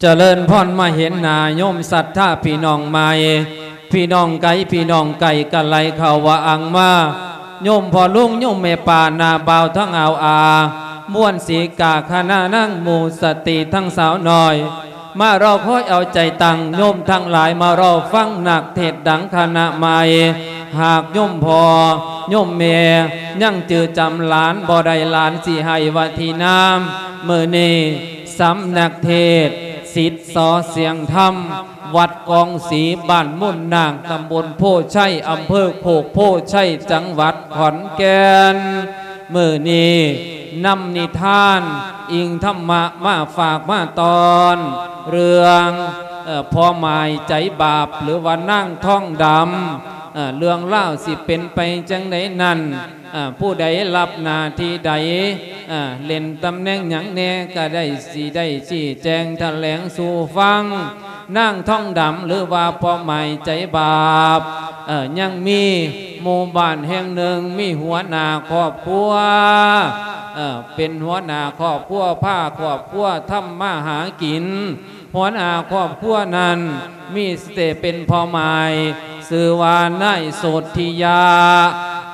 ຈະເລີນພອນ ມາເຫັນໜ້າໂຍມສັດທາພີ່ນ້ອງໃໝ່ ພີ່ນ້ອງໄກ ພີ່ນ້ອງໃກ້ ກະໄຫຼເຂົ້າວ່າອັງມາ ໂຍມພໍ່ລຸງ ໂຍມແມ່ປ້າ ນ້າບ່າວທັງອາວອາ ມ່ວນສີກາ ຄະນະນາງໝູ່ສະຕີທັງສາວນ້ອຍ ມາລໍຄອຍເອົາໃຈຕັ້ງ ໂຍມທັງຫຼາຍມາລໍຟັງນັກເທດດັງຄະນະໃໝ່ ຫາກໂຍມພໍ່ໂຍມແມ່ຍັງຈື່ຈຳຫຼານບໍ່ໄດ້ ຫຼານຊິໃຫ້ວະທີນາມ ມື້ນີ້ ສຳນັກເທດ ສິດ ສ ສຽງທຳ ວັດກອງສີ ບ້ານມູນນາງ ຕຳບົນໂພໄຊ ອຳເພີໂຄກໂພໄຊ ຈັງຫວັດຂອນແກ່ນ. ມື້ນີ້ນຳນິທານ ອີງທຳມະມາຝາກມາຕ້ອນ ເລື່ອງ ເອີ ພໍ່ໝາຍໃຈບາບ ຫຼືວ່ານາງທອງດຳ ເອີ ເລື່ອງລາວຊິເປັນໄປຈັ່ງໃດນັ້ນ ເອີ ຜູ້ໃດຮັບໜ້າທີ່ໃດ ເອີ ເລ່ນຕຳແໜ່ງຫຍັງແດ່ ກະໄດ້ ຊິໄດ້ຊີ້ແຈງຖະແຫຼງສູ່ຟັງ. ນາງທອງດຳ ຫຼືວ່າພໍ່ໝາຍໃຈບາບ ເອີ ຍັງມີໝູ່ບ້ານແຫ່ງໜຶ່ງ ມີຫົວໜ້າຄອບຄົວ ເອີ ເປັນຫົວໜ້າຄອບຄົວ ພາຄອບຄົວທຳມາຫາກິນ. ຫົວໜ້າຄອບຄົວນັ້ນມີແຕ່ເປັນພໍ່ໝາຍ ຊື່ວ່ານາຍໂສດທິຍະ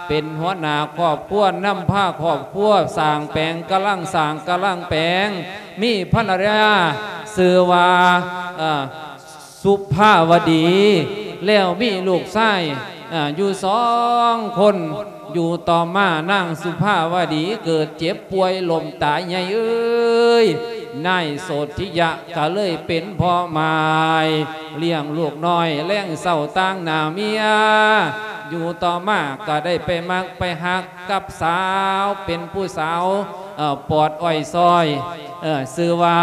ເປັນຫົວໜ້າຄອບຄົວ ນຳພາຄອບຄົວສ້າງແປງ ກຳລັງສ້າງກຳລັງແປງ ມີພັນລະຍາຊື່ວ່າ ເອີ ສຸພາວະດີ ແລ້ວມີລູກຊາຍ ເອີ ຢູ່ສອງຄົນ. ຢູ່ຕໍ່ມານາງສຸພາວະດີເກີດເຈັບປ່ວຍລົ້ມຕາຍໃຫຍ່ເອີຍ ນາຍໂສດທິຍະກະເລີຍເປັນພໍ່ໝາຍ ລ້ຽງລູກນ້ອຍແລງເຊົ້າຕາງໜ້າເມຍ. ຢູ່ຕໍ່ມາກະໄດ້ໄປມັກໄປຮັກກັບສາວ ເປັນຜູ້ສາວ ເອີ ປອດອ້ອຍຊອຍ ເອີ ຊື່ວ່າ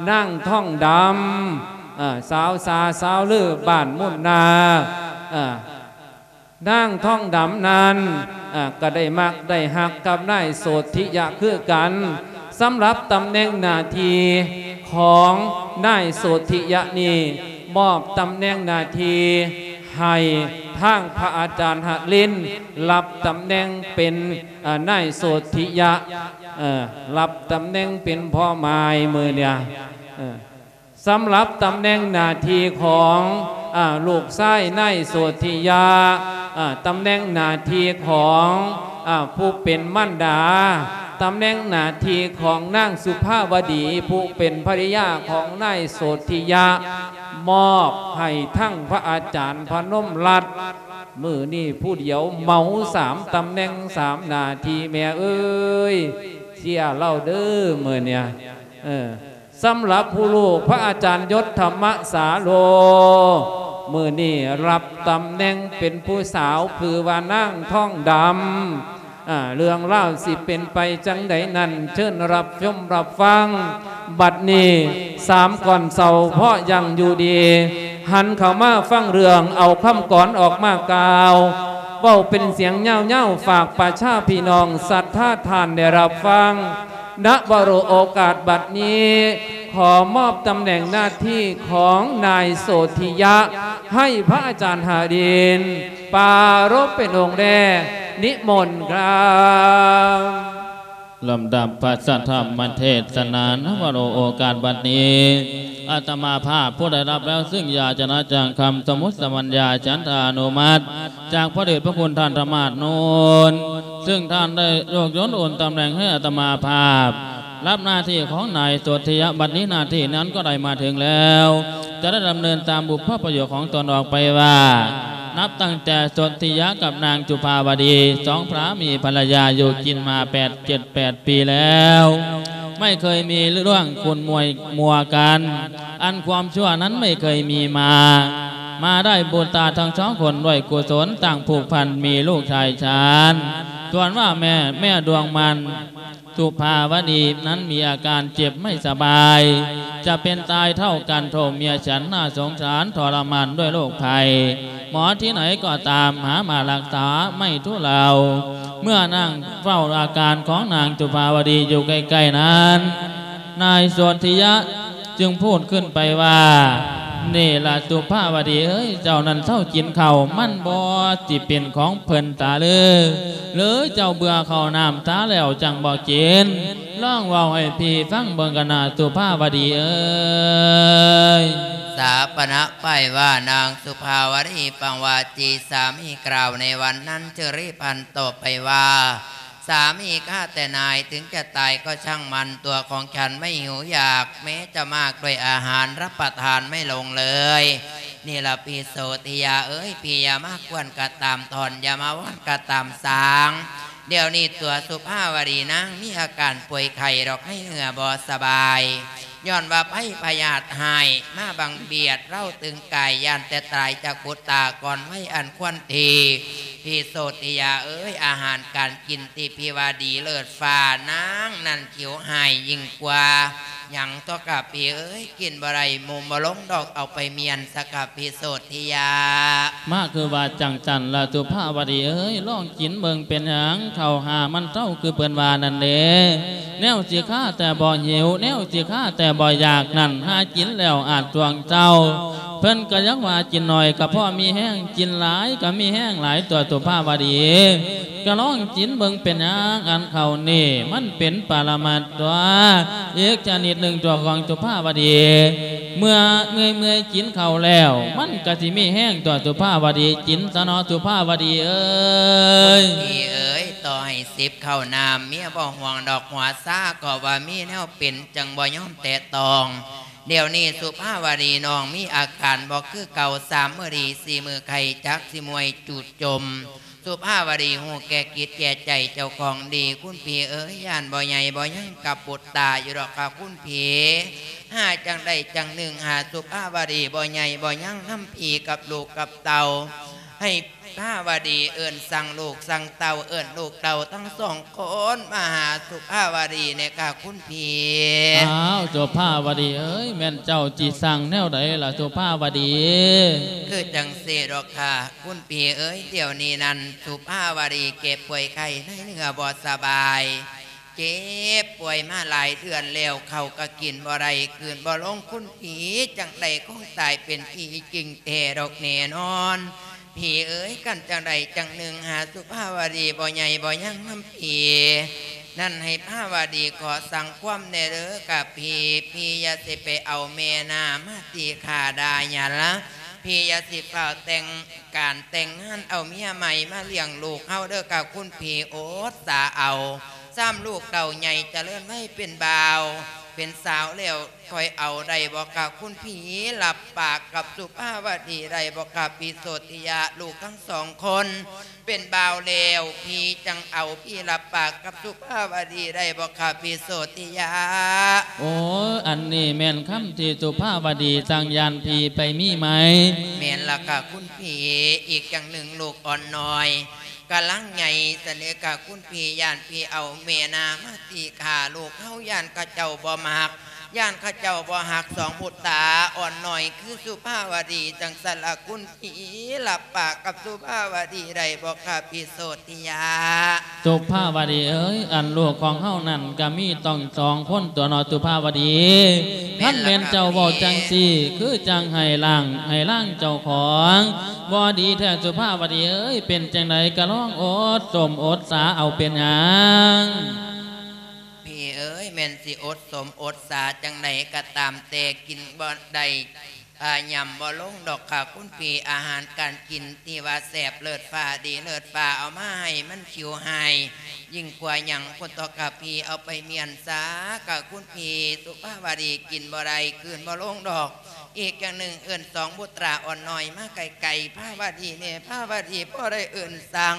ນາງທອງດຳ ເອີ ສາວສາ ສາວລື ບ້ານມູນນາກ ເອີ ນາງທອງດຳນັ້ນ ເອີ ກະໄດ້ມັກໄດ້ຮັກກັບນາຍໂສດທິຍະຄືກັນ. ສຳລັບຕຳແໜ່ງໜ້າທີ່ຂອງນາຍໂສດທິຍະນີ້ ມອບຕຳແໜ່ງໜ້າທີ່ໃຫ້ທາງພະອາຈານຫະລິນ ຮັບຕຳແໜ່ງເປັນ ເອີ ນາຍໂສດທິຍະ ເອີ ຮັບຕຳແໜ່ງເປັນພໍ່ໝາຍມື້ນີ້ ເອີ ສຳລັບຕຳແໜ່ງໜ້າທີ່ຂອງ ອາ ລູກຊາຍນາຍໂສດທິຍະ ອາ ຕຳແໜ່ງໜ້າທີ່ຂອງ ອາ ຜູ້ເປັນມານດາ ຕຳແໜ່ງໜ້າທີ່ຂອງນາງສຸພາວະດີ ຜູ້ເປັນພັນລະຍາຂອງນາຍໂສດທິຍະ ມອບໃຫ້ທັງພະອາຈານພະນົມລັດ. ມື້ນີ້ຜູ້ດຽວເໝົາສາມຕຳແໜ່ງສາມໜ້າທີ່ແມ່ເອີຍ ເຊຍລາວເດີມື້ນີ້ ເອີ ສຳລັບຜູ້ລູກພະອາຈານຍົດທຳມະສາໂລ ມື້ນີ້ຮັບຕຳແໜ່ງເປັນຜູ້ສາວ ຄືວ່ານາງທອງດຳ. ອາ ເລື່ອງລາວຊິເປັນໄປຈັ່ງໃດນັ້ນ ເຊີນຮັບຊົມຮັບຟັງ. ບັດນີ້ສາມກ່ອນເຊົາ ເພາະຍັງຢູ່ດີ ຫັນເຂົ້າມາຟັງເລື່ອງ ເອົາຄຳກອນອອກມາກ່າວ ເວົ້າເປັນສຽງຍາວໆ ຝາກປະຊາພີ່ນ້ອງສັດທາທ່ານໄດ້ຮັບຟັງ. ນະວະໂລ ໂອກາດບັດນີ້ ຂໍມອບຕຳແໜ່ງໜ້າທີ່ຂອງນາຍໂສທິຍະ ໃຫ້ພະອາຈານຫາດິນ ປາລົບເປັນອົງແລ ນິມົນຄັບ. ລຳດັບພະສັດທຳມະເທດສະໜາ ນະວະໂລ ໂອກາດບັດນີ້ ອາດຕະມາພາບຜູ້ໄດ້ຮັບແລ້ວ ຊຶ່ງຢາຈະນະຈັງຄຳ ສະມຸດສະບັນຍາ ສັນທານຸມັດ ຈາກພະເດດພະຄຸນທ່ານທະມາດໂນນ ຊຶ່ງທ່ານໄດ້ໂຍກໂຍນໂອນຕຳແໜ່ງໃຫ້ອາດຕະມາພາບ ຮັບໜ້າທີ່ຂອງນາຍໂສທິຍະ ບັດນີ້ໜ້າທີ່ນັ້ນກໍໄດ້ມາເຖິງແລ້ວ ຈະໄດ້ດຳເນີນຕາມບຸບພະປະໂຫຍດຂອງຕົນອອກໄປວ່າ ນັບຕັ້ງແຕ່ໂສທິຍະກັບນາງຈຸພາວະດີ ສອງພະມີພັນລະຍາຢູ່ກິນມາແປດ ເຈັດແປດປີແລ້ວ ໄມ່ເຄີຍມີເລື່ອງຂຸ້ນມົວກັນ ອັນຄວາມຊົ່ວນັ້ນໄມ່ເຄີຍມີມາ ມາໄດ້ບຸດຕາທັງສອງຄົນດ້ວຍກຸສົນ ຕັ້ງຜູກພັນມີລູກຊາຍຊານ ສ່ວນວ່າແມ່ ແມ່ດວງມັນ ສຸພາວະດີນັ້ນມີອາການເຈັບໄມ່ສະບາຍ ຈະເປັນຕາຍເທົ່າກັນ ໂທເມຍສັນໜ້າສົງສານທໍລະມານດ້ວຍໂລກໄພ ໝໍທີ່ໃດກໍຕາມຫາມາລັກສາໄມ່ທຸເລົາ ເມື່ອນັ່ງເຝົ້າອາການຂອງນາງສຸພາວະດີຢູ່ໃກ້ໆນັ້ນ ນາຍໂສທິຍະຈຶ່ງພູດຂຶ້ນໄປວ່າ ນີ້ລະ ສຸພາວະດີເອີຍ ເຈົ້ານັ້ນເຊົາກິນເຂົ້າ ມັນບໍ່ຊິເປັນຂອງເພິ່ນຕາເລີ ຫຼືເຈົ້າເບື່ອເຂົ້ານ້ຳຕາແລ້ວຈັ່ງບໍ່ກິນ? ລອງເວົ້າໃຫ້ພີ່ຟັງເບິ່ງກະນະ ສຸພາວະດີເອີຍ. ສາປະນະໄປວ່າ ນາງສຸພາວະດີຟັງວ່າ ທີ່ສາມີກ່າວໃນວັນນັ້ນ ຈຶ່ງລີບຫັນຕອບໄປວ່າ ສາມີຂ້າແຕ່ນາຍ ເຖິງຈະຕາຍກໍຊ່າງມັນ ຕົວຂອງສັນໄມ່ຫິວຢາກ ແມ້ຈະມາກດ້ວຍອາຫານ ຮັບປະທານໄມ່ລົງເລີຍ. ນີ້ລະພີ່ໂສຕິຍາເອີຍ ພີ່ຢ່າມາກວນກະຕາມທ່ອນ ຢ່າມາວອນກະຕາມສາງ. ດຽວນີ້ຕົວສຸພາວະດີນາງມີອາການປ່ວຍໄຂ້ດອກ ໃນເນື້ອບໍ່ສະບາຍ ຍ້ອນວ່າໄພພະຍາດຮ້າຍມາບັງບຽດເລົາຕຶງກາຍ ຢ້ານແຕ່ຕາຍຈາກບຸດຕາກ່ອນໄວອັນຄວນທີ. ພີ່ໂສຕິຍາເອີຍ ອາຫານການກິນທີ່ພີ່ວ່າດີເລີດຟ້າ ນາງນັ້ນຫິວຮ້າຍຍິ່ງກວ່າຫຍັງຕົວະກະພີ່ເອີຍ ກິນບໍ່ໄດ້ ໝູ່ບໍ່ລົງດອກ ເອົາໄປມ້ຽນຊະກະພີ່ໂສຕິຍາ. ມາຄືວ່າຈັ່ງຊັ້ນລະ ສຸພາວະດີເອີຍ ລອງກິນເບິ່ງເປັນຫຍັງ ເຂົ້າຫາມັນເຊົາ ຄືເພິ່ນວ່ານັ້ນເດ້. ແນວຊິຄາແຕ່ບໍ່ຫິວ ແນວຊິຄາແຕ່ບໍ່ຢາກນັ້ນ ຫາກິນແລ້ວອາດຊ່ວງເຊົາ ເພິ່ນກະຍັງວ່າກິນໜ້ອຍກະພໍມີແຮງ ກິນຫຼາຍກະມີແຮງຫຼາຍຕົວະ ສຸພາວະດີ. ກະລອງກິນເບິ່ງເປັນຫຍັງ ອັນເຂົ້ານີ້ມັນເປັນປະລະມັດຕົວະ ອີກຊະນິດໜຶ່ງຕົວະຂອງສຸພາວະດີ. ເມື່ອເມື່ອຍໆກິນເຂົ້າແລ້ວ ມັນກະຊິມີແຮງຕົວະ ສຸພາວະດີ. ກິນຊະເນາະ ສຸພາວະດີເອີຍ. ພີ່ເອີຍ ຕໍ່ໃຫ້ສິບເຂົ້ານ້ຳ ເມຍບໍ່ຫ່ວງດອກ ຫົວຊາກໍວ່າມີແນວເປັນ ຈຶ່ງບໍ່ຍອມແຕະຕ້ອງ. ດຽວນີ້ສຸພາວະດີນ້ອງມີອາການບໍ່ຄືເກົ່າ ສາມມື້ດີ ສີ່ມື້ໄຂ້ ຈັກຊິເມື່ອຍຈູດຈົມ. ສຸພາວະດີຮູ້ແກ່ກິດແກ່ໃຈເຈົ້າຂອງດີ ຄຸນພີ່ເອີຍ ຢ້ານບໍ່ໃຫຍ່ບໍ່ຍັງກັບບຸດຕາຢູ່ດອກກະຄຸນພີ່. ຫາຈັ່ງໃດຈັ່ງໜຶ່ງ ຫາສຸພາວະດີບໍ່ໃຫຍ່ບໍ່ຍັງນຳພີ່ກັບລູກກັບເຕົ້າ ໃຫ້ພາວະດີເອີ້ນສັ່ງລູກສັ່ງເຕົ້າ ເອີ້ນລູກເຕົ້າທັງສອງຄົນມາຫາສຸພາວະດີແດ່ກະຄຸນພີ່. ອ້າວ ສຸພາວະດີເອີຍ ແມ່ນເຈົ້າຊິສັ່ງແນວໃດລະ ສຸພາວະດີ? ຄືຈັ່ງຊີ້ດອກກະ ຄຸນພີ່ເອີຍ ດຽວນີ້ນັ້ນ ສຸພາວະດີເຈັບປ່ວຍໄຂ້ໃນເນື້ອບໍ່ສະບາຍ ເຈັບປ່ວຍມາຫຼາຍເດືອນແລ້ວ ເຂົ້າກະກິນບໍ່ໄດ້ ກືນບໍ່ລົງ ຄຸນພີ່ຈັ່ງໃດຄົງຕາຍເປັນຜີຈິງແທ້ດອກແນ່ນອນ. ພີ່ເອີຍ ຄັນຈັ່ງໃດຈັ່ງໜຶ່ງ ຫາສຸພາວະດີບໍ່ໃຫຍ່ບໍ່ຍັງນຳພີ່ນັ້ນ ໃຫ້ພາວະດີຂໍສັ່ງຄວາມແດ່ເດີກະພີ່. ພີ່ຢ່າຊິໄປເອົາແມ່ນາມາຕີຂ້າດ່າຫຍັງລະ ພີ່ຢ່າຊິຟ້າວແຕ່ງ ການແຕ່ງງານເອົາເມຍໃໝ່ມາລ້ຽງລູກເຮົາເດີກະຄຸນພີ່ ອົດສາເອົາ ຊ້ຳລູກເຕົ້າໃຫຍ່ຈະເລີນໄວເປັນບ່າວເປັນສາວແລ້ວ ຄ່ອຍເອົາໄດ້ບໍ່ກະຄຸນພີ່? ຮັບປາກກັບສຸພາວະດີໄດ້ບໍ່ກະພີ່ໂສຕິຍາ? ລູກທັງສອງຄົນເປັນບ່າວແລ້ວ ພີ່ຈັ່ງເອົາ ພີ່ຮັບປາກກັບສຸພາວະດີໄດ້ບໍ່ກະພີ່ໂສຕິຍາ? ໂອ້ຍ ອັນນີ້ແມ່ນຄຳທີ່ສຸພາວະດີສັ່ງ ຢ້ານພີ່ໄປມີໃໝ່. ແມ່ນລະກະຄຸນພີ່. ອີກຢ່າງໜຶ່ງລູກອ່ອນນ້ອຍກຳລັງໃຫຍ່ ສະເໜີກະຄຸນພີ່ ຢ້ານພີ່ເອົາແມ່ນາມາຕີຂ້າລູກເຮົາ ຢ້ານເຂົາເຈົ້າບໍ່ມັກ ຢ້ານເຂົາເຈົ້າບໍ່ຮັກ. ສອງບຸດຕາອ່ອນນ້ອຍຄືສຸພາວະດີ ຈັ່ງຊັ້ນລະຄຸນ ພີ່ຮັບປາກກັບສຸພາວະດີໄດ້ບໍ່ຄະພີ່ໂສຕິຍາ? ສຸພາວະດີເອີຍ ອັນລູກຂອງເຮົານັ້ນກະມີຕ້ອງສອງຄົນຕົວະເນາະສຸພາວະດີ. ຄັນແມ່ນເຈົ້າເວົ້າຈັ່ງຊີ້ ຄືຈັ່ງໃຫ້ລ້າງໃຫ້ລາງເຈົ້າຂອງ ບໍ່ດີແທ້ສຸພາວະດີເອີຍ. ເປັນຈັ່ງໃດກະລອງອົດສົ້ມອົດສາເອົາ ເປັນຫຍັງ? ພີ່ເອີຍ ແມ່ນຊິອົດສົ້ມອົດສາຈັ່ງໃດກະຕາມແຕ່ ກິນບໍ່ໄດ້ ອາ ຫຍ້ຳບໍ່ລົງດອກຄະຄຸນພີ່. ອາຫານການກິນທີ່ວ່າແຊບເລີດຟ້າດີເລີດຟ້າ ເອົາມາໃຫ້ມັນຫິວຮ້າຍ ຍິ່ງກວ່າຫຍັງພຸ້ນຕົວະຄະພີ່. ເອົາໄປມ້ຽນຊາຄະຄຸນພີ່ ສຸພາວະດີກິນບໍ່ໄດ້ ກືນບໍ່ລົງດອກ. ອີກຢ່າງໜຶ່ງເອີ້ນສອງບຸດຕາອ່ອນນ້ອຍມາໃກ້ໆພາວະດີແດ່ ພາວະດີບໍ່ໄດ້ເອີ້ນສັ່ງ.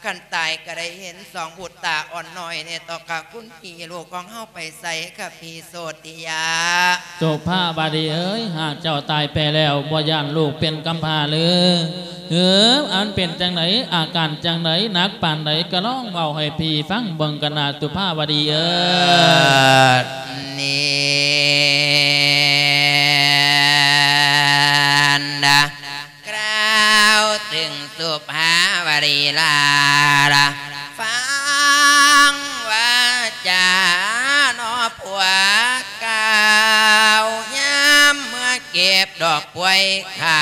ຄັນຕາຍກະໄດ້ເຫັນສອງບຸດຕາອ່ອນນ້ອຍແດ່ຕົວະຄະຄຸນພີ່. ລູກຂອງເຮົາໄປໃສຄະພີ່ໂສຕິຍາ? ສຸພາວະດີເອີຍ ຫາກເຈົ້າຕາຍໄປແລ້ວ ບໍ່ຢ້ານລູກເປັນກຳພ້າຫຼື? ເອີ ອັນເປັນຈັ່ງໃດ ອາການຈັ່ງໃດ ໜັກປານໃດ ກະລອງເວົ້າໃຫ້ພີ່ຟັງເບິ່ງກະນະສຸພາວະດີເອີຍ. ນີ້ນະ ກ່າວເຖິງສຸພາວະດີລາລະ ຟັງວາຈາເນາະພວກເຈົ້າ ຍາມເມື່ອເກັບ ດອກປ່ວຍໄຂ້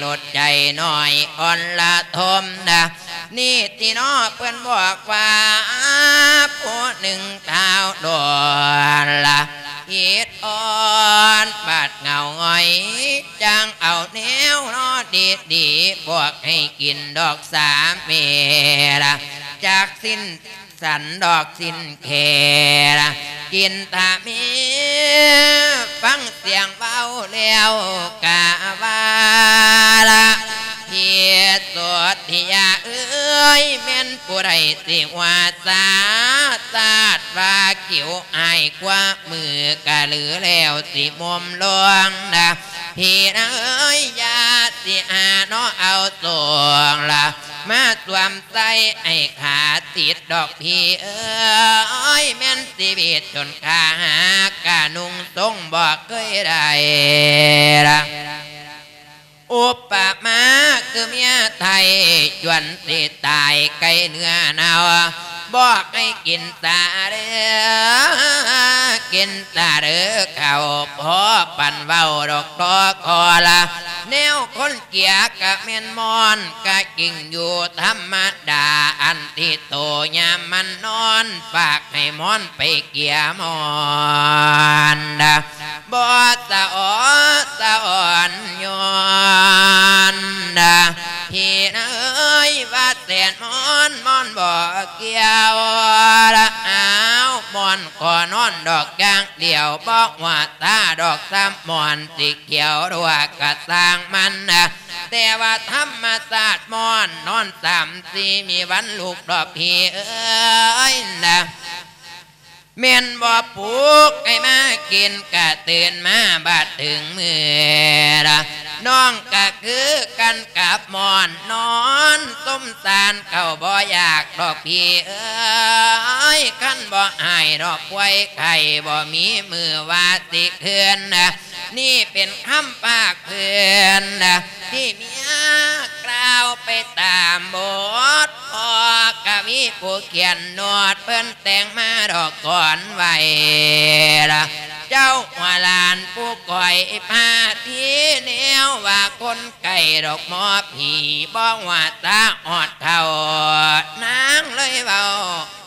ລົດໃຈນ້ອຍອ່ອນລະທົມນະ ນີ້ຕິເນາະ ເພິ່ນບອກວ່າ ຜູ້ໜຶ່ງທ້າວດອນລະ ອິດອ່ອນບາດເຫງົາຫງອຍ ຈັ່ງເອົາແນວເນາະດີໆ ບອກໃຫ້ກິນດອກສາເມລະ ຈັກສິ້ນ ສັນດອກສິ້ນແຂລະ ກິນຕາມີ ຟັງສຽງເວົ້າແລ້ວກະວ່າລະ ພິໂສດທິຍາເອີຍ ແມ່ນຜູ້ໃດຊິວ່າສາ ຊາດວ່າກິວອ້າຍກວ່າມືກະລືແລ້ວຊິມຸມລວງນະ ພີ່ນາເອີຍ ຢ່າຊິຫາເນາະເອົາສອງລະ ມາສວມໃສ່ໃຫ້ຂ້າຕິດດອກພີ່ເອີຍ ແມ່ນຊີວິດຈົນຂ້າຫາກະນຸ່ງຊົງບໍ່ເຄີຍໄດ້ລະ ອຸປະມາຄືເມຍໄທ ຈວນຊິຕາຍໃກ້ເນື້ອເນົ່າ ບອກໃຫ້ກິນຕາເດີ້ ກິນຕາເດີ້ເຂົ້າ ພໍປັນເວົ້າດອກຕໍ່ຂໍລະ ແນວຄົນ ເກຍກະແມ່ນມ່ອນ ກະຈິງຢູ່ທຳມະດາ ອັນທີ່ໂຕຍາມມັນນອນ ປາກໃຫ້ມ່ອນໄປເກຍມ່ອນນະ ບໍ່ສະອໍສະອອນຍ້ອນນະ ພີ່ນາເອີຍ ວ່າແສນມ່ອນ ມ່ອນບໍ່ກ່ຽວລະ ອ້າວ ມ່ອນກໍນອນດອກຢ່າງດຽວ ບໍ່ວ່າຕາດອກຊ້ຳ ມ່ອນຊິ ກ່ຽວດ້ວຍກະຊ່າງມັນນະ ແຕ່ວ່າທຳມະຊາດມ່ອນນອນຊ້ຳ ຊິມີວັນລຸກດອກພີ່ເອີຍນະ ແມ່ນບໍ່ປຸກໃຫ້ມາກິນ ກະຕື່ນມາບາດເຖິງມື້ລະ ນ້ອງກະຄືກັນກັບມ່ອນ ນອນສົມສານເຂົ້າບໍ່ຢາກດອກພີ່ເອີຍ ຄັນບໍ່ອ້າຍດອກປ່ວຍໄຂ້ ບໍ່ມີມື້ວ່າຊິຄືນນະ ນີ້ເປັນຄຳພາກພື້ນນະ ທີ່ເມຍກ່າວໄປຕາມບົດ ພໍ່ກະມີຜູ້ຂຽນໂນດ ເພິ່ນແຕ່ງມາດອກກ່ອນໄວ້ລະ ເຈົ້າຫົວຫຼານຜູ້ກອຍພາທີ່ແນວວ່າຄົນໄກ່ດອກໝໍຜີ ບໍ່ວ່າຕາອອດເຂົ້າ ນາງເລີຍເວົ້າ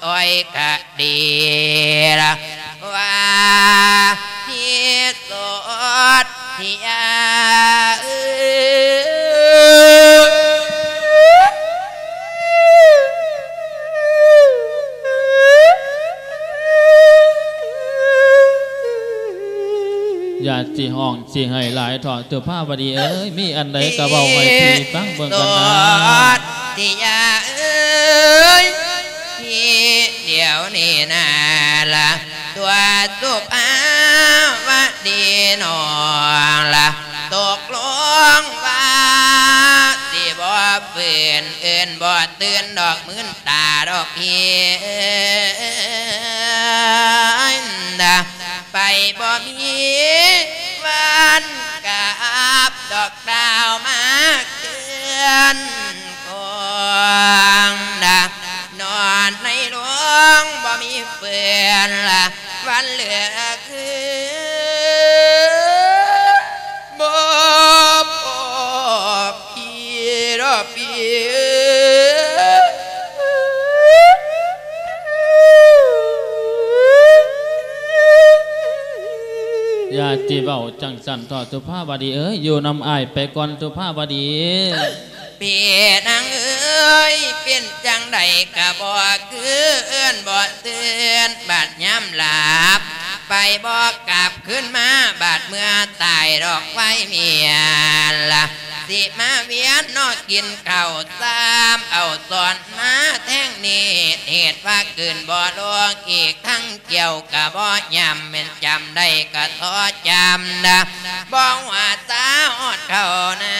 ອ້ອຍກະດີລະວ່າ ທີ່ໂສດທີ່ຍາເອີຍ ຢ່າຊິຮ້ອງຊິໄຫ້ຫຼາຍເຖາະ ສຸພາວະດີເອີຍ ມີອັນໃດກໍເວົ້າໃຫ້ພີ່ຟັງເບິ່ງກັນນາ ທີ່ຍາເອີຍ ທີ່ດຽວນີ້ນາລະ ຕົວສຸພາວະດີນ້ອງລະ ຕົກລົງວ່າ ຊິບໍ່ຟື້ນເອີ້ນບໍ່ຕື່ນດອກ ມື່ນຕາດອກພີ່ເອີຍນະ ໄປບໍ່ມີວັນກັບດອກດາວມາເຄືອນຄອງນະ ນອນໃນໂລງບໍ່ມີເຟືອນລະ ວັນເຫຼືອຄືນ ບໍ່ພໍພີ່ດອກພີ່ເອີຍ ຢ່າຊິເວົ້າຈັ່ງຊັ້ນເຖາະ ສຸພາວະດີເອີຍ ຢູ່ນຳອ້າຍໄປກ່ອນ ສຸພາວະດີ. ພີ່ນາງເອີຍ ເປັນຈັ່ງໃດກະບໍ່ຄືເອີ້ນບໍ່ຕື່ນ ບາດຍາມຫຼັບໄປບໍ່ກັບຄືນມາ ບາດເມື່ອຕາຍດອກໄວເມຍລະ ຊິມາວຽນເນາະກິນເຂົ້າຊ້ຳ ເອົາຊ້ອນມາແທງນີ້ ເຫດວ່າກືນບໍ່ລົງ ອີກທັງ ກ່ຽວກະບໍ່ຍຳ ແມ່ນຈຳໄດ້ກະຂໍຈຳນະ ບໍ່ວ່າຕາຮອດເຂົ້ານ້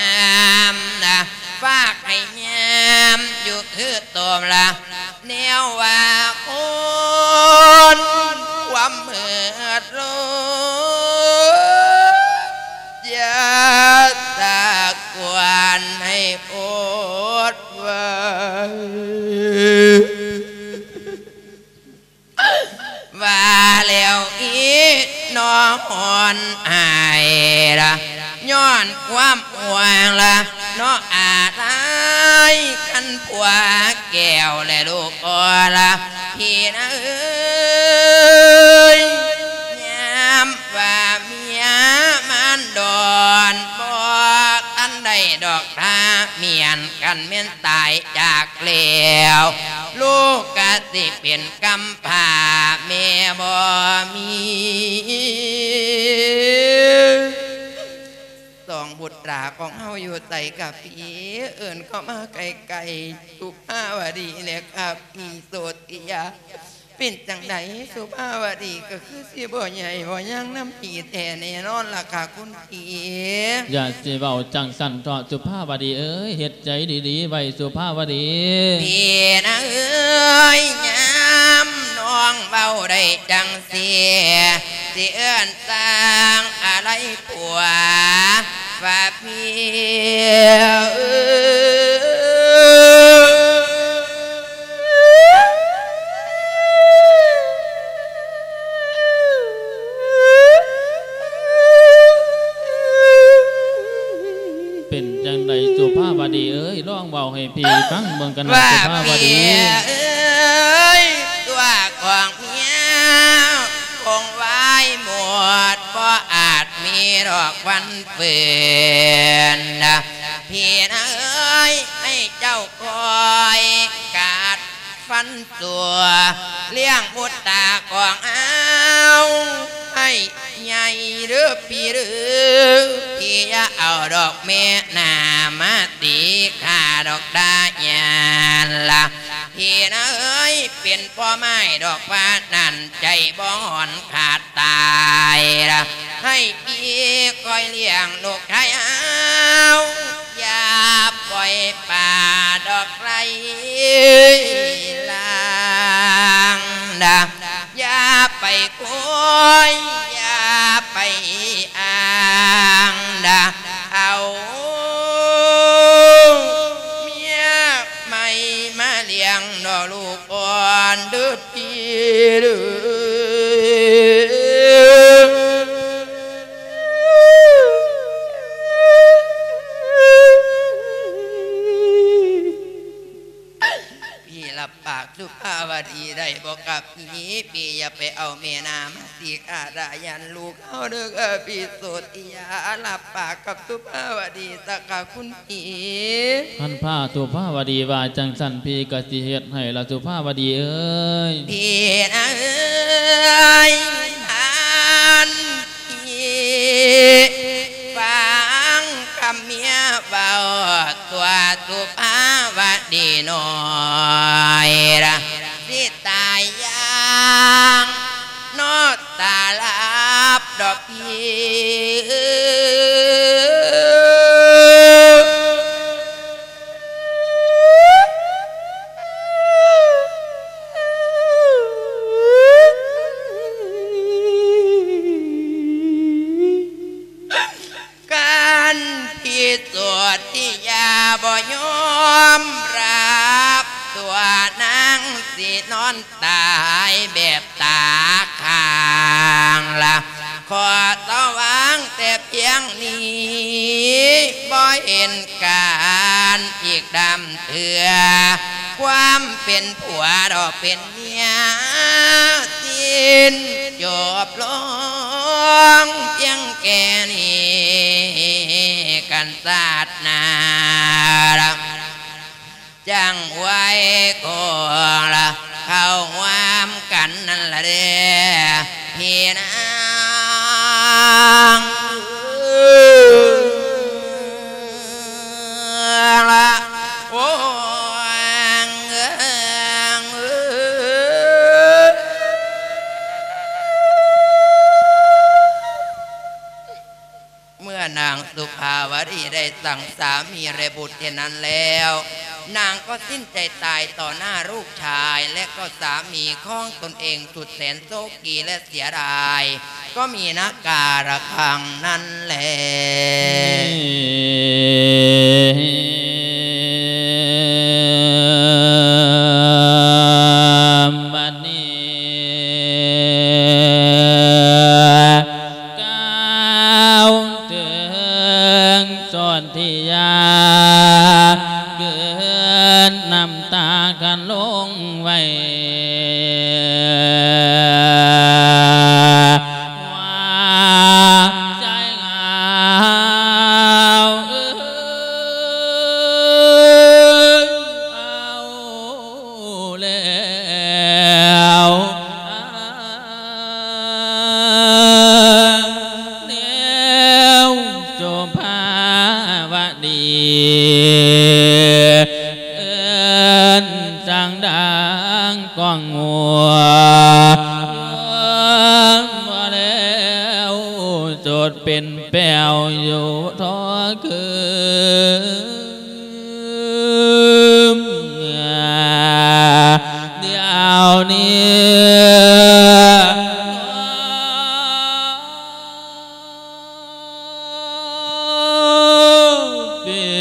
ຳນະ ຝາກໃຫ້ຍາມຢູ່ຄືໂຕມລະ ແນວວ່າຄົນຄວາມເໝິດລົງ ຢ່າສາກວນໃຫ້ອົດໄວ້ ວ່າແລ້ວອີນ້ອງອ່ອນອາຍລະ ຍ້ອນຄວາມຫ່ວງລະເນາະ ອາໄລກັນຜົວແກ້ວ ແລະລູກອ່ອນລະ ພີ່ນາເອີຍ. ຍາມວ່າເມຍມານດອນ ບໍ່ທັນໄດ້ດອກ ຖ້າແມ່ນກັນແມ່ນຕາຍຈາກແລ້ວ ລູກກະຊິເປັນກຳພ້າແມ່ບໍ່ມີ. ສອງບຸດຕາຂອງເຮົາຢູ່ໃສກະພີ່ ເອີ້ນເຂົ້າມາໃກ້ໆ ສຸພາວະດີແດ່ກະພີ່ ໂສຕິຍາ. ເປັນຈັ່ງໃດສຸພາວະດີ ກະຄືຊິບໍ່ໃຫຍ່ບໍ່ຍັງນຳພີ່ແທ້ແນ່ນອນລະກະຄຸນພີ່. ຢ່າຊິເວົ້າຈັ່ງຊັ້ນເຖາະສຸພາວະດີເອີຍ ເຮັດໃຈດີໆໄວ້ສຸພາວະດີ. ພີ່ນາເອີຍ ຍາມນ້ອງເວົ້າໄດ້ຈັ່ງຊີ້ ຊິເອີ້ນຊ່າງອາໄລຜົວ ວ່າພີ່ເອີຍ ເປັນຈັ່ງໃດສຸພາວະດີເອີຍ ລອງເວົ້າໃຫ້ພີ່ຟັງເບິ່ງກັນນະ ວ່າ ສຸພາວະດີ ເອີຍ ຕົວຂອງເມຍຄົງວາຍໝົດ ບໍ່ອາດມີດອກວັນຟື້ນນະ ພີ່ນາເອີຍ ໃຫ້ເຈົ້າຄອຍກາດ ຟັນຕົວ ລ້ຽງບຸດຕາຂອງເຮົາໃຫ້ໃຫຍ່ເດີ້ພີ່ເດີ້ ພີ່ຢ່າເອົາດອກແມ່ນ້ຳມາຕີຂ້າດອກດາຍານລະ ພີ່ນາເອີຍ ເປັນພໍ່ໄມ້ດອກຟ້ານັ້ນ ໃຈບໍ່ຮ້ອນຂາດຕາຍລະ ໃຫ້ພີ່ຄອຍລ້ຽງລູກຊາຍເຮົາ ຢ່າປ່ອຍປາດອກໄຫຼລາງດາ ຢ່າໄປໂກຍ ຢ່າໄປອ້າງດາ ເອົາເມຍໃໝ່ມາລ້ຽງເນາະລູກອ່ອນເດີ້ ພີ່ເດີ້ ພີ່ຮັບປາກສຸພາວະດີໄດ້ບໍ່ກະພີ່? ພີ່ຢ່າໄປເອົາແມ່ນ້ຳມາຕີຂ້າດາຍານລູກເຮົາເດີ້ ກະພີ່ ໂສຕິຍາ ຮັບປາກກັບສຸພາວະດີຊະກະຄຸນ ອີ ຄັນພາສຸພາວະດີວ່າຈັ່ງຊັ້ນ ພີ່ກະຊິເຮັດໃຫ້ລະສຸພາວະດີເອີຍ ພີ່ນາເອີຍ ທ່ານພີ່ຟັງຄຳເມຍເວົ້າ ຕົວສຸພາວະດີນ້ອຍລະ ຊິຕາຍຢ່າງນອນຕາຫຼັບດອກພີ່ ຄັນພີ່ໂສຕິຍາບໍ່ຍອມຮັບ ຕົວນາງຊິນອນຕາຍແບບຕາຄ້າງລະ ຂໍສະຫວ່າງແຕ່ພຽງນີ້ ບໍ່ເຫັນການອີກດຳເທື່ອ ຄວາມເປັນຜົວດອກເປັນເມຍ ສິ້ນຈົບລົງພຽງແຄ່ນີ້ ກັນຊາດໜ້າລະ ຈັ່ງໄວ້ຄົງລະເຂົ້າຮ່ວມກັນນັ້ນລະເດ້ ພີ່ນາງລະ ໂອ້ ເມື່ອນາງສຸພາວະດີໄດ້ສັງສາມີແລະບຸດເຊັ່ນນັ້ນແລ້ວ ນາງກໍສິ້ນໃຈຕາຍຕໍ່ໜ້າລູກຊາຍ ແລະກໍສາມີຂອງຕົນເອງສຸດແສນໂສກີ ແລະເສຍດາຍ ກໍມີນາກາລະຄັງນັ້ນແຫຼະ ບັດນີ້ກ່າວເຖິງ ຈົດເປັນແປ້ວຢູ່ທໍ່ຄືນ ດຽວນີ້ ເປັ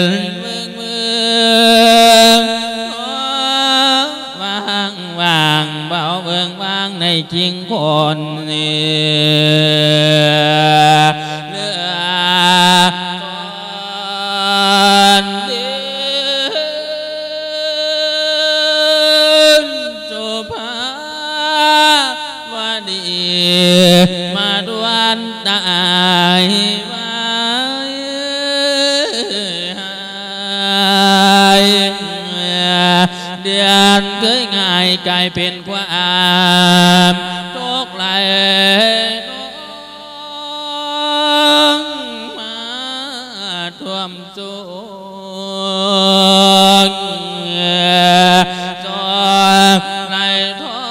ນເມືອງເມືອງ ວ່າງວ່າງ ເບົາເບິ່ງວ່າງໃນຈິງຄົນນີ້ ເຫຼືອກ່ອນເດີນ ສຸພາ ວະດີ ມາດວນຕາຍໄວຫາຍ ເດືອນເຄີຍງ່າຍກາຍເປັນຄວາມທຸກໄຫຼ ມາຖ້ວມ ໂສກ ໂສກໄຫຼທ້ອ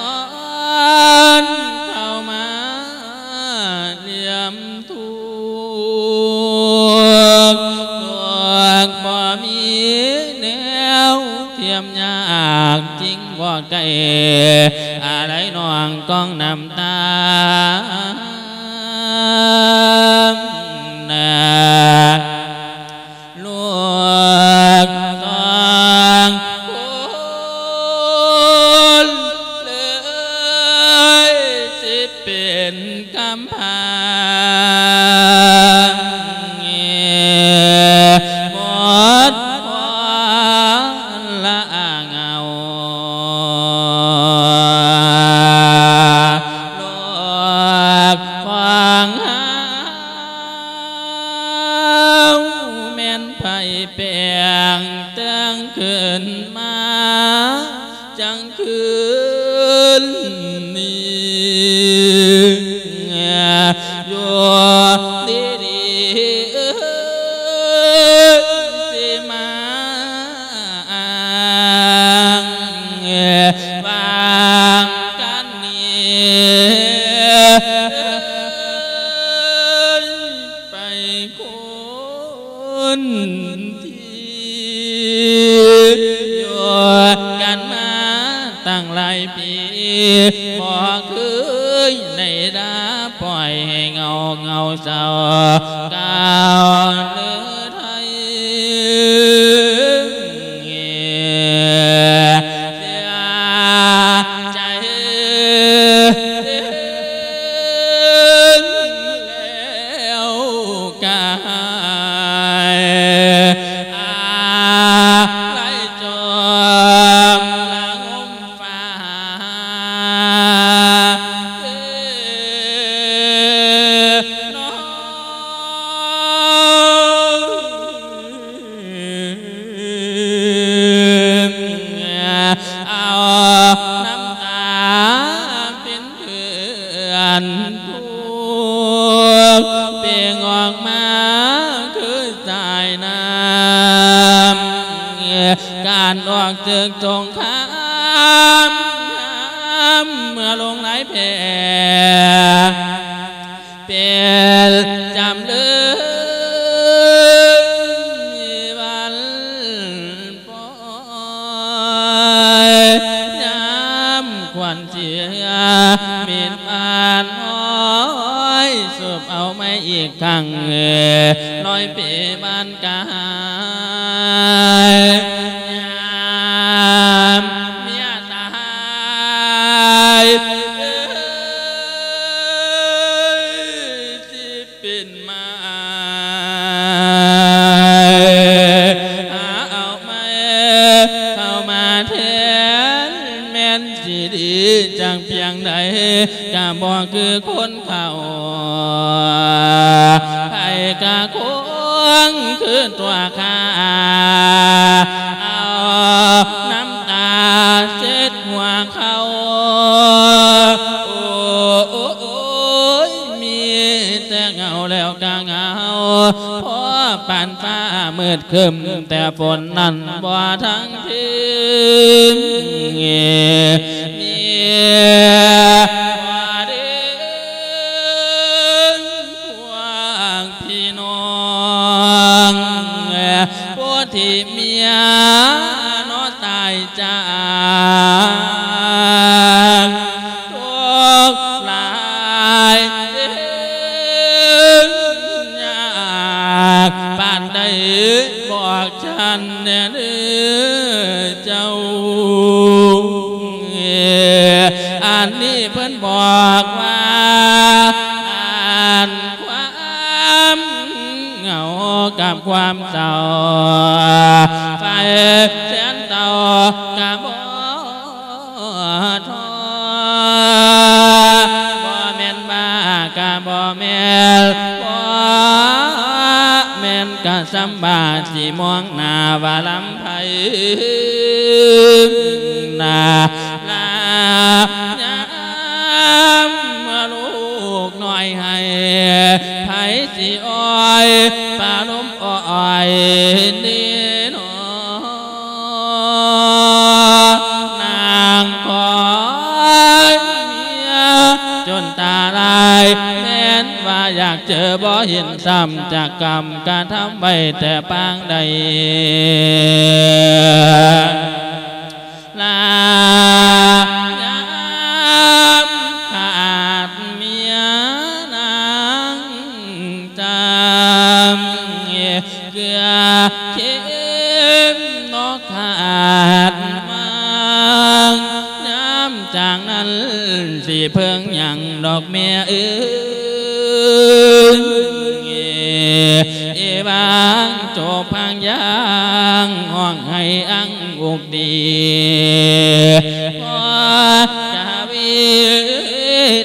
ນເຂົ້າມາລຽມທຸກ ທຸກບໍ່ມີແນວທຽມຍາກ ຈິງບໍ່ໄກອາໄລນ້ອງກອງນ້ຳຕາ ນາ ລູກສອງຄົນເລີຍຊິເປັນກຳພາ ໝົດຄວາມລະອາເຫງົາ ລູກຂອງເຮົາ ເຮົາແມ່ນໃຜແປງແຕ່ງຂຶ້ນມາ ຈັງຄືນນີ້ ຢູ່ດີໆ ເອີຍ ຊິມາອ້າງວ່າງກັນນີ້ ໄປຄົນທີ່ຢູ່ກັນມາຕັ້ງຫຼາຍປີ ບໍ່ເຄີຍໄດ້ດ່າປ່ອຍໃຫ້ເຫງົາເຫງົາເສົ້າ ກ່າວເລີໄທ ເສຍໃຈແລ້ວກາຍ ອາໄລຈົມລະງົມ ຟ້າເດນອ ເອົານ້ຳຕາເປັນເພື່ອນທຸກ ເປັ່ງອອກມາຄືສາຍນ້ຳ ການອອກເສິກສົງຄາມ ເມື່ອລົງລາຍແພ້ ເປັນຈຳເລີຍວັນປ່ອຍ ຍາມຂວັນເສຍ ເມັດບານຫ້ອຍ ສູບເອົາໃໝ່ອີກຄັ້ງ ລອຍເປບານກາຍ ຍາມເມຍຕາຍ ເອີຍ ຊິເປັນມາຍ ຫາເອົາໃໝ່ເຂົ້າມາແທນ ແມ່ນຊິດີຈັກພຽງໃດ ກະບໍ່ຄືຄົນ ເຂົາ ໃຜກະຄົງຄືຕົວຂ້າ ເອົານ້ຳຕາເຊັດຫົວເຂົາ ໂອ້ ໂອ້ ໂອ້ຍ ມີແຕ່ເຫງົາແລ້ວກະເຫງົາ ພໍປານຟ້າມືດຄຶ້ມ ແຕ່ຝົນນັ້ນບໍ່ທັນ ເພິ່ງມີບໍ່ເດ ເມຍເນາະຕາຍຈາກ ທຸກຫຼາຍເດີຍາກປານໃດ ບອກ ທ່ານແດ່ເດີເຈົ້າ ອັນນີ້ເພິ່ນບອກວ່າ ອັນຄວາມເຫງົາກັບຄວາມເສົ້າ ໄຟແສນເຕົາກະບໍ່ທໍ້ ບໍ່ແມ່ນບ້າກະບໍ່ແມ່ນ ບໍ່ແມ່ນກະຊຳບ້າ ຊິມອງໜ້າວ່າລຳ ໃຜນາ ລາຍາມລູກນ້ອຍໄຫ້ ໃຜຊິອ້ອຍປາລົມອ້ອຍນີ້ໜໍ ນາງຂອຍເມຍຈົນຕາລາຍ ແມ່ນວ່າຢາກເຈີບໍ່ເຫັນຊ້ຳ ຈາກກຳກະທຳໄວ້ແຕ່ປາງໃດ ລາຍາມຂາດເມຍນາງຈຳ ເກືອເຂັມນອກຂາດຫວ່າງ ຍາມຈາກນັ້ນຊິເພິ່ງຫຍັງດອກແມ່ເອີຍ ເອວາງໂຈກພາງຢ່າງ ຮ້ອງໄຫ້ອັງອຸກດີ ພໍກະວີ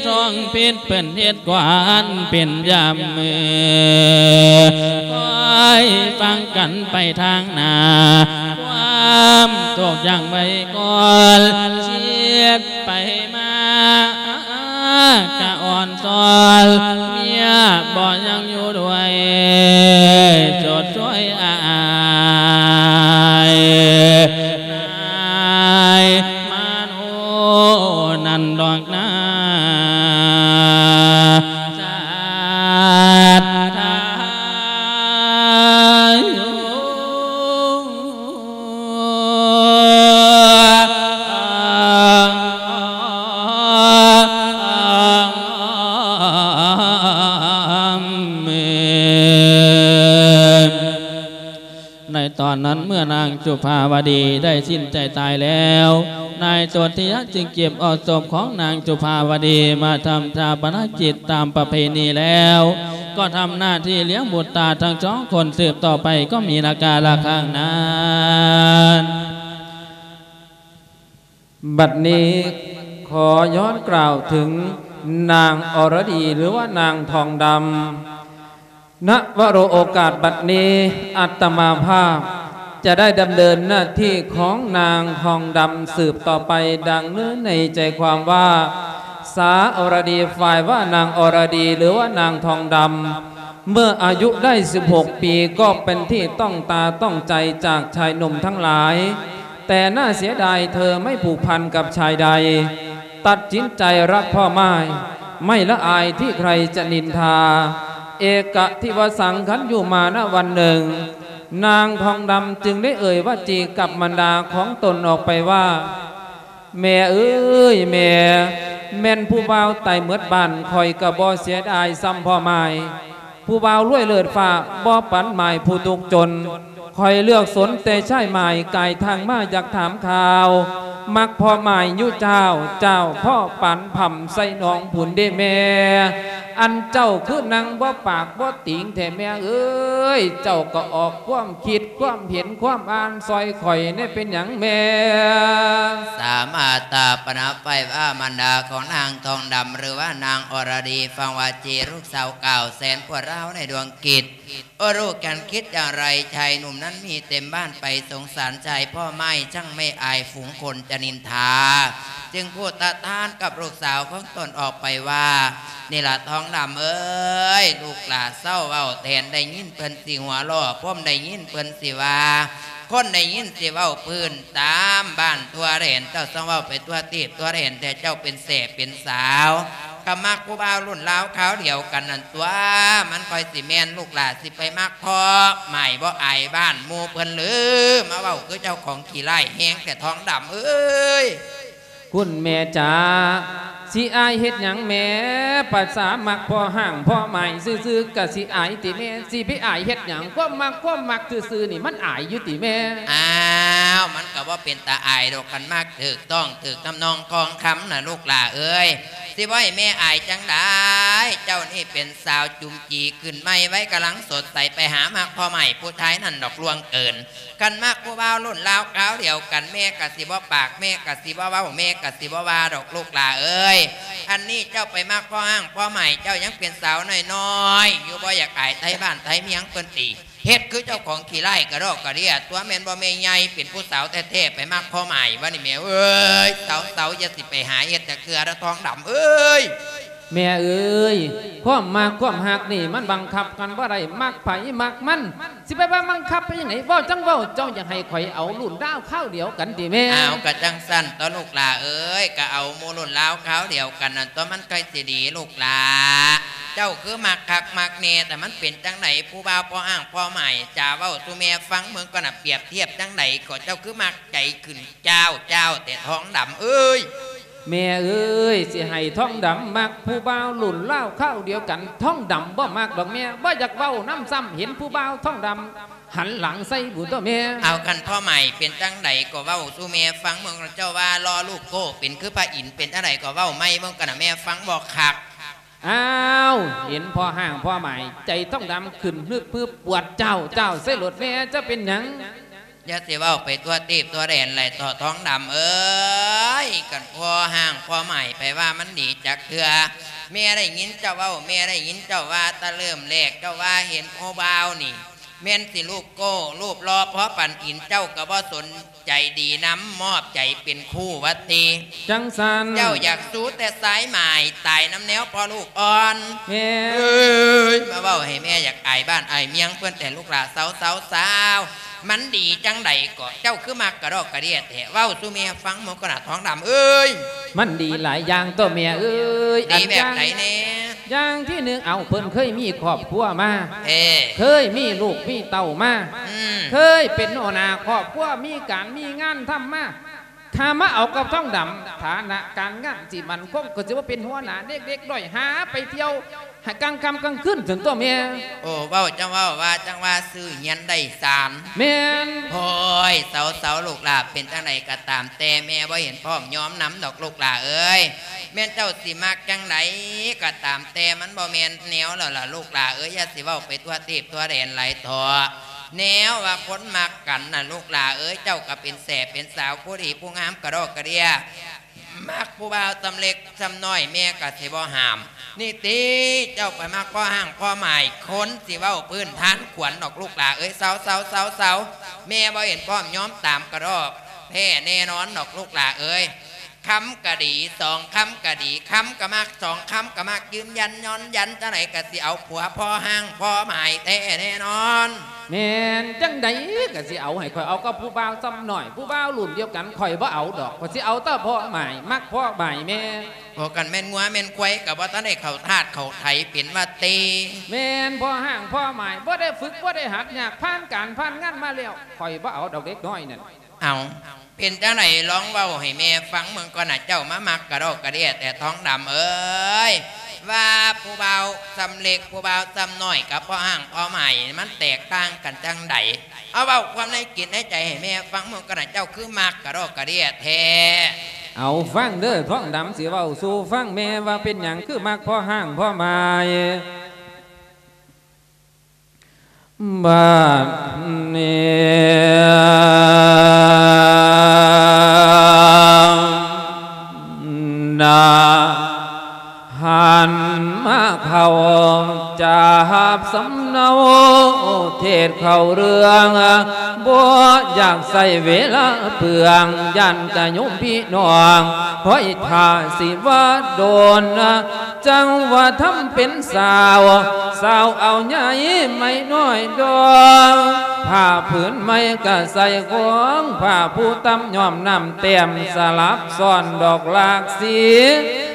ທອງເພັດເພິ່ນເຮັດກວານເປັນຍາມມື້ ຄອຍຟັງກັນໄປທາງໜ້າ ຄວາມຕົກຢ່າງໄວກ່ອນ ເສດໄປມາ ກະອ່ອນຊອນ ເມຍບໍ່ຍັງຢູ່ດ້ວຍ ໂຈດຊ່ວຍອ້າຍ ນາຍມະໂນນັ້ນດອກນາ ສາທາໂຍ ໃນຕອນນັ້ນເມື່ອນາງຈຸພາວະດີໄດ້ສິ້ນໃຈຕາຍແລ້ວ ນາຍໂສທິຍະຈຶ່ງເກັບເອົາສົບຂອງນາງຈຸພາວະດີມາທຳຊາປະນະກິດຕາມປະເພນີແລ້ວ ກໍທຳໜ້າທີ່ລ້ຽງບຸດຕາທັງສອງຄົນສືບຕໍ່ໄປ ກໍມີລະກາລະຄັງນັ້ນ. ບັດນີ້ຂໍຍ້ອນກ່າວເຖິງນາງອະລະດີ ຫຼືວ່ານາງທອງດຳ ນະວະໂລໂອກາດບັດນີ້ ອາດຕະມາພາບຈະໄດ້ດຳເນີນໜ້າທີ່ຂອງນາງທອງດຳສືບຕໍ່ໄປ ດັ່ງເນື້ອໃນໃຈຄວາມວ່າ ສາວອະລະດີ ຝ່າຍວ່ານາງອະລະດີ ຫຼືວ່ານາງທອງດຳ ເມື່ອອາຍຸໄດ້ສິບຫົກປີ ກໍເປັນທີ່ຕ້ອງຕາຕ້ອງໃຈຈາກຊາຍໜຸ່ມທັງຫຼາຍ ແຕ່ໜ້າເສຍດາຍເທີໄມ່ຜູກພັນກັບຊາຍໃດ ຕັດສິນໃຈຮັກພໍ່ໝ້າຍ ໄມ່ລະອາຍທີ່ໃຄຈະນິນທາ ເອກະທິວະສັງ ຄັນຢູ່ມານະວັນໜຶ່ງ ນາງທອງດຳຈຶ່ງໄດ້ເອີ່ຍວາຈີກັບມານດາຂອງຕົນອອກໄປວ່າ ແມ່ເອີຍແມ່ ແມ່ນຜູ້ບ່າວຕາຍໝົດບ້ານ ຂ້ອຍກໍບໍ່ເສຍດາຍສ່ຳພໍ່ໝ້າຍ ຜູ້ບ່າວລວຍເລີດຟ້າ ບໍ່ປັນໝ້າຍຜູ້ທຸກຈົນ ຂ້ອຍເລືອກສົນແຕ່ຊາຍໝ້າຍ ກາຍທາງມາຢາກຖາມຂ່າວ ມັກພໍ່ໝ້າຍຢູ່ເຈົ້າ ເຈົ້າພໍ່ປານພຳໃສ່ໜອງພຸ້ນເດ້ແມ່ ອັນເຈົ້າຄືນັ່ງບໍ່ປາກບໍ່ຕີງແທ້ແມ່ເອີຍ ເຈົ້າກໍອອກຄວາມຄິດຄວາມເຫັນຄວາມອ່ານຊ່ອຍຂ້ອຍແດ່ ເປັນຫຍັງແມ່? ສາມາດຕາປະນະໄຟວ່າມານດາຂອງນາງທອງດຳ ຫຼືວ່ານາງອະລະດີ ຟັງວາຈີລູກສາວກ່າວແສນປວດຮ້າວໃນດວງກິດ ໂອ້ ລູກ ແກ່ນຄິດຢ່າງໃດ ຊາຍໜຸ່ມນັ້ນມີເຕັມບ້ານ ໄປສົງສານຊາຍພໍ່ໝ້າຍ ຊ່າງແມ່ອາຍຝູງຄົນຈະນິນທາ ຈຶ່ງພູດຕະຖານກັບລູກສາວຂອງຕົນອອກໄປວ່າ ນີ້ລະທອງດຳເອີຍ ລູກຫຼ້າເຊົາເວົ້າແທນ ໄດ້ຍິນເພິ່ນຊິຫົວລໍ້ ຜົມໄດ້ຍິນເພິ່ນຊິວ່າ ຄົນໄດ້ຍິນຊິເວົ້າພື້ນຕາມບ້ານທົ່ວແດນ ເຈົ້າຊ່າງເວົ້າໄປທົ່ວທີບທົ່ວແດນແທ້ ເຈົ້າເປັນແສ້ເປັນສາວ ກໍມັກຜູ້ບ່າວລຸ້ນລາວຄາວດຽວກັນນັ້ນຕົວະ ມັນຄ່ອຍຊິແມ່ນ ລູກຫຼ້າຊິໄປມັກພໍ່ໝ້າຍບໍ່ອາຍບ້ານໝູ່ເພິ່ນຫຼື ມາເວົ້າຄືເຈົ້າຂອງຂີ້ຮ້າຍແຮງແທ້ ທອງດຳເອີຍ. ຄຸນແມ່ຈ໋າ ຊິອາຍເຮັດຫຍັງແມ່? ປາສາມັກພໍ່ຮ້າງພໍ່ໝ້າຍຊື່ໆ ກະຊິອາຍຕິແມ່? ຊິໄປອາຍເຮັດຫຍັງ? ຄວາມມັກ ຄວາມມັກຊື່ໆນີ້ ມັນອາຍຢູ່ຕິແມ່? ອ້າວ ມັນກໍບໍ່ເປັນຕາອາຍດອກ ຄັນມັກຖືກຕ້ອງຖືກທຳນອງຄອງຄຳນະ ລູກຫຼ້າເອີຍ. ຊິບໍ່ໃຫ້ແມ່ອາຍຈັ່ງໃດ? ເຈົ້ານີ້ເປັນສາວຈຸມຈີຂຶ້ນໃໝ່ ໄວກຳລັງສົດໃສ ໄປຫາມັກພໍ່ໃໝ່ຜູ້ຊາຍນັ້ນດອກ ລ່ວງເກີນ. ຄັນມັກຜູ້ບ່າວລຸ້ນລາວຄາວດຽວກັນ ແມ່ກະຊິບໍ່ປາກ ແມ່ກະຊິບໍ່ເວົ້າ ແມ່ກະຊິບໍ່ວ່າດອກ ລູກຫຼ້າເອີຍ. ອັນນີ້ເຈົ້າໄປມັກພໍ່ຮ້າງພໍ່ໝ້າຍ ເຈົ້າຍັງເປັນສາວນ້ອຍໆຢູ່ ບໍ່ຢາກອາຍໄທບ້ານໄທເມືອງເພິ່ນຕິ. ເຮັດຄືເຈົ້າຂອງຂີ້ຮ້າຍກະດອກກະເດຍ ຕົວະແມ່ນບໍ່ແມ່ໃຫຍ່ ເປັນຜູ້ສາວແທ້ໆ ໄປມັກພໍ່ໝ້າຍວະນີ້ແມ່ເອີຍ. ເຊົາໆ ຢ່າຊິໄປຫາເຮັດຈັກເທື່ອເດີ ທອງດຳເອີຍ. ແມ່ເອີຍ ຄວາມມັກຄວາມຮັກນີ້ ມັນບັງຄັບກັນບໍ່ໄດ້ ມັກໃຜມັກມັນ ຊິໄປວ່າບັງຄັບໄປຈັ່ງໃດ? ເວົ້າຈັ່ງເວົ້າ ເຈົ້າຢາກໃຫ້ຂ້ອຍເອົາລຸ້ນລາວຄາວດຽວກັນຕິແມ່? ອ້າວ ກະຈັ່ງຊັ້ນຕົວະ ລູກຫຼ້າເອີຍ ກະເອົາໝູ່ລຸ້ນລາວຄາວດຽວກັນນັ້ນຕົວະ ມັນຄ່ອຍຊິດີ ລູກຫຼ້າ. ເຈົ້າຄືມັກຄັກມັກແນ່ ແຕ່ມັນເປັນຈັ່ງໃດ? ຜູ້ບ່າວພໍ່ຮ້າງພໍ່ໝ້າຍ ຈາເວົ້າສູ່ແມ່ຟັງເບິ່ງກ່ອນນະ ປຽບທຽບຈັ່ງໃດກໍ ເຈົ້າຄືມັກໃຈຂຶ້ນຈ້າວໆແທ້ ທອງດຳເອີຍ. ແມ່ເອີຍ ຊິໃຫ້ທອງດຳມັກຜູ້ບ່າວລຸ້ນລາວຄາວດຽວກັນ ທອງດຳບໍ່ມັກດອກແມ່ ບໍ່ຢາກເວົ້ານຳຊ້ຳ ເຫັນຜູ້ບ່າວທອງດຳຫັນຫຼັງໃສ່ບຸຕົວະແມ່. ເອົາ ຄັນພໍ່ໝ້າຍເປັນຈັ່ງໃດກໍເວົ້າສູ່ແມ່ຟັງເບິ່ງ ເຈົ້າວ່າຫຼໍ່ລູກໂກ້ ເປັນຄືພະອິນ ເປັນຈັ່ງໃດກໍເວົ້າໃໝ່ເບິ່ງກັນນະ ແມ່ຟັງບໍ່ຄັກ. ອ້າວ ເຫັນພໍ່ຮ້າງພໍ່ໝ້າຍ ໃຈທອງດຳຂຶ້ນຮຶບຮຶບ ປວດຈ້າວຈ້າວໃສ່ໂລດແມ່ ເຈົ້າເປັນຫຍັງ? ຢ່າຊິເວົ້າໄປທົ່ວທີບທົ່ວແດນຫຼາຍເຖາະ ທອງດຳເອີຍ. ຄັນພໍ່ຮ້າງພໍ່ໝ້າຍ ໃຜວ່າມັນດີຈັກເທື່ອ. ແມ່ໄດ້ຍິນເຈົ້າເວົ້າ ແມ່ໄດ້ຍິນເຈົ້າວ່າ ແຕ່ເລີ່ມແລກເຈົ້າວ່າເຫັນຜູ້ບ່າວນີ້ ແມ່ນຊິຮູບໂກ້ຮູບຫຼໍ່ພໍປານອິນ ເຈົ້າກໍບໍ່ສົນໃຈດີນຳ ມອບໃຈເປັນຄູ່ວ່າຕິ. ຈັ່ງຊັ້ນ ເຈົ້າຢາກຊູແຕ່ຊາຍໝ້າຍ ຕາຍນຳແນວພໍ່ລູກອ່ອນ. ແມ່ ເອີຍ ມາເວົ້າໃຫ້ແມ່ຢາກອາຍບ້ານອາຍເມືອງເພິ່ນແທ້ ລູກຫຼ້າ ເຊົາໆໆ. ມັນດີຈັ່ງໃດເກາະ? ເຈົ້າຄືມັກກະດອກກະເດຍແທ້? ເວົ້າສູ່ແມ່ຟັງເບິ່ງກ່ອນນະ ທອງດຳເອີຍ. ມັນດີຫຼາຍຢ່າງຕົວະແມ່ເອີຍ. ດີແບບໃດແດ່? ອັນຢ່າງ ຢ່າງທີໜຶ່ງ ເອົາ ເພິ່ນເຄີຍມີຄອບຄົວມາ ເອີ ເຄີຍມີລູກມີເຕົ້າມາ ອືມ ເຄີຍເປັນຫົວໜ້າຄອບຄົວ ມີການມີງານທຳມາ. ຖ້າມາເອົາກັບທອງດຳ ຖານະການງານຊິໝັ້ນຄົງ ກໍຊິວ່າເປັນຫົວໜ້າເດັກໆນ້ອຍ ຫາໄປທ່ຽວໃຫ້ກາງຄ່ຳກາງຄືນຊັ້ນຕົວະແມ່. ໂອ້ ເວົ້າຈັ່ງເວົ້າ ວ່າຈັ່ງວ່າ ຊື່ຮຽນໄດ້ສານ. ແມ່ນ. ໂອ້ຍ ເຊົາໆ ລູກຫຼ້າ ເປັນຈັ່ງໃດກໍຕາມແຕ່ ແມ່ບໍ່ເຫັນພ້ອມຍອມນຳດອກ ລູກຫຼ້າເອີຍ. ແມ່ນເຈົ້າຊິມັກຈັ່ງໃດກໍຕາມແຕ່ ມັນບໍ່ແມ່ນແນວແລ້ວລະ ລູກຫຼ້າເອີຍ. ຢ່າຊິເວົ້າໄປທົ່ວທີບທົ່ວແດນຫຼາຍເຖາະ. ແນວວ່າຄົນມັກກັນນະ ລູກຫຼ້າເອີຍ ເຈົ້າກໍເປັນແສເປັນສາວ ຜູ້ດີຜູ້ງາມກະດອກກະເດຍ ມັກຜູ້ບ່າວສ່ຳເລັກສ່ຳນ້ອຍ ແມ່ກໍຊິບໍ່ຫ້າມ. ນີ້ຕິ ເຈົ້າໄປມັກພໍ່ຮ້າງພໍ່ໝ້າຍ ຄົນຊິເວົ້າພື້ນທານຂວັນດອກ ລູກຫຼ້າເອີຍ. ເຊົາໆໆໆ ແມ່ບໍ່ເຫັນພ້ອມຍອມຕາມກະດອກແທ້ແນ່ນອນດອກ ລູກຫຼ້າເອີຍ. ຄຳກະດີ ສອງຄຳກະດີ ຄຳກະມັກ ສອງຄຳກະມັກ ຢືນຢັນຍ້ອນຢັນ ຈັ່ງໃດກະຊິເອົາຜົວພໍ່ຮ້າງພໍ່ໝ້າຍແທ້ແນ່ນອນ. ແມ່ນຈັ່ງໃດກະຊິເອົາ ໃຫ້ຂ້ອຍເອົາກັບຜູ້ບ່າວສ່ຳນ້ອຍ ຜູ້ບ່າວລຸ້ນດຽວກັນ ຂ້ອຍບໍ່ເອົາດອກ ຂ້ອຍຊິເອົາແຕ່ພໍ່ໝ້າຍ ມັກພໍ່ໝ້າຍແມ່. ໂອ້ ຄັນແມ່ນງົວແມ່ນຄວາຍ ກະບໍ່ທັນໄດ້ເຂົ້າທາດເຂົ້າໄຖເປັນວ່າຕິ. ແມ່ນ ພໍ່ຮ້າງພໍ່ໝ້າຍ ບໍ່ໄດ້ຝຶກບໍ່ໄດ້ຫັດ ຍາກຜ່ານການຜ່ານງານມາແລ້ວ ຂ້ອຍບໍ່ເອົາດອກເດັກນ້ອຍນັ້ນ. ເອົາ ເປັນຈັ່ງໃດ ລອງເວົ້າໃຫ້ແມ່ຟັງເບິ່ງກ່ອນນະ ເຈົ້າມາມັກກະດອກກະເດຍແທ້ ທອງດຳເອີຍ. ວ່າຜູ້ບ່າວສ່ຳເລັກ ຜູ້ບ່າວສ່ຳນ້ອຍ ກັບພໍ່ຮ້າງພໍ່ໝ້າຍ ມັນແຕກຕ່າງກັນຈັ່ງໃດ? ເອົາ ເວົ້າຄວາມໃນຈິດໃນໃຈໃຫ້ແມ່ຟັງເບິ່ງກ່ອນນະ ເຈົ້າຄືມັກກະດອກກະເດຍແທ້. ເອົາ ຟັງເດີ ທອງດຳຊິເວົ້າສູ່ຟັງ ແມ່ວ່າເປັນຫຍັງຄືມັກພໍ່ຮ້າງພໍ່ໝ້າຍ. ບາດນີ້ນະ ຫັນມາເຂົ້າຈາບສຳເນົາ ເທດເຂົ້າເລື່ອງ ບໍ່ຢາກໃຊ້ເວລາເປືອງ ຢ້ານຈະໂຍມພີ່ນ້ອງ ຄອຍຖ້າຊິວ່າດົນ ຈັ່ງວ່າທຳເປັນສາວ ສາວເອົາໃຫຍ່ໄມ້ນ້ອຍດອງ ຜ້າຜືນໃໝ່ກະໃສ່ຂອງ ຜ້າພູຕຳຍ້ອມນ້ຳແຕ້ມ ສະຫຼັບຊ້ອນດອກຫຼາກສີ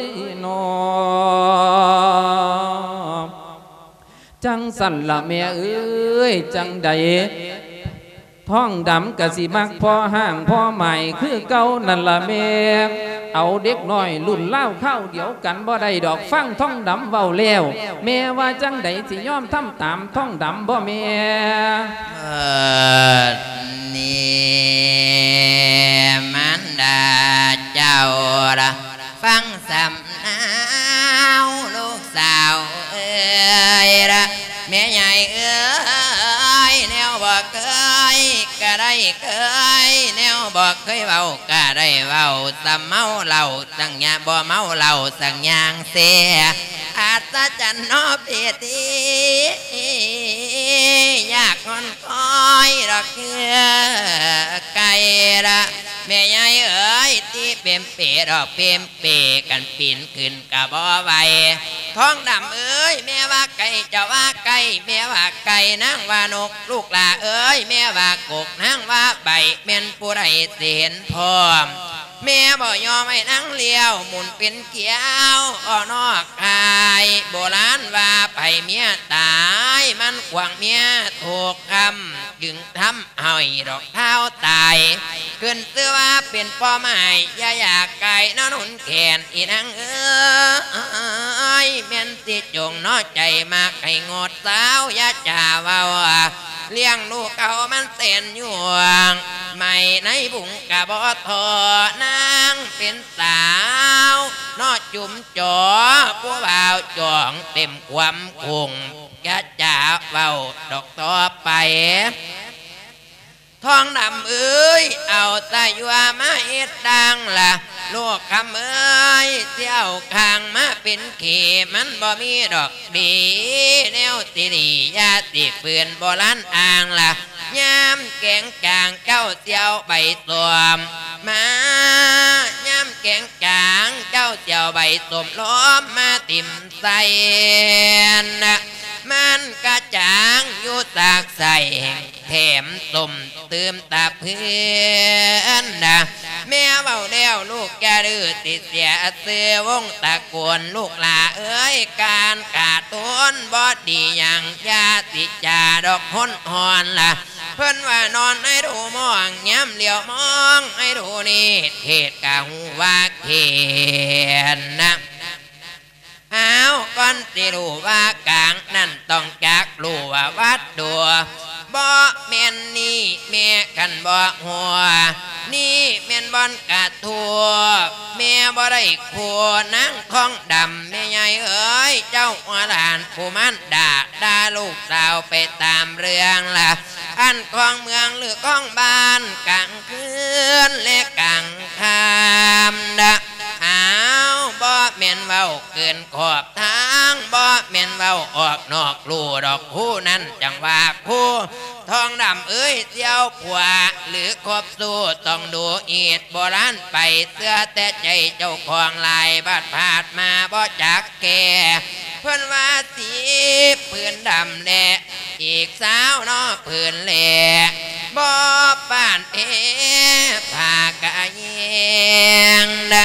ຍ ເນາະ ຈັ່ງຊັ້ນລະແມ່ເອີຍ ຈັ່ງໃດ ທອງດຳກະຊິມັກພໍ່ຮ້າງພໍ່ໝ້າຍຄືເກົ່ານັ້ນລະແມ່. ເອົາເດັກນ້ອຍລຸ້ນລາວຄາວດຽວກັນບໍ່ໄດ້ດອກ. ຟັງທອງດຳເວົ້າແລ້ວ ແມ່ວ່າຈັ່ງໃດ ຊິຍອມທຳຕາມທອງດຳບໍ່ແມ່? ເອີ ນີ້ມານດາເຈົ້າລະ ຟັງສຳນາວລູກສາວເອີຍລະ ແມ່ໃຫຍ່ເອີຍ ແນວບໍ່ເຄີຍ ກໍໄດ້ເຄີຍ ແນວບໍ່ເຄີຍເວົ້າກໍໄດ້ເວົ້າ ສ່ຳເມົາເຫຼົ້າສັງຍາ ບໍ່ເມົາເຫຼົ້າສັງຍາງເສຍ ອັດສະຈັນເນາະເພຕີ ຢາກຮອນຄອຍດອກເຄືອໄກ່ລະ ແມ່ໃຫຍ່ເອີຍ ຕີເປັມເປດອກເປັມ ເປກັນປີນຂຶ້ນກະບໍ່ໄຫວ ທອງດຳເອີຍ ແມ່ວ່າໄກ່ເຈົ້າວ່າໄກ່ ແມ່ວ່າໄກ່ນາງວ່ານົກ ລູກຫຼ້າເອີຍ ແມ່ວ່າກົກນາງວ່າໃບ ແມ່ນຜູ້ໃດຊິເຫັນພ້ອມ ແມ່ບໍ່ຍອມໃຫ້ນາງລ້ຽວ ໝູນເປັນກ້ຽວ ອອກນອກກາຍ ໂບລານວ່າໃຜເມຍຕາຍ ມັນຂວາງເມຍທຸກຄ່ຳ ຈຶ່ງທຳ ເອົາດອກທ້າວຕາຍ ຂຶ້ນຊື່ວ່າເປັນພໍ່ໝ້າຍ ຢ່າຢາກກາຍນອນໜູນແຂນ ອີນາງເອີຍ ແມ່ນຊິຈົງເນາະໃຈມັກໃຫ້ງົດສາວ ຢ່າຈາເວົ້າ ລ້ຽງລູກເອົາມັນແສນຍວງ ໄໝໃນບຸງກະບໍ່ທໍ່ ນາງເປັນສາວເນາະຈຸ້ມຈໍ ຜູ້ບ່າວຈອງເຕັມຄວາມຄົງ ຢ່າຈາເວົ້າດອກຕໍ່ໄປ ທອງດຳເອີຍ ເອົາສາຍົວມາເຮັດດັ່ງລະ ລູກຄຳເອີຍ ຊິເອົາຂ້າງມາເປັນເຂ ມັນບໍ່ມີດອກດີ ແນວຊິດີ ຢ່າຊິຝືນໂບລານອ້າງລະ ຍາມແກງຈາງເຈົ້າຊິເອົາໃບສົ້ມມາ ຍາມແກງຈາງເຈົ້າຊິເອົາໃບສົ້ມລອມມາຖິ້ມໃສ່ນະ ມັນກະຈາງຢູ່ສາກໃສ່ ແຖມສົ້ມຕື່ມຕາເພື່ອນນະ ແມ່ເວົ້າແລ້ວລູກຢ່າດື້ ຊິເສຍຊື່ວົງຕະໂກນ ລູກຫຼ້າເອີຍ ການຂາດທຸນບໍ່ດີຫຍັງ ຢ່າຊິຈາດອກຫົນຮອນລະ ເພິ່ນວ່ານອນໃຫ້ດູມອງ ຍາມຫຼຽວມອງໃຫ້ດູນີ້ ເທດກະຮູ້ວ່າເຂດນະ ອ້າວ ກ່ອນຊິຮູ້ວ່າກາງນັ້ນ ຕ້ອງຈັກຮູ້ວ່າວັດດູ ບໍ່ແມ່ນນີ້ແມ່ຄັນບໍ່ຮູ້ ນີ້ແມ່ນບ່ອນກະທູບ ແມ່ບໍ່ໄດ້ຄູ່ນາງທອງດຳ ແມ່ໃຫຍ່ເອີຍ ເຈົ້າຫົວຫຼານຜູ້ມານດາ ດ່າລູກສາວໄປຕາມເລື່ອງລະ ອັນຂອງເມືອງຫຼືຂອງບ້ານ ກາງຄືນແລະກາງຄ່ຳນະ ອ້າວ ບໍ່ແມ່ນເວົ້າເກີນຂອບທາງ ບໍ່ແມ່ນເວົ້າອອກນອກລູດອກ ຄູ່ນັ້ນຈັ່ງວ່າຄູ່ ທອງດຳເອີຍ ສ່ຽວຜົວຫຼືຄົບຊູ້ ຕ້ອງດູອີດ ໂບລານໄປ ເຊື່ອແຕ່ໃຈເຈົ້າຂອງຫຼາຍ ບາດພາດມາບໍ່ຈັກແກ່ ເພິ່ນວ່າສີຜືນດຳແລະ ອີກຊາວເນາະຜືນແລະ ບໍ່ປານເພຜ້າກະແຍງນະ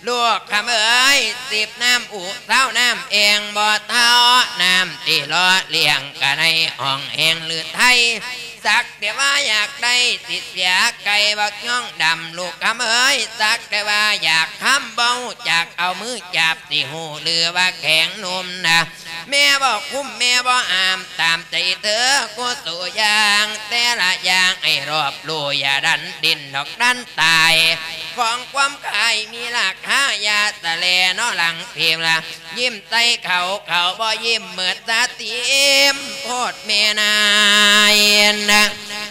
ລູກຄຳເອີຍ ສິບນ້ຳອຸ ຊາວນ້ຳແອ່ງ ບໍ່ເທົ່ານ້ຳທີ່ຫຼໍ່ລ້ຽງກະໃນຫ້ອງແຫ່ງລືໄທ ສັກແຕ່ວ່າຢາກໄດ້ ຊິເສຍໄກ່ບັກຍອງດຳ ລູກຄຳເອີຍ ສັກແຕ່ວ່າຢາກຄຳ ບໍ່ຮູ້ຈັກເອົາມືຈັບ ຊິຮູ້ຫຼືວ່າແຂງໜຸ່ມນະ ແມ່ບໍ່ຄຸມ ແມ່ບໍ່ຫ້າມ ຕາມໃຈເທີ ກູສູ່ຢ່າງ ແຕ່ລະຢ່າງໃຫ້ຮອບຮູ້ ຢ່າດັນດິ້ນດອກດັນຕາຍ ຂອງຄວາມຂາຍມີລາຄາ ຢ່າສະແລເນາະຫຼັງພິມລະ ຍິ້ມໃສ່ເຂົາ ເຂົາບໍ່ຍິ້ມ ເໝິດສາຕິມໂພດແມ່ນາຍນະ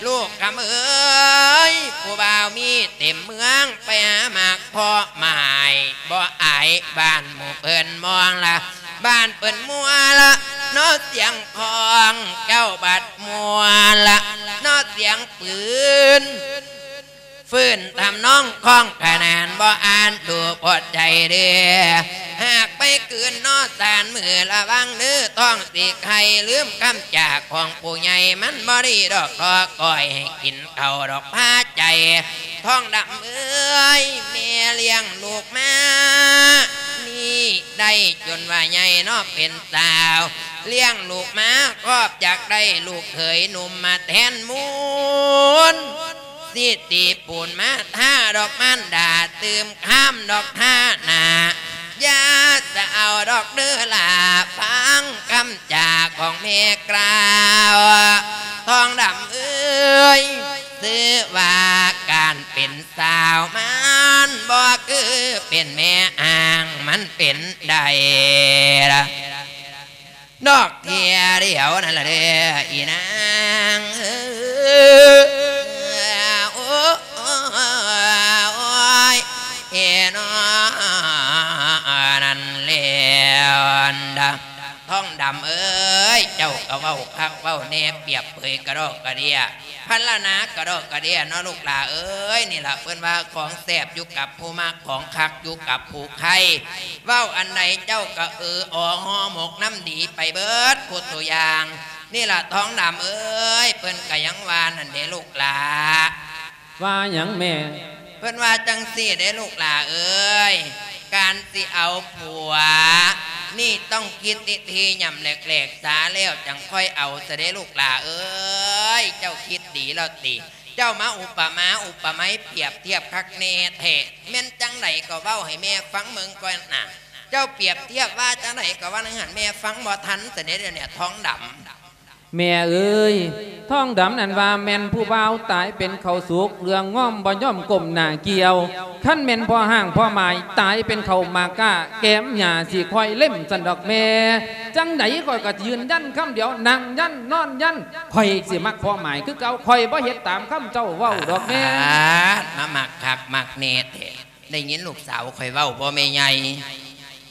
ລູກຄຳເອີຍ ຜູ້ບ່າວມີເຕັມເມືອງ ໄປຫາໝາກເພາະໝາຍ ບໍ່ອາຍບ້ານໝູ່ເພິ່ນມອງລະ ບ້ານເພິ່ນມົວລະເນາະ ສຽງຂອງເຈົ້າບັດມົວລະເນາະ ສຽງປືນ ຟື້ນທຳນອງຂອງຂະໜານ ບໍ່ອ່ານດູພໍດໃຈເດີ້ ຫາກໄປຄືນເນາະສານ ມື້ລະວັງເດີ້ ທ້ອງຊິໄຄ ລືມຄຳຈາຂອງຜູ້ໃຫຍ່ ມັນບໍ່ດີດອກ ຂໍກ້ອຍໃຫ້ກິນເຂົ້າດອກພາໃຈ ທອງດຳເອີຍ ແມ່ລ້ຽງລູກມານີ້ ໄດ້ຈົນວ່າໃຫຍ່ເນາະເປັນສາວ ລ້ຽງລູກມາຄອບ ຢາກໄດ້ລູກເຂີຍໜຸ່ມມາແທນມູນ ຊິຕີປູນມາທາດອກມານດາ ຕື່ມຄາມດອກທາໜ້າ ຢ່າສະເອົາດອກເດີ້ຫຼ້າ ຟັງຄຳຈາຂອງແມ່ກ່າວ ທອງດຳເອີຍ ຊື່ວ່າການເປັນ ສາວມັນບໍ່ຄືເປັນແມ່ອ້າງ ມັນເປັນໄດ້ລະ ນອກເທື່ອດຽວນັ້ນລະເດີ້ ອີນາງເອີຍ. เจ้าก็เว้าคักเว้าแน่ เปรียบเปยกะดอกกะเดี้ย พรรณนากะดอกกะเดี้ยเนาะลูกหล่าเอ้ย นี่ล่ะเพิ่นว่าของแซ่บอยู่กับผู้มัก ของคักอยู่กับผู้ใคร่ เว้าอันใดเจ้าก็เออออห่อหมกนำดีไปเบิดคู่ตัวอย่าง นี่ล่ะทองดำเอ้ย เพิ่นก็ยังว่านั่นเด้ลูกหล่า ว่าหยังแม่ เพิ่นว่าจั่งซี้เด้ลูกหล่าเอ้ย การสิเอาผัว นี่ต้องคิดดีๆ ย่ำแหลกๆ ซาแล้วจั่งค่อยเอาซะเด้ลูกหล่าเอ้ย เจ้าคิดดีแล้วติ เจ้ามาอุปมาอุปไมยเปรียบเทียบคักแน่แท้ แม่นจั่งใดก็เว้าให้แม่ฟังเบิ่งก่อนน่ะ เจ้าเปรียบเทียบว่าจั่งใดก็ว่าจั่งหั้น แม่ฟังบ่ทันซะเด้เดี๋ยวนี้ทองดำ แม่เอ้ย ทองดำนั่นว่าแม่นผู้บ่าวตายเป็นข้าวสุก เหลืองงอมบ่ยอมก้มหน้าเกี่ยว คันแม่นพ่อฮ้างพ่อหมายตายเป็นข้าวหมากก้า แกมหญ้าสิค่อยเล็มซั้นดอกแม่ จั่งใดข้อยก็ยืนยันคำเดียว นั่งยันนอนยัน ข้อยสิมักพ่อหมายคือเก่า ข้อยบ่เฮ็ดตามคำเจ้าเว้าดอกแม่ อาด มามักคักมักแน่แท้ ได้ยินลูกสาวข้อยเว้าบ่แม่ใหญ่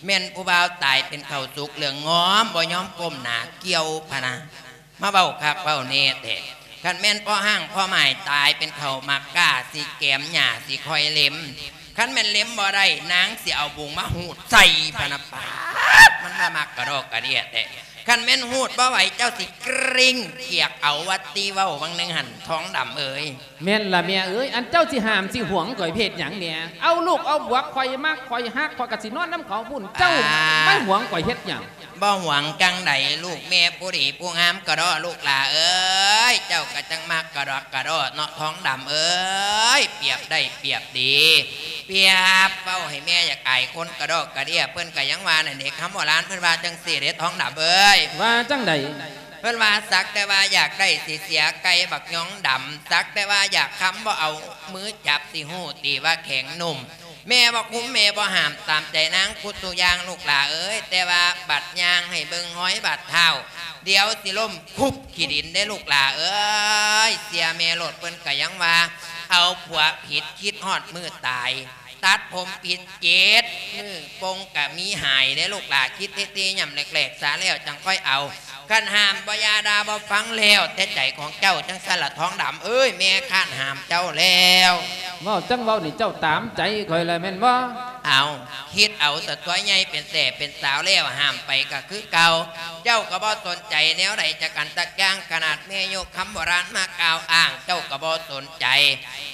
แม่นผู้บ่าวตายเป็นข้าวสุก เหลืองงอมบ่ยอมก้มหน้าเกี่ยวพะนะ มาเว้าคักเว้าแน่แท้ คันแม่นพ่อฮ้างพ่อหมายตายเป็นข้าวหมากก้า สิแกมหญ้าสิค่อยเล็ม คันแม่นเล็มบ่ได้ นางสิเอาบุงมาหูดใส่พะนะ ป๊าด มันมามักกะดอกกะเดี้ยแท้ คันแม่นหูดบ่ไหว เจ้าสิกริ้งเขียกเอา ว่าติ เว้าวังหนึ่งหั้น ทองดำเอ้ย แม่นล่ะแม่เอ้ย อันเจ้าสิห้ามสิหวงข้อยไปเฮ็ดหยังแม่ เอาลูกเอาผัวข้อยมักข้อยฮัก ข้อยก็สินอนนำเขาพุ้น เจ้า อ่า มาหวงข้อยเฮ็ดหยัง บ่หวงจั่งใด ลูกแม่ผู้ดีผู้งามกะด้อ ลูกหล่าเอ้ย เจ้าก็จั่งมักกะดอกกะด้อเนาะ ทองดำเอ้ย เปรียบได้เปรียบดี เปรียบเว้าให้แม่อยากอายคนกะดอกกะเดี้ย เพิ่นก็ยังว่านั่นเด้ คำโบราณเพิ่นว่าจั่งซี้เด้ ทองดำเอ้ย ว่าจั่งใด เพิ่นว่าสักแต่ว่าอยากได้สิเสียไก่บักยองดำ สักแต่ว่าอยากคำบ่เอามือจับสิฮู้ติว่าแข็งนุ่ม แม่บ่คุมแม่บ่ห้าม ตามใจนางคุดสู่อย่างลูกหล่าเอ้ย แต่ว่าบัดย่างให้เบิ่งฮอยบาดเท้า เดี๋ยวสิล้มคุบขี้ดินเด้ลูกหล่าเอ้ย เสียแม่โลด เพิ่นก็ยังว่า เอาผัวผิดคิดฮอดมื้อตาย ตัดผมผิดเจ็ดมื้อปงกะมีหายเด้ลูกหล่า คิดเท่ๆ ย่ำแหลกๆ ซาแล้วจั่งค่อยเอา คันห้ามบ่อย่าด่าบ่ฟัง แล้วแต่ใจของเจ้าจั่งซั้นล่ะทองดำเอ้ย แม่ค้านห้ามเจ้าแล้ว เว้าจั่งเว้านี่เจ้าตามใจข้อยแล้วแม่นบ่ เอา คิดเอาซะตั๊ว ใหญ่เป็นแท้เป็นสาวแล้ว ห้ามไปก็คือเก่า เจ้าก็บ่สนใจแนวใดจักอันจักอย่าง ขนาดแม่ยกคำโบราณมากล่าวอ้าง เจ้าก็บ่สนใจ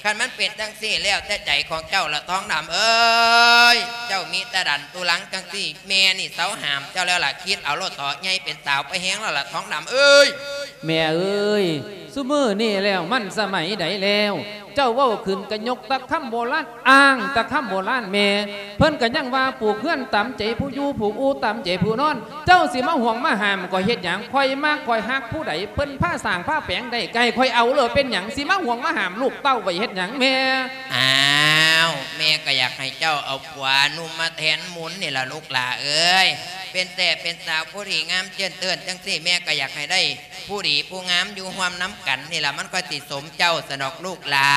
คันมันเป็นจั่งซี้ แล้วแต่ใจของเจ้าละทองดำเอ้ย เจ้ามีแต่ดันตุลังจั่งซี้ แม่นี่เซาห้ามเจ้าแล้วล่ะ คิดเอาโลดเถาะ ใหญ่เป็นสาวไปแฮงแล้วล่ะทองดำเอ้ย แม่เอ้ย ซุมื้อนี้แล้วมันสมัยใดแล้ว เจ้าเว้าขึ้นก็ยกแต่คำโบราณ อ้างแต่คำโบราณแม่ เพิ่นก็ยังว่าปลูกเฮือนตามใจผู้อยู่ ผูกอู่ตามใจผู้นอน เจ้าสิมาห่วงมาห้ามข้อยเฮ็ดหยัง ข้อยมักข้อยฮักผู้ใด เพิ่นพาสร้างพาแปลงได้ ก็ให้ข้อยเอาโลด เป็นหยังสิมาห่วงมาห้ามลูกเต้าไว้เฮ็ดหยังแม่ อ้าว แม่ก็อยากให้เจ้าเอาผัวหนุ่มมาแทนหมุนนี่ล่ะลูกหล่าเอ้ย เป็นแท้เป็นสาวผู้ดีงามเจิ่นเติ่นจั่งซี้ แม่ก็อยากให้ได้ ผู้ดีผู้งามอยู่ร่วมนำกันนี่ล่ะ มันก็สิสมเจ้าสนอกลูกหล่า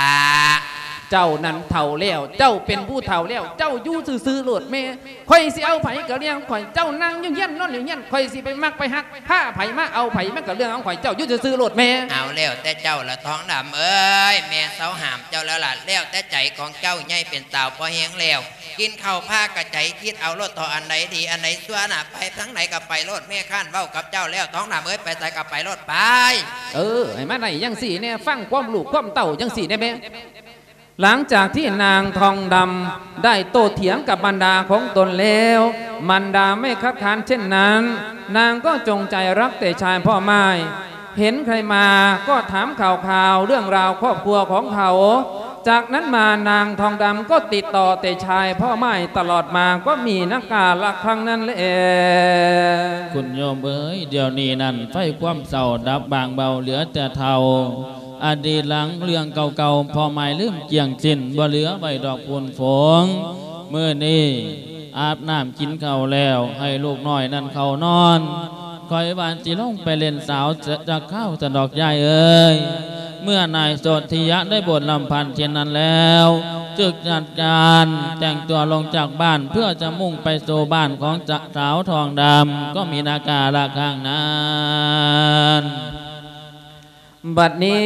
เจ้านั้นเฒ่าแล้ว เจ้าเป็นผู้เฒ่าแล้ว เจ้าอยู่ซื่อๆโลดแม่ ข้อยสิเอาไผก็เรื่องข้อย เจ้านั่งอยู่เฮียนนอนอยู่เฮียน ข้อยสิไปมักไปฮัก พาไผมาเอาไผมันก็เรื่องของข้อย เจ้าอยู่ซื่อๆโลดแม่ เอาแล้วแต่เจ้าละทองดำเอ้ย แม่เซาห้ามเจ้าแล้วล่ะ แล้วแต่ใจของเจ้า ใหญ่เป็นสาวพอแฮงแล้ว กินข้าวพากะใจ คิดเอาโลดเถาะ อันใดดีอันใดชั่วน่ะ ไปทางไหนก็ไปโลด แม่ค้านเว้ากับเจ้าแล้ว ทองดำเอ้ย ไปไสก็ไปโลด ไป เออ ให้มาได้จั่งซี้แน่ ฟังความลูกความเต้าจั่งซี้แน่แม่ หลังจากที่นางทองดำได้โต้เถียงกับบรรดาของตนแล้ว บรรดาไม่คัดค้านเช่นนั้น นางก็จงใจรักแต่ชายพ่อม่าย เห็นใครมาก็ถามข่าวคราวเรื่องราวครอบครัวของเขา จากนั้นมานางทองดำก็ติดต่อแต่ชายพ่อม่ายตลอดมา ก็มีนักกาละครั้งนั้นแล คุณโยมเอ๋ย เดี๋ยวนี้นั้นไฟความเศร้าดับบางเบา เหลือแต่เฒ่า อดีตหลังเรื่องเก่าๆ พ่อม่ายลืมเกลี้ยงสิ้น บ่เหลือไว้ดอกฝุ่นฝง มื้อนี้อาบน้ำกินข้าวแล้ว ให้ลูกน้อยนั้นเข้านอน ข้อยว่าสิลงไปเล่นสาวจักคราวซั้นดอกยายเอ๋ย เมื่อนายโสธิยะได้บวชลำพันธ์เช่นนั้นแล้ว ຕຶກຈັດການແຕ່ງຕົວລົງຈາກບ້ານ ເພື່ອຈະມຸ່ງໄປສູ່ບ້ານຂອງສາວທອງດຳ ກໍມີນາກາລະຂ້າງນັ້ນ. ບັດນີ້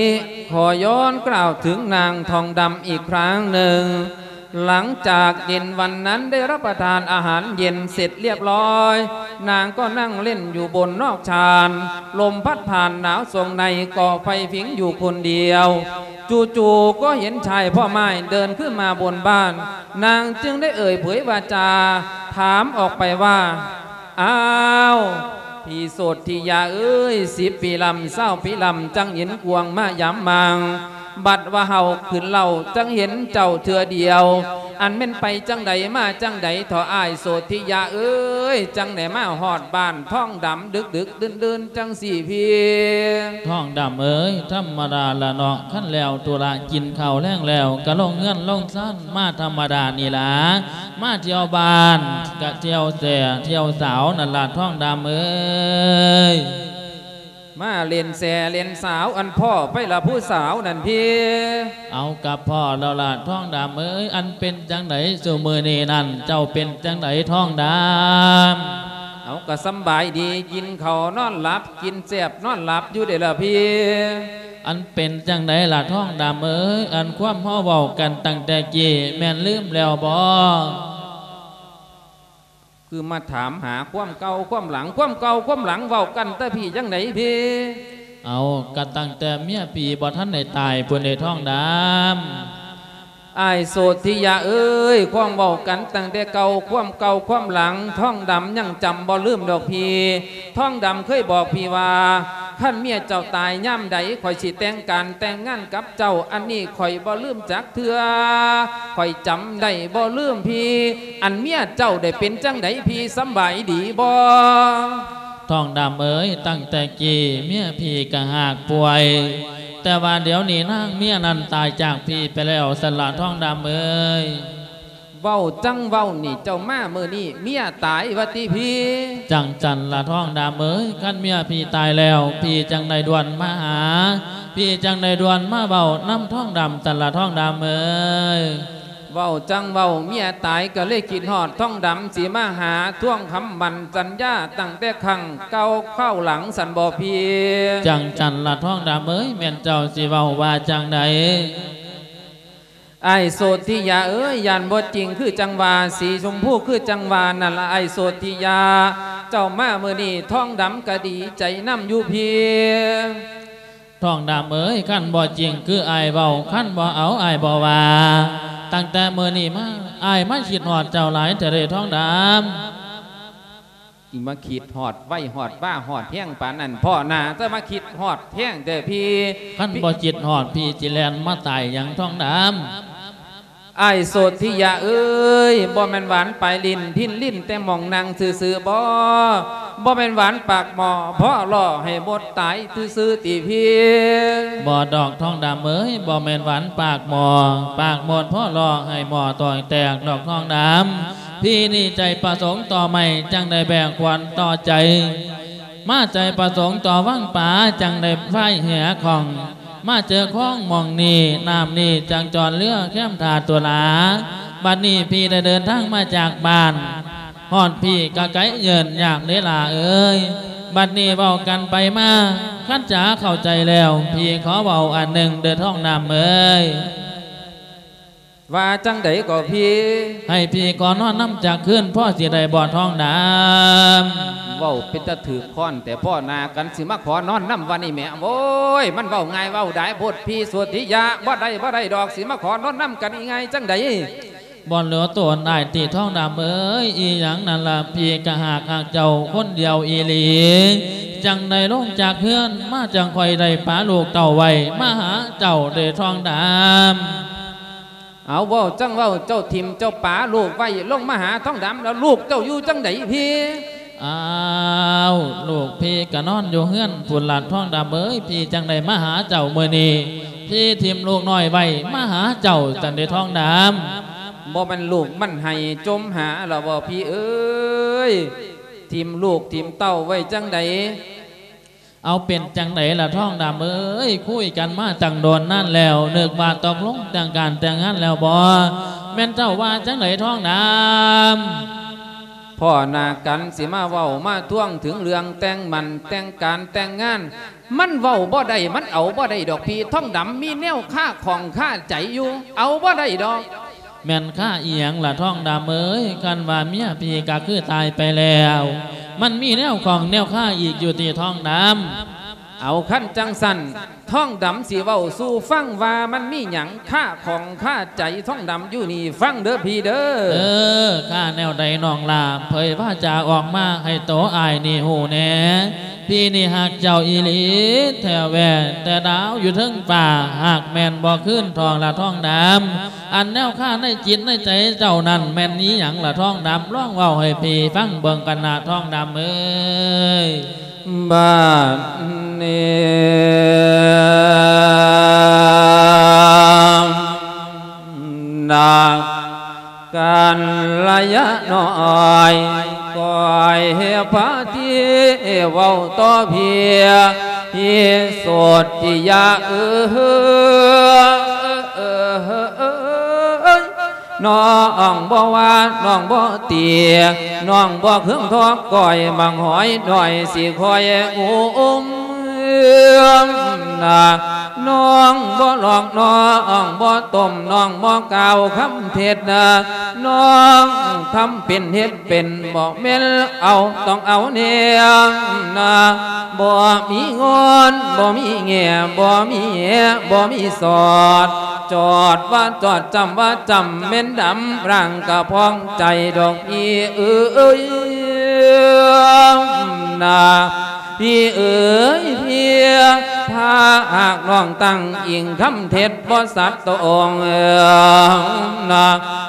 ຂໍຍ້ອນກ່າວເຖິງນາງທອງດຳອີກຄັ້ງໜຶ່ງ. ຫຼັງຈາກເຢັນວັນນັ້ນໄດ້ຮັບປະທານອາຫານເຢັນເສັດລຽບຮ້ອຍ, ນາງກໍນັ່ງຫຼິ້ນຢູ່ບົນນອກຊານ, ລົມພັດຜ່ານໜາວຊ່ວງໃນກໍໄຟຜິງຢູ່ຄົນດຽວ. ຈູ່ໆກໍເຫັນຊາຍພ້ອມອ້າຍເດີນຂຶ້ນມາບົນບ້ານ, ນາງຈຶ່ງໄດ້ເອີ່ຍເຜີຍວາຈາຖາມອອກໄປວ່າ, ອ້າວ ພີ່ໂສດທິຍາເອີຍ, ສິບປີລຳ ຊາວປີລຳ ຈັ່ງເຫັນກວາງມາຢາມມາງ, ບັດວ່າເຮົາຂຶ້ນເລົ່າ ຈັ່ງເຫັນເຈົ້າເທື່ອດຽວ, ອັນແມ່ນໄປຈັ່ງໃດມາຈັ່ງໃດເທາະອ້າຍໂສດທິຍາເອີຍ, ຈັ່ງໄດ້ມາຮອດບ້ານທອງດຳດຶກໆ ດື່ນໆ ຈັ່ງຊີ້ພີ່? ທອງດຳເອີຍ, ທຳມະດາລະເນາະ, ຄັນແລ້ວທຸລະກິນເຂົ້າແລງແລ້ວ ກໍລົງເຮືອນລົງຊານມາທຳມະດານີ້ລະ. ມາທ່ຽວບ້ານກະທ່ຽວແຊທ່ຽວສາວນັ້ນລະ ທອງດຳເອີຍ. ມາຫຼິ້ນແຊຫຼິ້ນສາວ ອັນພໍ້ໄປລະຜູ້ສາວນັ້ນພີ່? ເອົາ ກະພໍ້ແລ້ວລະ ທອງດຳເອີຍ. ອັນເປັນຈັ່ງໃດຊຸມື້ນີ້ນັ້ນ ເຈົ້າເປັນຈັ່ງໃດ ທອງດຳ? ເອົາ ກະສຳບາຍດີ, ກິນເຂົ້ານອນຫຼັບ, ກິນແຊບນອນຫຼັບຢູ່ເດລະພີ່. ອັນເປັນຈັ່ງໃດລະ ທອງດຳເອີຍ? ອັນຄວາມເຮົາເວົ້າກັນຕັ້ງແຕ່ກີ້ ແມ່ນລືມແລ້ວບໍ? ຄືມາຖາມຫາຄວາມເກົ່າຄວາມຫຼັງ, ຄວາມເກົ່າຄວາມຫຼັງເວົ້າກັນແຕ່ພີ່ຈັ່ງໃດພີ່? ເອົາ ກະຕັ້ງແຕ່ເມຍພີ່ບໍ່ທັນໄດ້ຕາຍພຸ້ນເດ ທອງດຳ. ອ້າຍໂສດທິຍາເອີຍ, ຄວາມເວົ້າກັນຕັ້ງແຕ່ເກົ່າ, ຄວາມເກົ່າຄວາມຫຼັງ ທອງດຳຍັງຈຳບໍ່ລືມດອກພີ່. ທອງດຳເຄີຍບອກພີ່ວ່າ ຄັນເມຍເຈົ້າຕາຍຍາມໃດ ຂ້ອຍຊິແຕ່ງການແຕ່ງງານກັບເຈົ້າ, ອັນນີ້ຂ້ອຍບໍ່ລືມຈັກເທື່ອ, ຂ້ອຍຈຳໄດ້ບໍ່ລືມພີ່. ອັນເມຍເຈົ້າໄດ້ເປັນຈັ່ງໃດພີ່, ສຳບາຍດີບໍ່? ທອງດຳເອີຍ, ຕັ້ງແຕ່ກີ້ເມຍພີ່ກະຫາກປ່ວຍ, ແຕ່ວ່າດຽວນີ້ນາງເມຍນັ້ນຕາຍຈາກພີ່ໄປແລ້ວຊັ້ນລະ ທອງດຳເອີຍ. ເວົ້າຈັ່ງເວົ້ານີ້ ເຈົ້າມາມື້ນີ້ເມຍຕາຍວ່າຕິພີ່? ຈັ່ງຊັ້ນລະ ທອງດຳເອີຍ, ຄັນເມຍພີ່ຕາຍແລ້ວ ພີ່ຈັ່ງໄດ້ດ່ວນມາຫາ, ພີ່ຈັ່ງໄດ້ດ່ວນມາເວົ້ານຳທອງດຳຊັ້ນລະ ທອງດຳເອີຍ. ເວົ້າຈັ່ງເວົ້າ ເມຍຕາຍກໍເລີຍຄິດຮອດທອງດຳ ຊິມາຫາທວງຄຳໝັ້ນສັນຍາຕັ້ງແຕ່ຄັ້ງເກົ່າຄາວຫຼັງຊັ້ນບໍພີ່? ຈັ່ງຊັ້ນລະ ທອງດຳເອີຍ, ແມ່ນເຈົ້າຊິເວົ້າວ່າຈັ່ງໃດ? ອ້າຍໂສດທິຍາເອີຍ, ຢ້ານບໍ່ຈິງຄືຈັ່ງວ່າ, ສີຊົມພູຄືຈັ່ງວ່ານັ້ນລະ ອ້າຍໂສດທິຍາ. ເຈົ້າມາມື້ນີ້ ທອງດຳກະດີໃຈນຳຢູ່ພີ້. ທອງດຳເອີຍ, ຄັນບໍ່ຈິງຄືອ້າຍເວົ້າ, ຄັນບໍ່ເອົາອ້າຍບໍ່ວ່າ. ຕັ້ງແຕ່ມື້ນີ້ມາ, ອ້າຍມາຄິດຮອດເຈົ້າຫຼາຍແທ້ເດ້ ທອງດຳ. ອີ ມາຄິດຮອດໄວຮອດວາຮອດແຮງປານນັ້ນ ພໍ່ໜ້າ ຈະມາຄິດຮອດແຮງແທ້ພີ່. ຄັນບໍ່ຄິດຮອດ ພີ່ຊິແລ່ນມາຕາຍຫຍັງ ທອງດຳ? ອ້າຍໂສດທິຍາເອີຍ, ບໍ່ແມ່ນຫວານປາຍຫຼິ້ນ ພິນຫຼິ້ນແຕ່ໝ່ອງນັ່ງຊື່ໆບໍ? ບໍ່ແມ່ນຫວານປາກໝໍ້ ເພາະຫຼໍ່ໃຫ້ມົດຕາຍຊື່ໆຕິພີ່? ບໍ່ດອກ ທອງດຳເອີຍ, ບໍ່ແມ່ນຫວານປາກໝໍ້ ປາກໝົດ ເພາະຫຼໍ່ໃຫ້ໝໍ້ຕອຍແຕກດອກ ທອງດຳ. ພີ່ນີ້ໃຈປະສົງຕໍ່ໄມ້ ຈັ່ງໄດ້ແບກຂວັນຕໍ່ໃຈ, ມາໃຈປະສົງຕໍ່ວັງປາ ຈັ່ງໄດ້ພາຍເຮືອຂ້ອງ, ມາເຈີຄອງໝ່ອງນີ້ ນ້ຳນີ້ຈັ່ງຈອດເຮືອແຄມທ່າຕຸລາ. ບັດນີ້ພີ່ໄດ້ເດີນທາງມາຈາກບ້ານ ຮອດພີ້ກະໄກເຍີນຍາກເດ້ຫຼ້າເອີຍ. ບັດນີ້ເວົ້າກັນໄປມາ ຄັນຈາເຂົ້າໃຈແລ້ວ ພີ່ຂໍເວົ້າອັນໜຶ່ງເດີ ທອງດຳເອີຍ. ວ່າຈັ່ງໃດກໍພີ່? ໃຫ້ພີ່ຂໍນອນນຳຈັກຄືນ ພໍຊິໄດ້ບໍ່ ທອງດຳ? ເວົ້າເປັນຕາຖືກຄອນແທ້ ພໍໜ້າກັນ ຊິມາຂໍນອນນຳວັນນີ້ແໝ. ໂອ້ຍ ມັນເວົ້າງ່າຍເວົ້າດາຍໂພດ ພີ່ໂສດທິຍາ. ບໍ່ໄດ້ ບໍ່ໄດ້ດອກ ຊິມາຂໍນອນນຳກັນງ່າຍໆຈັ່ງໃດ? ບໍ່ເຫຼືອໂຕນອ້າຍຕິ ທອງດຳເອີຍ. ອີຫຍັງນັ້ນລະ ພີ່ກະຫາກຮັກເຈົ້າຄົນດຽວອີ່ຫຼີ, ຈັ່ງໄດ້ລົງຈາກເຮືອນມາ ຈັ່ງຄ່ອຍໄດ້ປາລູກເຕົ້າໄວ້ ມາຫາເຈົ້າເດ້ ທອງດຳ. ເອົາ ເວົ້າຈັ່ງເວົ້າ ເຈົ້າຖິ້ມເຈົ້າປາລູກໄວ້ ລົງມາຫາທອງດຳ ແລ້ວລູກເຈົ້າຢູ່ຈັ່ງໃດພີ້? ອ້າວ ລູກພີ່ກະນອນຢູ່ເຮືອນພຸ້ນລະ ທອງດຳເອີຍ. ພີ່ຈັ່ງໄດ້ມາຫາເຈົ້າມື້ນີ້, ພີ່ຖິ້ມລູກນ້ອຍໄວ້ ມາຫາເຈົ້າຊັ້ນເດ້ ທອງດຳ. ບໍ່ແມ່ນລູກມັນໄຫ້ຈົມຫາລະບໍ່ ພີ່ເອີຍ? ຖິ້ມລູກຖິ້ມເຕົ້າໄວ້ຈັ່ງໃດ? ເອົາ ເປັນຈັ່ງໃດລະທອງດຳເອີຍ? ຄຸຍກັນມາຕັ້ງດົນນານແລ້ວ ນຶກວ່າຕົກລົງແຕ່ງການແຕ່ງງານແລ້ວບໍ? ແມ່ນເຈົ້າວ່າຈັ່ງໃດທອງດຳ? ພໍ້ໜ້າກັນຊິມາເວົ້າມາທວງເຖິງເລື່ອງແຕ່ງໝັ້ນແຕ່ງການແຕ່ງງານ ມັນເວົ້າບໍ່ໄດ້ ມັນເອົາບໍ່ໄດ້ດອກພີ່ທອງດຳ ມີແນວຄາຂ້ອງຄາໃຈຢູ່ ເອົາບໍ່ໄດ້ດອກ. ແມ່ນຄາອີ່ຫຍັງລະທອງດຳເອີຍ? ຄັນວ່າເມຍພີ່ກະຄືຕາຍໄປແລ້ວ ມັນມີແນວຂ້ອງແນວຄາອີກຢູ່ຕິທອງດຳ? ເອົາ ຄັນຈັ່ງຊັ້ນ ທອງດຳຊິເວົ້າສູ່ຟັງວ່າມັນມີຫຍັງຄາຂ້ອງຄາໃຈທອງດຳຢູ່ນີ້ ຟັງເດີພີ່ເດີ. ເອີ ຄາແນວໃດນ້ອງຫຼ້າ? ເຜີຍວາຈາອອກມາໃຫ້ໂຕອ້າຍນີ້ຮູ້ແດ່. ພີ່ນີ້ຮັກເຈົ້າອີ່ຫຼີແທ້ແທ້ ແຕ່ດາວຢູ່ເທິງຟ້າ ຫາກແມ່ນບໍ່ຄືນທອງລະທອງດຳ. ອັນແນວຄາໃນຈິດໃນໃຈເຈົ້ານັ້ນແມ່ນອີ່ຫຍັງລະທອງດຳ? ລອງເວົ້າໃຫ້ພີ່ຟັງເບິ່ງກັນນະທອງດຳເອີຍ. ບາດນີ້ນະ ກັນລະຍານ້ອຍ ກ້ອຍພະທີເວົ້າຕໍ່ພີ່ ພີ່ໂສດທິຍາເອີຍ ນ້ອງບໍ່ວ່າ ນ້ອງບໍ່ຕິ ນ້ອງບໍ່ເຄືອງທໍ້ ກ້ອຍບັກຫອຍນ້ອຍ ຊິຄອຍອຸ້ມນະ. ນ້ອງບໍ່ຫຼອກ ນ້ອງບໍ່ຕົ້ມ ນ້ອງບໍ່ກ່າວຄຳເທັດນະ ນ້ອງທຳເປັນເຮັດເປັນ ບໍ່ແມ່ນເອົາ ຕ້ອງເອົາແນມນະ. ບໍ່ມີງອນ ບໍ່ມີແງ່ ບໍ່ມີແຫ ບໍ່ມີສອດ ຈອດວ່າຈອດ ຈຳວ່າຈຳ ແມ່ນດຳ ຮ່າງກະພອງໃຈດອກພີ່ເອີຍນະ. ພີ່ເອີຍ ເພຍ ຖ້າຫາກນ້ອງຕັ້ງອີງຄຳເທັດບໍ່ສັດຕະອົງນະ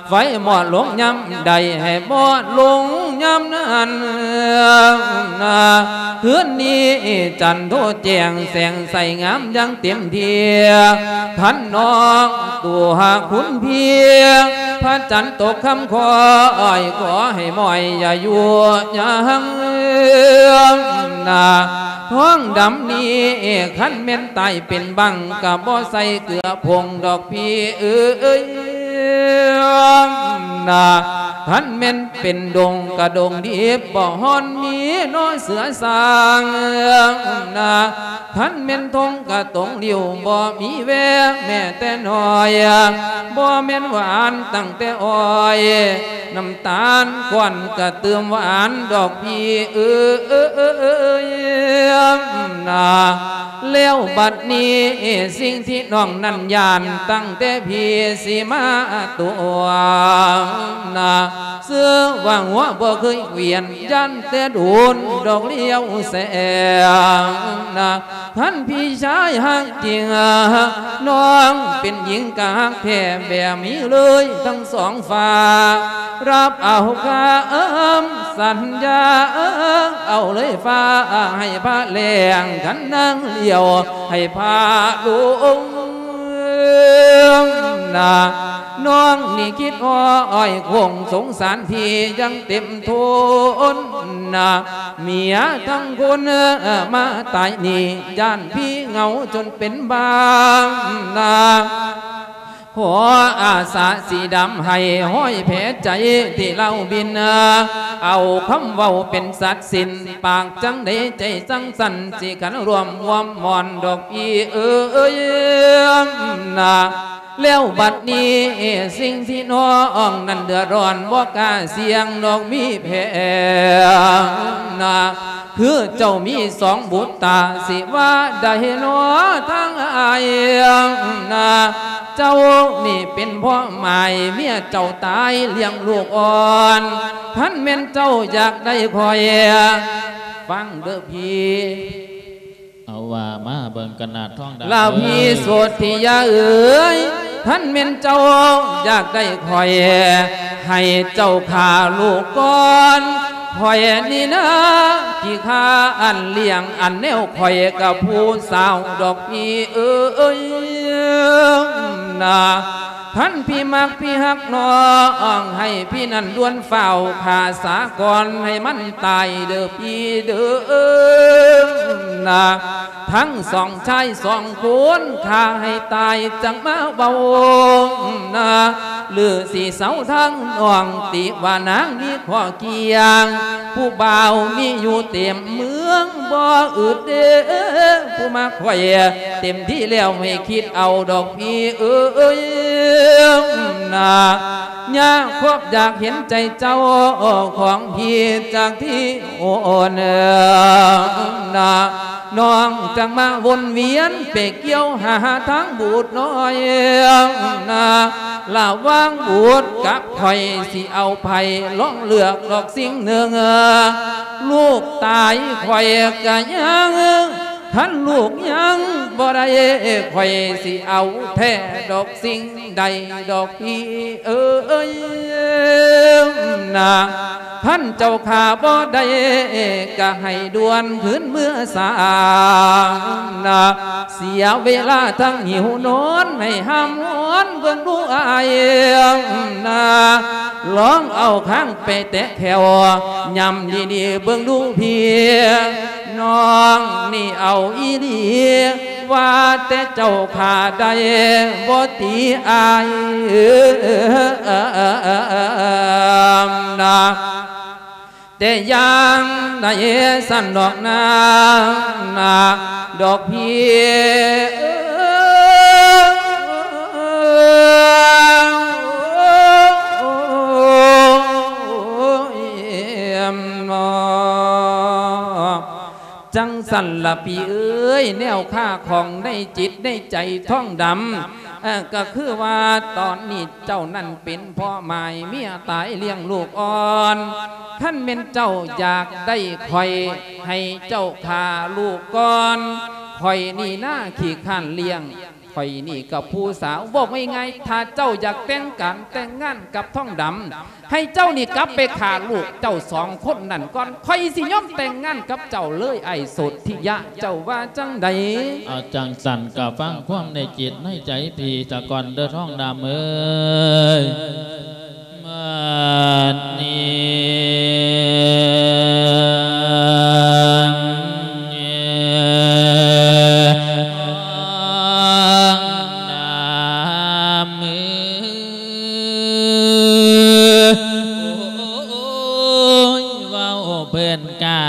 ໄຟມອດລົງຍາມໃດ ໃຫ້ມອດລົງຍາມນັ້ນນະ. ຄືນນີ້ຈັນໂທແຈ້ງແສງໃສງາມຢ່າງເຕັມທີ່ ຄັນນ້ອງຕົວຄຸນເພຍ ພະຈັນຕົກຄ່ຳຄ່ອຍ ຂໍໃຫ້ໝ້ອຍຢ່າຢູ່ຍັງນະ. ທອງດຳນີ້ ຄັນແມ່ນຕາຍເປັນບັງ ກະບໍ່ໃສ່ເກືອຜົງດອກພີ່ເອີຍນະ. ຄັນແມ່ນເປັນດົງກະດົງດິບ ບໍ່ຮ້ອນມີໜໍ່ເສືອສ້າງນະ. ຄັນແມ່ນທົ່ງກະຕົງລິ້ວ ບໍ່ມີແວແມ້ແຕ່ໜ້ອຍ ບໍ່ແມ່ນຫວານຕັ້ງແຕ່ອ້ອຍ ນ້ຳຕານກ້ອນກະຕື່ມຫວານດອກພີ່ເອີຍນະ. ແລ້ວບັດນີ້ ສິ່ງທີ່ນ້ອງນັ້ນຢ້ານ ຕັ້ງແຕ່ພີ່ຊິມາຕົວະນະ ເຊື່ອວ່າຫົວບໍ່ເຄີຍຫວຽນ ຢ້ານແຕ່ໂດນດອກລ້ຽວແສງນະ. ຄັນພີ່ຊາຍຮັກຈິງ ນ້ອງເປັນຍິງກະຮັກແທ້ແບບນີ້ເລີຍທັງສອງຝ່າຍ ຮັບເອົາຄຳສັນຍາ ເອົາເລີຍຟ້າໃຫ້ພະແລງ ຄັນນາງລ້ຽວໃຫ້ພະລົງນະ. ນ້ອງນີ້ຄິດອ້ອຍຄົງສົງສານພີ່ຢ່າງເຕັມທົນນະ ເມຍທັງຄົນມາຕາຍນີ້ ຢ້ານພີ່ເຫງົາຈົນເປັນບາງນະ. ຂໍອາສາສີດຳໃຫ້ຮອຍແຜໃຈທີ່ລາວບິນ ເອົາຄຳເວົ້າເປັນສັດສິນ ປາກຈັ່ງໃດໃຈຈັ່ງຊັ້ນ ຊິຂັນຮ່ວມຮ່ວມມ່ອນດອກພີ່ເອີຍນະ. ແລ້ວບັດນີ້ ສິ່ງທີ່ນ້ອງນັ້ນເດືອດຮ້ອນ ບໍ່ກ້າສ່ຽງດອກມີແຜນະ ຄືເຈົ້າມີສອງບຸດຕາ ຊິວ່າໃດນໍທາງອ້າຍນະ. ເຈົ້ານີ້ເປັນພໍ່ໝ້າຍ ເມຍເຈົ້າຕາຍລ້ຽງລູກອ່ອນ ຄັນແມ່ນເຈົ້າຢາກໄດ້ຂ້ອຍ ຟັງເດີພີ່ ເອົາວ່າມາເບິ່ງກັນນະທອງດຳ ລະພີ່ໂສດທິຍາເອີຍ ຄັນແມ່ນເຈົ້າຢາກໄດ້ຂ້ອຍ ໃຫ້ເຈົ້າຂ້າລູກກ່ອນ ຂ້ອຍນີ້ນາທີ່ຂ້າອັນລ້ຽງ ອັນແນວຂ້ອຍກັບຜູ້ສາວດອກພີ່ເອີຍນະ. ຄັນພີ່ມັກພີ່ຮັກນ້ອງ ໃຫ້ພີ່ນັ້ນດ່ວນຟ້າວຂ້າສາກ່ອນ ໃຫ້ມັນຕາຍເດີພີ່ເດີນາ. ທັງສອງຊາຍສອງຄົນຂ້າໃຫ້ຕາຍ ຈັ່ງມາເວົ້ານາ. ຫຼືຊິເຊົາທາງນ້ອງ ຕິວ່ານາງມີຂໍ້ກ່ຽງ ຜູ້ບ່າວມີຢູ່ເຕັມເມືອງ ບໍ່ອຶດເດ້ ຜູ້ມັກຂ້ອຍເຕັມທີ່ແລ້ວ ໃຫ້ຄິດເອົາດອກພີ່ເອີຍນາ. ຍາກພວກຢາກເຫັນໃຈເຈົ້າຂອງພີ່ ຈາກທີ່ໂອນນາ. ນ້ອງຈັ່ງມາວົນວຽນ ໄປກ່ຽວຫາທາງບູດນ້ອຍນາ. ລະຫວ່າງບູດກັບຂ້ອຍ ຊິເອົາໃຜ ລອງເລືອກດອກສິ່ງໜຶ່ງ. ລູກຕາຍຂ້ອຍກະຍັງ ຄັນລູກຍັງບໍ່ໄດ້ ຂ້ອຍຊິເອົາແທ້ດອກສິ່ງໃດດອກພີ່ເອີຍນາ. ຄັນເຈົ້າຂ້າບໍ່ໄດ້ ກະໃຫ້ດ່ວນຄືນເມືອສານາ. ເສຍເວລາທັງຫິວນອນ ໃຫ້ຫ້າມຮອນເບິ່ງດູອ້າຍນາ. ລອງເອົາຄາງໄປແຕະແຂ້ວ ຫຍ້ຳດີໆເບິ່ງດູພີ່ ນ້ອງນີ້ເອົາອີ່ຫຼີ ວ່າແຕ່ເຈົ້າຂ້າໄດ້ບໍ່ຕິອ້າຍນາ. ແຕ່ຢ່າງໃດຊັ້ນດອກນາ ນາ ດອກພີ່ເອີຍນາ. ຈັ່ງຊັ້ນລະພີ່ເອີຍ ແນວຄາຂ້ອງໃນຈິດໃນໃຈທ້ອງດຳ ເອີ ກໍຄືວ່າຕອນນີ້ເຈົ້ານັ້ນເປັນພໍ່ໝ້າຍເມຍຕາຍລ້ຽງລູກອ່ອນ. ຄັນແມ່ນເຈົ້າຢາກໄດ້ຂ້ອຍໃຫ້ເຈົ້າຂ້າລູກກ່ອນ ຂ້ອຍນີ້ນາຂີ້ຄ້ານລ້ຽງ ຂ້ອຍນີ້ກັບຜູ້ສາວ. ເວົ້າງ່າຍໆ ຖ້າເຈົ້າຢາກແຕ່ງການແຕ່ງງານກັບທ້ອງດຳ ໃຫ້ເຈົ້ານີ້ກັບໄປຂ້າລູກເຈົ້າສອງຄົນນັ້ນກ່ອນ ຂ້ອຍຊິຍອມແຕ່ງງານກັບເຈົ້າເລີຍ ອ້າຍໂສດທິຍະ ເຈົ້າວ່າຈັ່ງໃດ? ເອົາ ຈັ່ງຊັ້ນກໍຟັງຄວາມໃນຈິດໃນໃຈພີ່ສາກ່ອນເດີ ທ້ອງດຳເອີຍ. ບັດນີ້ ເວົ້າເພິ່ນກະ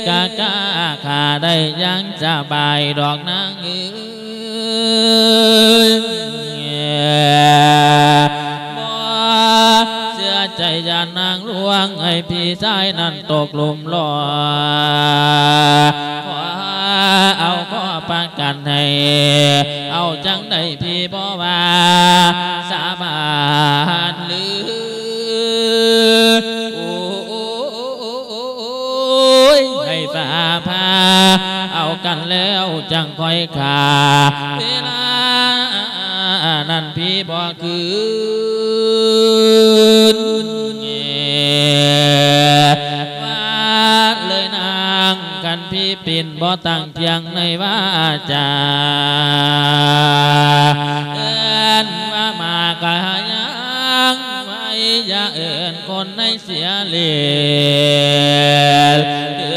ກະກະຂ້າໄດ້ຢ່າງສະບາຍດອກນາງເອີຍ. ບໍ່ເຊື່ອໃຈຢ້ານນາງລວງ ໃຫ້ພີ່ຊາຍນັ້ນຕົກຫຼຸມຫຼໍ່ ຂໍເອົາຂໍປະກັນໃຫ້ ເອົາຈັ່ງໃດພີ່ບໍ່ວ່າ ສາບານລື. ໂອ້ຍ ໃຫ້ຟ້າຜ່າເອົາກັນແລ້ວຈັ່ງຄ່ອຍຂ້າ ເວລານັ້ນພີ່ບໍ່ຄືນ ວ່າເລີຍນາງ ຄັນພີ່ປິ່ນບໍ່ຕັ້ງ ທ່ຽງໃນວາຈາ ເອີ້ນວ່າມາກະຍັງໄວ ຢ່າເອີ້ນຄົນໃນເສຍເລດ ຄື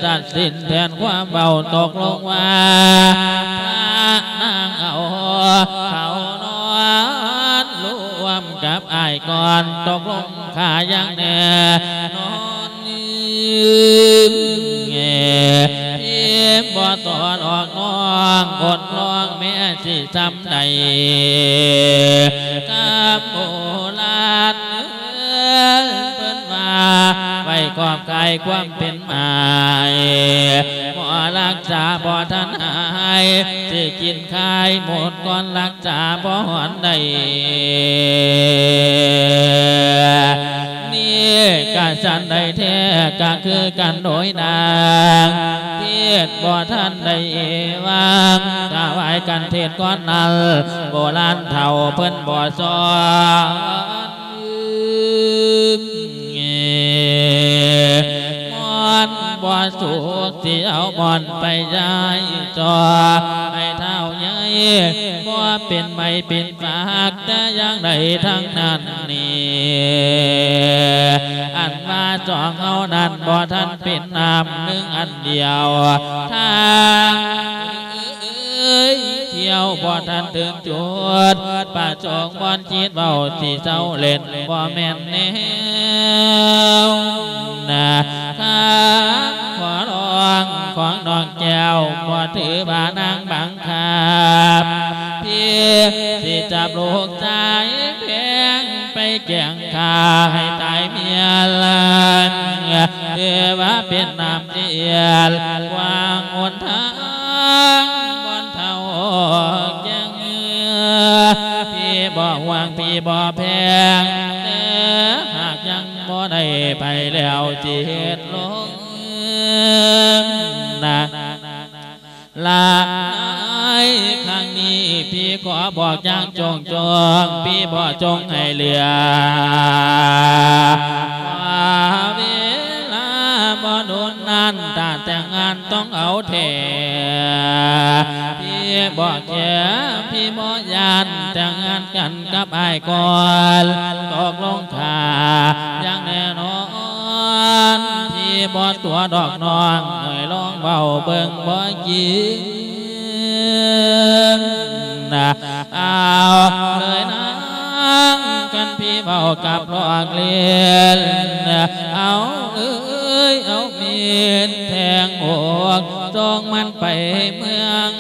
ຕັດສິນແຜນຄວາມເວົ້າ ຕົກລົງວ່າ ພະນາງເອົາເຂົານອນລວມກັບອ້າຍກ່ອນ ຕົກລົງຂ້າຢ່າງແນ່ນອນ. ອີ່ບໍ່ຕອນອອກນ້ອງ ອົດນ້ອງແມ່ຊິຊ່ຳໃດ ກຳໂບລານເອີ້ນ ເພິ່ນວ່າໄວ້ຂອບຂາຍຄວາມເປັນໝາຍ ໝໍລັກສາບໍ່ທັນຫາຍ ຊິກິນຂາຍໝົດກ່ອນລັກສາບໍ່ຮອດໃດ. ນີ້ກະສັນໃດແທ້ກະຄືກັນໂດຍນາງ ເທດບໍ່ທັນໄດ້ຫວ່າງ ຖວາຍກັນເທດກ່ອນນັ້ນ ໂບລານເຖົ້າເພິ່ນບໍ່ສອນ ມ່ອນບໍ່ສຸກ ຊິເອົາບ່ອນໄປຍ້າຍຈອ ໃຫ້ທ້າວໃຫຍ່ ບໍ່ເປັນໄມ້ເປັນຟາກແຕ່ຢ່າງໃດທັງນັ້ນນີ້ ອັນວ່າສອງເຮົານັ້ນບໍ່ທັນເປັນນ້ຳໜຶ່ງອັນດຽວ ທາງເອີຍ ທ່ຽວບໍ່ທັນເຖິງຈຸດປະສົງ ບ່ອນຈິດເວົ້າຊິເຊົາເຫຼັ້ນ ບໍ່ແມ່ນແນວນະ ຄຳຂໍຮ້ອງຂອງນ້ອງແກ້ວ ບໍ່ຖືວ່ານາງບັງຄັບ ພີ່ຊິຈັບລູກຊາຍແພງໄປແກ້ງຂ້າໃຫ້ຕາຍເມຍລະ ຖືວ່າເປັນນ້ຳເສຍ ກວ້າງຫົນທາງບ່ອນເຖົ້າແກ່ງ ພີ່ບໍ່ຫວງ ພີ່ບໍ່ແພງ ແຕ່ຫາກຍັງບໍ່ໄດ້ໄປແລ້ວ ຊິເຮັດລົງນະ ລະ ໃນຄັ້ງນີ້ ພີ່ຂໍບອກຢ່າງໂຈງໆ ພີ່ບໍ່ຈົ່ງໃຫ້ເຫຼືອ ເວລາບໍ່ດົນນານ ຖ້າແຕ່ງງານຕ້ອງເອົາແທ້ ພີ່ບໍ່ແຄ ພີ່ບໍ່ຢ້ານ ແຕ່ງງານກັນກັບອ້າຍກ່ອນ ຕົກລົງຂ້າຢ່າງແນ່ນອນ ພີ່ບໍ່ຕົວະດອກນ້ອງ ໃຫ້ລອງເວົ້າເບິ່ງບໍ່ຈິງນະ ເອົາເລີຍນາງ ຄັນພີ່ເວົ້າກັບລອກເລນ ເອົາເອີຍ ເອົາເມນແທງອົກ ສົ່ງມັນໄປເມືອງ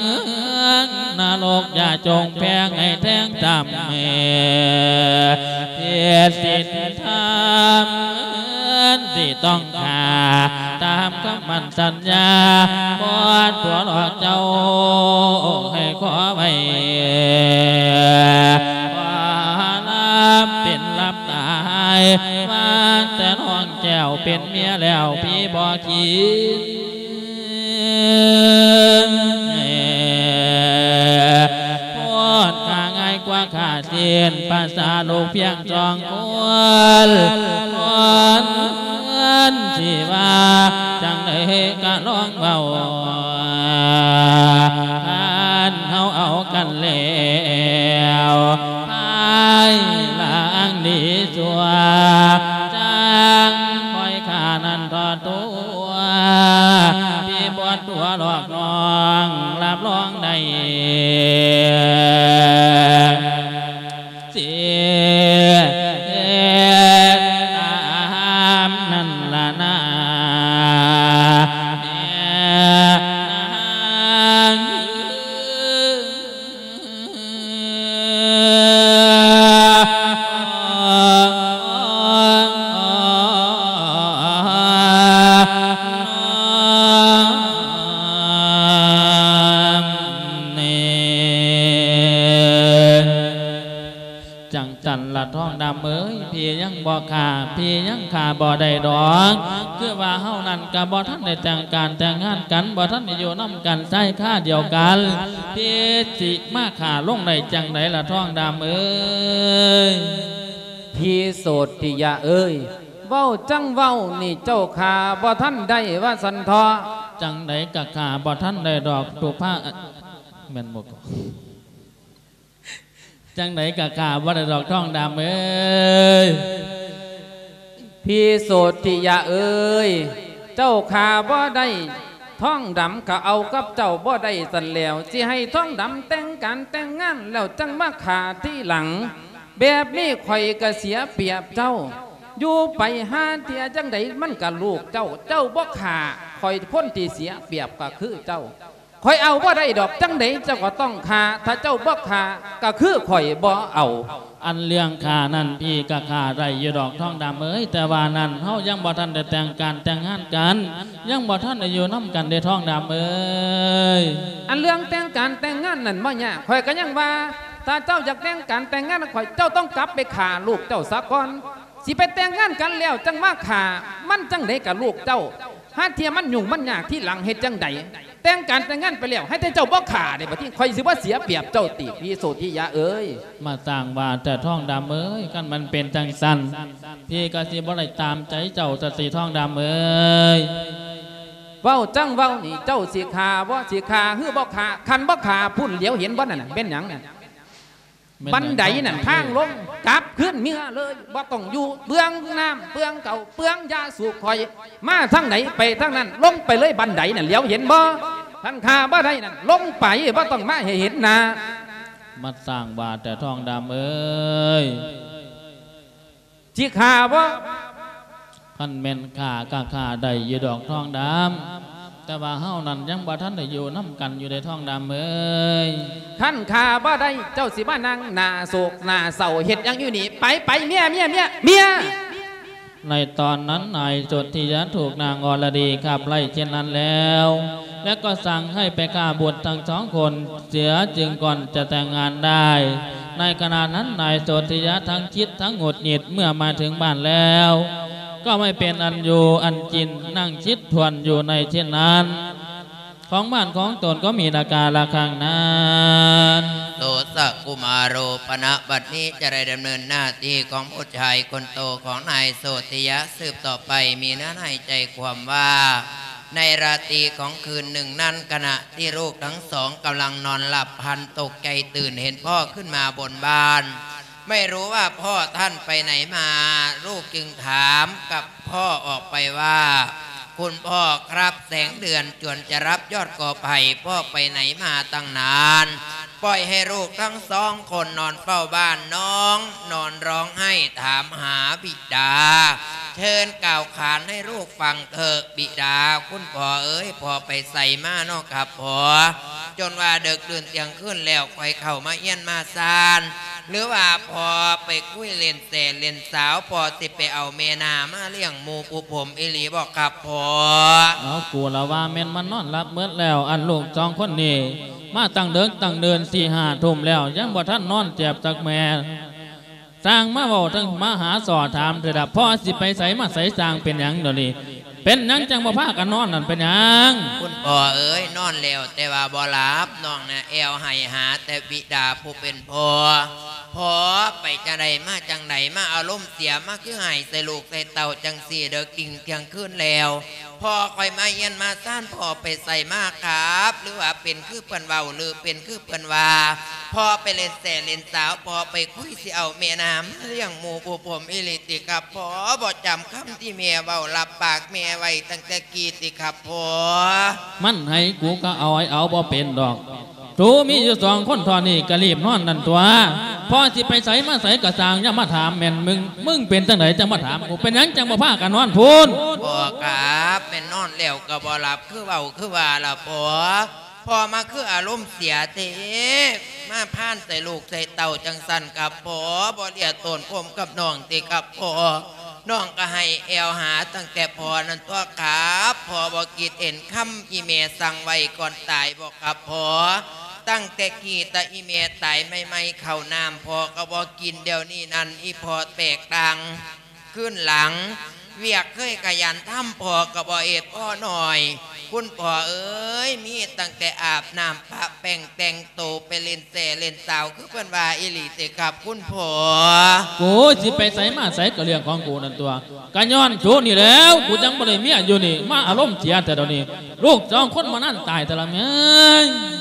ນະລົກ ຢ່າຈົ່ງແພງໃຫ້ແທງຕ່ຳ ເຮັດສິນທຳ ທີ່ຕ້ອງຂ້າຕາມຄຳໝັ້ນສັນຍາ ບໍ່ຕົວະຫຼອກເຈົ້າໃຫ້ຂໍໄວ້ ວ່າລາບເປັນລາບຕາຍ ວ່າແຕ່ນ້ອງແກ້ວເປັນເມຍແລ້ວ ພີ່ບໍ່ຄິດ ໂພດຂ້າງ່າຍກວ່າຂ້າສິ້ນ ພາສາລູກພຽງສອງຄົນ ຄົນທີ່ວ່າຈັ່ງໃດກະລອງເວົ້າ ຄັນເຮົາເອົາກັນແລ້ວ ພາຍຫຼັງດີຊົ່ວ ຈັ່ງຄ່ອຍຂ້ານັ້ນທອດຕົວ ພີ່ບໍ່ຕົວະຫຼອກນ້ອງ ຮັບຮອງໄດ້ ເສຍຕາມນັ້ນລະນາ ແມ່ນາງ. ຈັ່ງຊັ້ນລະທອງດຳເອີຍ ພີ່ຍັງບໍ່ຂ້າ ພີ່ຍັງຂ້າບໍ່ໄດ້ດອກ ຄືວ່າເຮົານັ້ນກະບໍ່ທັນໄດ້ແຕ່ງການແຕ່ງງານກັນ ບໍ່ທັນໄດ້ຢູ່ນຳກັນຊາຍຄາດຽວກັນ ພີ່ຊິມາຂ້າລົງໄດ້ຈັ່ງໃດລະທອງດຳເອີຍ? ພີ່ໂສດທິຍະເອີຍ ເວົ້າຈັ່ງເວົ້ານີ້ເຈົ້າຂ້າບໍ່ທັນໄດ້ວ່າຊັ້ນເທາະ. ຈັ່ງໃດກະຂ້າບໍ່ທັນໄດ້ດອກ ຕຸພາ ແມ່ນບໍ່ກະ? ຈັ່ງໃດກະຂ້າບໍ່ໄດ້ດອກທອງດຳເອີຍ. ພີ່ໂສດທິຍະເອີຍ ເຈົ້າຂ້າບໍ່ໄດ້ ທອງດຳກະເອົາກັບເຈົ້າບໍ່ໄດ້ຊັ້ນແລ້ວ ຊິໃຫ້ທອງດຳແຕ່ງການແຕ່ງງານແລ້ວຈັ່ງມາຂ້າທີຫຼັງ ແບບນີ້ຂ້ອຍກະເສຍປຽບເຈົ້າ ຢູ່ໄປຫາເທື່ອຈັ່ງໃດມັນກະລູກເຈົ້າ ເຈົ້າບໍ່ຂ້າຂ້ອຍ ຄົນທີ່ເສຍປຽບກະຄືເຈົ້າ. ຂ້ອຍເອົາບໍ່ໄດ້ດອກ ຈັ່ງໃດເຈົ້າກໍຕ້ອງຂ້າ ຖ້າເຈົ້າບໍ່ຂ້າກໍຄືຂ້ອຍບໍ່ເອົາ. ອັນເລື່ອງຂ້ານັ້ນ ພີ່ກໍຂ້າໄດ້ຢູ່ດອກທອງດຳເອີຍ ແຕ່ວ່ານັ້ນເຮົາຍັງບໍ່ທັນໄດ້ແຕ່ງການແຕ່ງງານກັນ ຍັງບໍ່ທັນໄດ້ຢູ່ນຳກັນເດ້ທອງດຳເອີຍ. ອັນເລື່ອງແຕ່ງການແຕ່ງງານນັ້ນບໍ່ຍາກ ຂ້ອຍກໍຍັງວ່າ ຖ້າເຈົ້າຢາກແຕ່ງການແຕ່ງງານກັບຂ້ອຍ ເຈົ້າຕ້ອງກັບໄປຂ້າລູກເຈົ້າສາກ່ອນ ຊິໄປແຕ່ງງານກັນແລ້ວຈັ່ງມາຂ້າ ມັນຈັ່ງໃດກໍລູກເຈົ້າ ຫາເທື່ອມັນຫຍຸ້ງມັນຍາກທີຫຼັງເຮັດຈັ່ງໃດ? ແຕ່ງການແຕ່ງງານໄປແລ້ວ ໃຫ້ແຕ່ເຈົ້າບໍ່ຂ້າເດ້ ບາດນີ້ຂ້ອຍຊິບໍ່ເສຍປຽບເຈົ້າຕິ ພີ່ໂສທິຍະເອີຍ? ມາສ້າງວ່າແຕ່ທອງດຳເອີຍ ຄັນມັນເປັນຈັ່ງຊັ້ນ ພີ່ກໍຊິບໍ່ໄດ້ຕາມໃຈເຈົ້າຊະຕິທອງດຳເອີຍ. ເວົ້າຈັ່ງເວົ້ານີ້ ເຈົ້າຊິຂ້າບໍ່ ຊິຂ້າ ຫຼືບໍ່ຂ້າ? ຄັນບໍ່ຂ້າ ພຸ້ນ ຫຼຽວເຫັນບໍ່ນັ້ນນະ ແມ່ນຫຍັງນັ້ນ? ແມ່ນຫຍັງ? ບັນໄດນັ້ນ ທາງລົງ ກັບຄືນເມືອເລີຍ ບໍ່ຕ້ອງຢູ່ເປືອງນ້ຳ ເປືອງເຂົ້າ ເປືອງຢາສູບຂ້ອຍ ມາທາງໃດໄປທາງນັ້ນ ລົງໄປເລີຍ ບັນໄດນັ້ນ ຫຼຽວເຫັນບໍ່? ຄັນຂ້າບໍ່ໄດ້ນັ້ນ ລົງໄປ ບໍ່ຕ້ອງມາໃຫ້ເຫັນໜ້າ. ມາສ້າງວ່າແຕ່ ທອງດຳເອີຍ ຊິຂ້າບໍ່? ຄັນແມ່ນຂ້າກໍຂ້າໄດ້ຢູ່ດອກ ທອງດຳ, ແຕ່ວ່າເຮົານັ້ນຍັງບໍ່ທັນໄດ້ຢູ່ນຳກັນຢູ່ເດ້ ທອງດຳເອີຍ. ຄັນຂ້າບໍ່ໄດ້ ເຈົ້າຊິມານັ່ງໜ້າໂສກໜ້າເສົ້າເຮັດຫຍັງຢູ່ນີ້? ໄປ ໄປ ເມຍ ເມຍ ເມຍ ເມຍ. ໃນຕອນນັ້ນ ນາຍໂສທິຍະຖືກນາງອໍລະດີຂັບໄລ່ເຊັ່ນນັ້ນແລ້ວ ແລະກໍສັ່ງໃຫ້ໄປຂ້າບຸດທັງສອງຄົນເສຍຈຶ່ງກ່ອນຈະແຕ່ງງານໄດ້. ໃນຂະນະນັ້ນ ນາຍໂສທິຍະທັງຄິດທັງຫງຸດຫງິດ ເມື່ອມາເຖິງບ້ານແລ້ວ ກໍໄມ່ເປັນອັນຢູ່ອັນກິນ ນັ່ງຄິດຖ້ວນຢູ່ໃນເຊັ່ນນັ້ນ ຂອງບ້ານຂອງຕົນກໍມີນາກາລະຄັ້ງນັ້ນ. ໂສຕະກຸມາໂຣ ປະນະບັດນີ້ຈະໄດ້ດຳເນີນໜ້າທີ່ຂອງບຸດຊາຍຄົນໂຕຂອງນາຍໂສທິຍະສືບຕໍ່ໄປ ມີເນື້ອໃນໃຈຄວາມວ່າ ໃນລາຕີຂອງຄືນໜຶ່ງນັ້ນ ຂະນະທີ່ລູກທັງສອງກຳລັງນອນຫຼັບ ພັນຕົກໃຈຕື່ນເຫັນພໍ່ຂຶ້ນມາບົນບ້ານ ໄມ່ຮູ້ວ່າພໍ່ທ່ານໄປໄຫນມາ. ລູກຈຶ່ງຖາມກັບພໍ່ອອກໄປວ່າ ຄຸນພໍ່ຄັບ ແສງເດືອນຈວນຈະລັບຍອດກໍໄຜ່ ພໍ່ໄປໄຫນມາຕັ້ງນານ? ປ່ອຍໃຫ້ລູກທັງສອງຄົນນອນເຝົ້າບ້ານ ນ້ອງນອນຮ້ອງໄຫ້ຖາມຫາບິດາ. ເຊີນກ່າວຂານໃຫ້ລູກຟັງເຖີະ ບິດາ. ຄຸນພໍ່ເອີຍ ພໍ່ໄປໃສມາເນາະຄັບພໍ່? ຈົນວ່າເດິກດື່ນທ່ຽງຄືນແລ້ວ ຄ່ອຍເຂົ້າມາເຮືອນມາຊານ ຫຼືວ່າພໍ່ໄປຄຸຍຫຼິ້ນແຊຫຼິ້ນສາວ ພໍ່ຊິໄປເອົາແມ່ນາມາລ້ຽງໝູ່ປູ່ຜົມອີ່ຫຼີບໍ່ຄັບພໍ່? ເອົາ ກູລະວ່າແມ່ນມັນນອນຫຼັບໝົດແລ້ວ. ອັນລູກສອງຄົນນີ້ມາຕັ້ງເດິກຕັ້ງເດີນ ສີ່ຫ້າທຸ່ມແລ້ວ ຍັງບໍ່ທັນນອນແຈບຈັກແມ່. ຊ່າງມາເວົ້າ ທັງມາຫາສໍ່ຖາມເທື່ອລະ ພໍ່ຊິໄປໃສມາໃສ ຊ່າງເປັນຫຍັງດຽວນີ້? ເປັນຫຍັງຈັ່ງບໍ່ພາກັນນອນນັ້ນ ເປັນຫຍັງ? ຄຸນພໍ່ເອີຍ ນອນແລ້ວແຕ່ວ່າບໍ່ຫຼັບ ນ້ອງນະແອວໄຫ້ຫາແຕ່ບິດາຜູ້ເປັນພໍ່. ພໍ່ໄປຈັ່ງໃດມາຈັ່ງໃດ ມາອາລົມເສຍ ມາຄືໄຫ້ໃສ່ລູກໃສ່ເຕົ້າຈັ່ງຊີ້ ເດິກດິ່ງທ່ຽງຄືນແລ້ວ ພໍ່ຂ້ອຍມາເຮືອນມາຊານ ພໍ່ໄປໃສມາຄັບ? ຫຼືວ່າເປັນຄືເພິ່ນເວົ້າ ຫຼືເປັນຄືເພິ່ນວ່າ ພໍ່ໄປຫຼິ້ນແຊຫຼິ້ນສາວ ພໍ່ໄປຄຸຍຊິເອົາແມ່ນາມາລ້ຽງໝູ່ຜູ້ຜົມອີ່ຫຼີຕິຄັບພໍ່? ບໍ່ຈຳຄຳທີ່ແມ່ເວົ້າ ລັບປາກແມ່ໄວ້ຕັ້ງແຕ່ກີ້ຕິຄັບພໍ່? ມັນໃຫ້ກູກໍເອົາ ໃຫ້ເອົາບໍ່ເປັນດອກ. ໂຕມີຢູ່ສອງຄົນເທົ່ານີ້ກໍລີບນອນນັ້ນຕົວະ. ພໍ່ຊິໄປໃສມາໃສກໍຊ່າງ ຢ່າມາຖາມແມ່ນມຶງ. ມຶງເປັນຈັ່ງໃດຈັ່ງມາຖາມກູ? ເປັນຫຍັງຈັ່ງບໍ່ພາກັນນອນພຸ້ນ? ພໍ່ຄັບ ແມ່ນນອນແລ້ວກໍບໍ່ຫຼັບ ຄືເວົ້າຄືວ່າລະພໍ່. ພໍ່ມາຄືອາລົມເສຍເທ ມາພານໃສ່ລູກໃສ່ເຕົ້າຈັ່ງຊັ້ນຄັບພໍ່? ບໍ່ເລຍໂຕນພົມກັບນ້ອງຕິຄັບພໍ່? ນ້ອງກໍໃຫ້ແອວຫາຕັ້ງແຕ່ພໍ່ນັ້ນຕົວະຄັບ. ພໍ່ບໍ່ຄິດເຫັນຄຳອີ່ແມ່ສັ່ງໄວ້ກ່ອນຕາຍບໍ່ຄັບພໍ່? ຕັ້ງແຕ່ກີ້ຕະອີ່ແມ່ຕາຍໃໝ່ໆ ເຂົ້ານ້ຳພໍ່ກໍບໍ່ກິນ. ດຽວນີ້ນັ້ນອີ່ພໍ່ແຕກຕ່າງຄືນຫຼັງ ວຽກເຄີຍຂະຫຍັນທຳພໍ່ກໍບໍ່ເຮັດພໍໜ້ອຍ. ຄຸນພໍ່ເອີຍ ມີຕັ້ງແຕ່ອາບນ້ຳປະແປ້ງແຕ່ງໂຕ ໄປຫຼິ້ນແຊຫຼິ້ນສາວ ຄືເພິ່ນວ່າອີ່ຫຼີຕິຄັບຄຸນພໍ່? ໂອ້ຍ ຊິໄປໃສມາໃສກໍເລື່ອງຂອງກູນັ້ນຕົວະ. ກະຍ້ອນໂຕນີ້ແລ້ວ ກູຈັ່ງບໍ່ໄດ້ເມຍຢູ່ນີ້ ມາອາລົມເສຍແທ້ດຽວນີ້. ລູກສອງຄົນມານັ້ນຕາຍແຕ່ລະແມ່.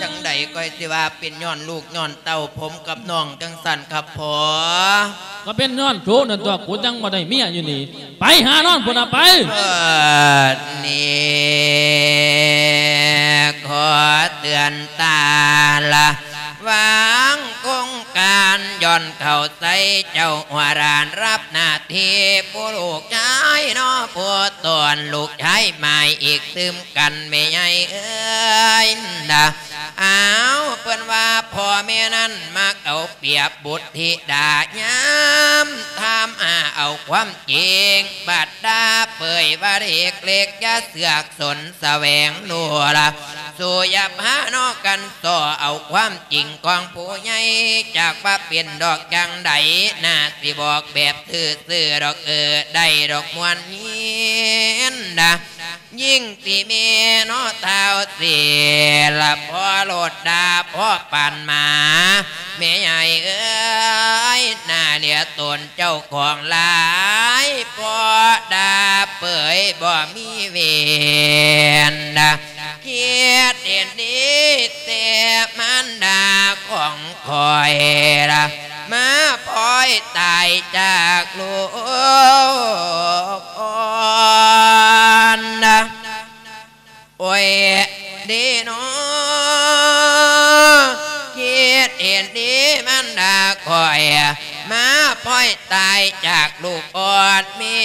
ຈັ່ງໃດຂ້ອຍຊິວ່າເປັນຍ້ອນລູກຍ້ອນເຕົ້າຜົມກັບນ້ອງຈັ່ງຊັ້ນຄັບພໍ່? ກໍເປັນຍ້ອນໂຕນັ້ນຕົວະ ກູຈັ່ງບໍ່ໄດ້ເມຍຢູ່ນີ້. ໄປຫານອນພຸ້ນນະໄປ. ເອີ ນີ້ຂໍເຕືອນຕາລະ ວາງກົງການ ຍ້ອນເຂົ້າໃຈເຈົ້າຫົວລ້ານ ຮັບໜ້າທີ່ຜູ້ລູກຊາຍເນາະ ຜູ້ຕ້ອນລູກຊາຍໝາຍອີກຕື່ມກັນແມ່ໃຫຍ່ເອີຍນະ. ອ້າວ ເພິ່ນວ່າພໍ່ແມ່ນັ້ນມັກເອົາປຽບບຸດທິດາ ຍາມຖາມຫາເອົາຄວາມຈິງ ບັດດາເປີຍວ່າເດັກເລັກ ຢ່າເຊືອກສົນສະແຫວງໂລລະ ສູ່ຢ່າພາເນາະກັນສໍ້ເອົາຄວາມຈິງຂອງຜູ້ໃຫຍ່ ຈັກວ່າເປັນດອກຈັ່ງໃດ ໜ້າຊິບອກແບບຊື່ໆດອກ ເອີ ໄດ້ດອກມ່ວນຍິນນະ. ຍິ່ງທີ່ແມ່ເນາະທ້າວເສລະ ພໍໂລດດາ ພໍປານໝາ ແມ່ໃຫຍ່ເອີຍ ໜ້າເຫຼືອຕົນເຈົ້າຂອງຫຼາຍ ພໍ່ດາເປີຍບໍ່ມີເວນ ຄິດເຫັນດີແຕ່ມານດາຂອງຂ້ອຍລະ ມາພອຍຕາຍຈາກລູກອ່ອນ ໂອ້ຍ ເດເນາະ ຄິດເຫັນດີມານດາຂ້ອຍ ມາພອຍຕາຍຈາກລູກອ່ອນ ແມ່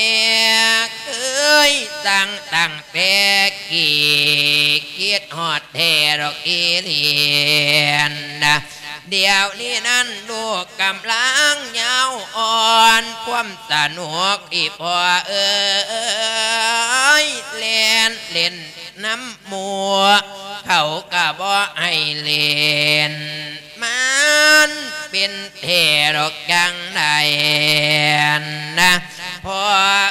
ເຄີຍສັ່ງຕັ້ງແຕ່ກີ້ ຄິດຮອດແທ້ດອກອີ່ຫຼີນະ ດຽວນີ້ນັ້ນລູກກຳລັງຍາວອ່ອນ ຄວາມສະໜຸກອີ່ພໍ່ເອີຍ ແລ່ນເຫຼັ້ນນຳໝູ່ ເຂົາກະບໍ່ໃຫ້ເຫຼັ້ນ ມັນເປັນແທ້ດອກຈັ່ງໃດນະ ພໍ່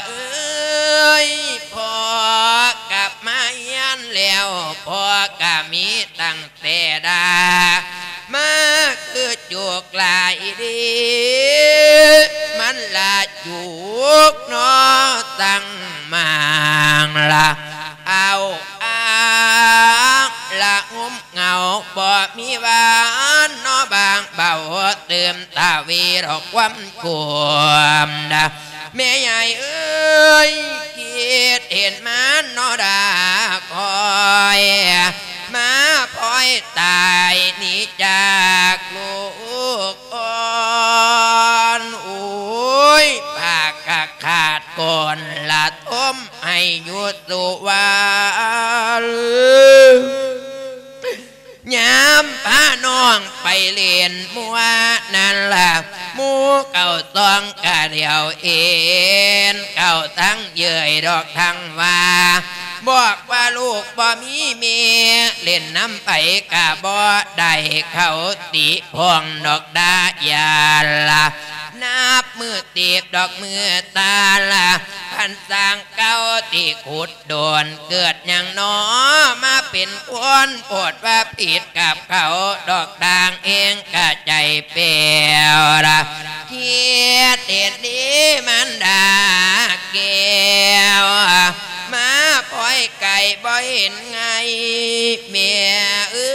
ເອີຍ ພໍ່ກັບມາຮຽນແລ້ວ ພໍ່ກະມີຕັ້ງ ແຕ່ດາມາຄືຈຸກຫຼາຍເດ ມັນລະຈຸກເນາະ ຕັ້ງມາງລະ ເອົາອາລະຫຸມເຫງົາ ບໍ່ມີຫວານເນາະ ບາງເບົາຕື່ມ ຕາວີດອກຄວາມກົມນະ ແມ່ໃຫຍ່ເອີຍ ຄິດເຫັນມານເນາະດາຂ້ອຍ ມາພອຍຕາຍໜີຈາກລູກອ່ອນ ໂອ້ຍ ພາກະຂາດກົ້ນລະທົມໃຫ້ຢູ່ສຸວັນ ຍາມພານ້ອງໄປຫຼິ້ນມົວນັ້ນລະ ໝູ່ເຂົາສ່ອງກະຫຼຽວເຫັນ ເຂົາທັງເຍີ້ຍດອກທັງວ່າ ບອກວ່າລູກບໍ່ມີແມ່ ຫຼິ້ນນຳໃຜກະບໍ່ໄດ້ ເຂົາຕິພອງດອກດາຢາລະ ນັບມື້ຕິບດອກມື້ຕາລະ ຄັນສ້າງເກົ່າຕິຂຸດ ໂດນເກີດຫຍັງໜໍ ມາເປັນຄົນໂພດວ່າຜິດກັບເຂົາ ດອກດາງເອງກະໃຈແປວລະ ຄິດເຫັນດີມານດາແກ້ວ ມາພອຍໄກ່ບໍ່ເຫັນໄງ ແມ່ເອີ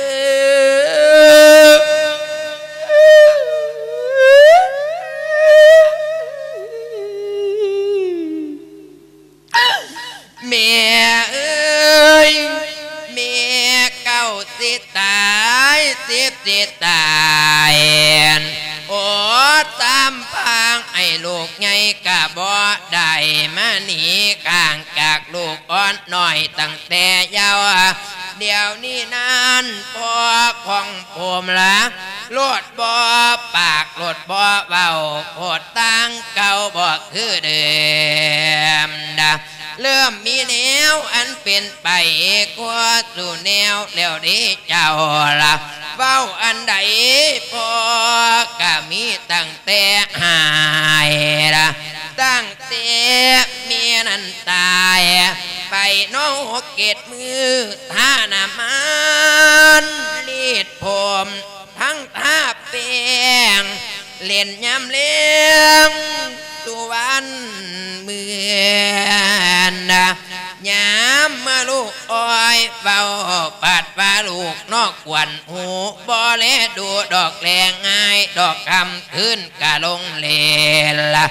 ຍ ແມ່ເອີຍ ແມ່ເກົ້າຊິຕາຍ ສິບຊິຕາຍ ໂອດສາມພາງ ໃຫ້ລູກໃຫຍ່ກະບໍ່ໄດ້ ມາໜີຫ່າງຈາກລູກອ່ອນນ້ອຍຕັ້ງແຕ່ເຍົາ ດຽວນີ້ນັ້ນພໍ່ຂອງຜົມລະ ໂລດບໍ່ປາກໂລດບໍ່ເວົ້າ ໂພດຕ່າງເກົ່າບໍ່ຄືເດີມດາ ເລີ່ມມີແນວອັນເປັນໄປ ກວ່າສູ່ແນວແລ້ວເດ້ເຈົ້າລະ ເວົ້າອັນໃດພໍ່ກະມີຕັ້ງແຕ່ຫາຍລະ ຕັ້ງແຕ່ແມ່ນັ້ນຕາຍໄປເນາະ ຫົກເຈັດມື້ ທານ້ຳມັນລີດຜົມ ທັງທາແປ້ງ ຫຼິ້ນຍາມແລງສຸວັນເມືອນນະ ຍາມເມື່ອລູກອ້ອຍເວົ້າ ປາດວ່າລູກນອກກວນຫູ ບໍ່ແລດູດອກແລງ່າຍດອກ ຄ່ຳຄືນກະລົງເລລະ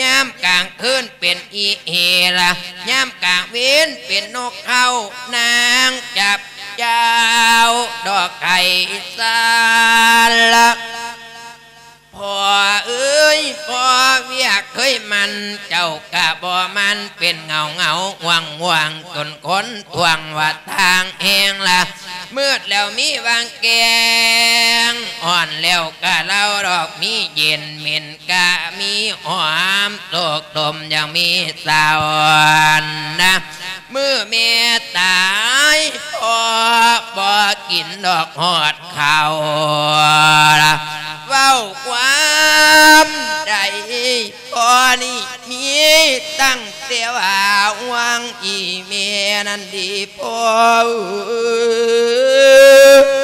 ຍາມກາງຄືນເປັນອີເຮລະ ຍາມກາງເວັນເປັນນົກເຂົາ ນາງຈັບ ເຈົ້າດອກໄກ່ສາລະ ພໍ່ເອີຍ ພໍ່ວຽກເຄີຍໝັ້ນ ເຈົ້າກະບໍ່ໝັ້ນ ເປັນເຫງົາໆ ຫວ່າງໆ ຈົນຄົນທ່ວງວ່າທາງແຮງລະ ມືດແລ້ວມີຫວ່າງແກງ ຮ້ອນແລ້ວກະເລົ່າດອກມີເຢັນ ເໝັນກະມີຫອມ ໂສກດົມຍັງມີສາວນະ ມື້ແມ່ຕາຍ ພໍ່ບໍ່ກິນດອກຮອດເຂົ້າລະ ເວົ້າຄວາມໃດ ພໍ່ນີ້ມີຕັ້ງແຕ່ວ່າຫວງອີ່ແມ່ນັ້ນດີພໍ່ເອີຍ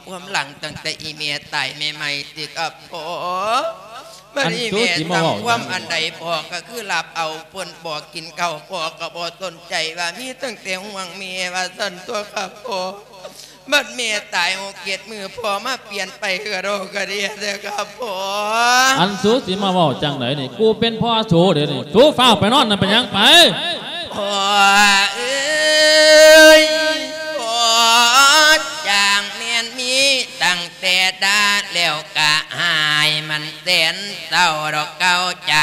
ຄວາມຫຼັງຕັ້ງແຕ່ອີແມ່ຕາຍໃໝ່ໆ ຕິຄັບພໍ່. ບັດນີ້ແມ່ສັ່ງຄວາມອັນໃດ ພໍ່ກໍຄືຮັບເອົາ. ເພິ່ນບອກກິນເຂົ້າ ພໍ່ກໍບໍ່ສົນໃຈ ວ່າມີຕັ້ງແຕ່ຫ່ວງແມ່ ວ່າຊັ້ນຕົວະຄັບພໍ່. ບັດແມ່ຕາຍຫົກເຈັດມື້ ພໍ່ມາປ່ຽນໄປກະດອກກະເດຍແທ້ຄັບພໍ່. ອັນສູຊິມາເວົ້າຈັ່ງໃດນີ້? ກູເປັນພໍ່ສູເດນີ້ ສູຟ້າວໄປນອນນະ ເປັນຫຍັງໄປ? ພໍ່ເອີຍ ພໍ່ຈາກແມ່ນມີຕັ້ງແຕ່ດາແລ້ວກະຫາຍ ມັນແສນເສົ້າດອກເກົ້າໃຈ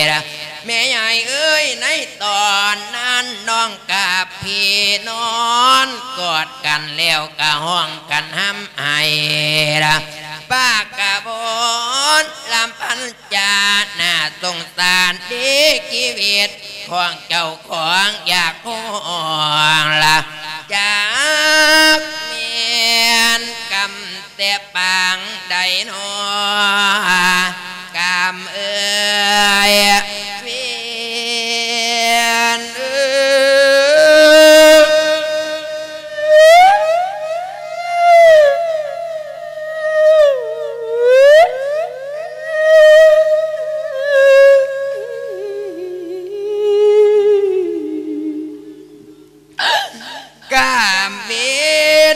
ລະ ແມ່ຍາຍເອີຍ. ໃນຕອນນັ້ນນ້ອງກັບພີ່ນອນກອດກັນແລ້ວກະຮ້ອງກັນຮ່ຳໄຫ້ລະ ປາກກະບົນລຳພັນ ຈາໜ້າສົງສານເດ ຊີວິດຂອງເຈົ້າຂອງຢາກຮ້ອງລະ ຈັກແມ່ນກຳແຕ່ປາງໃດນໍ ກຳເອີຍ ເວນເອີຍ. ກາມເວ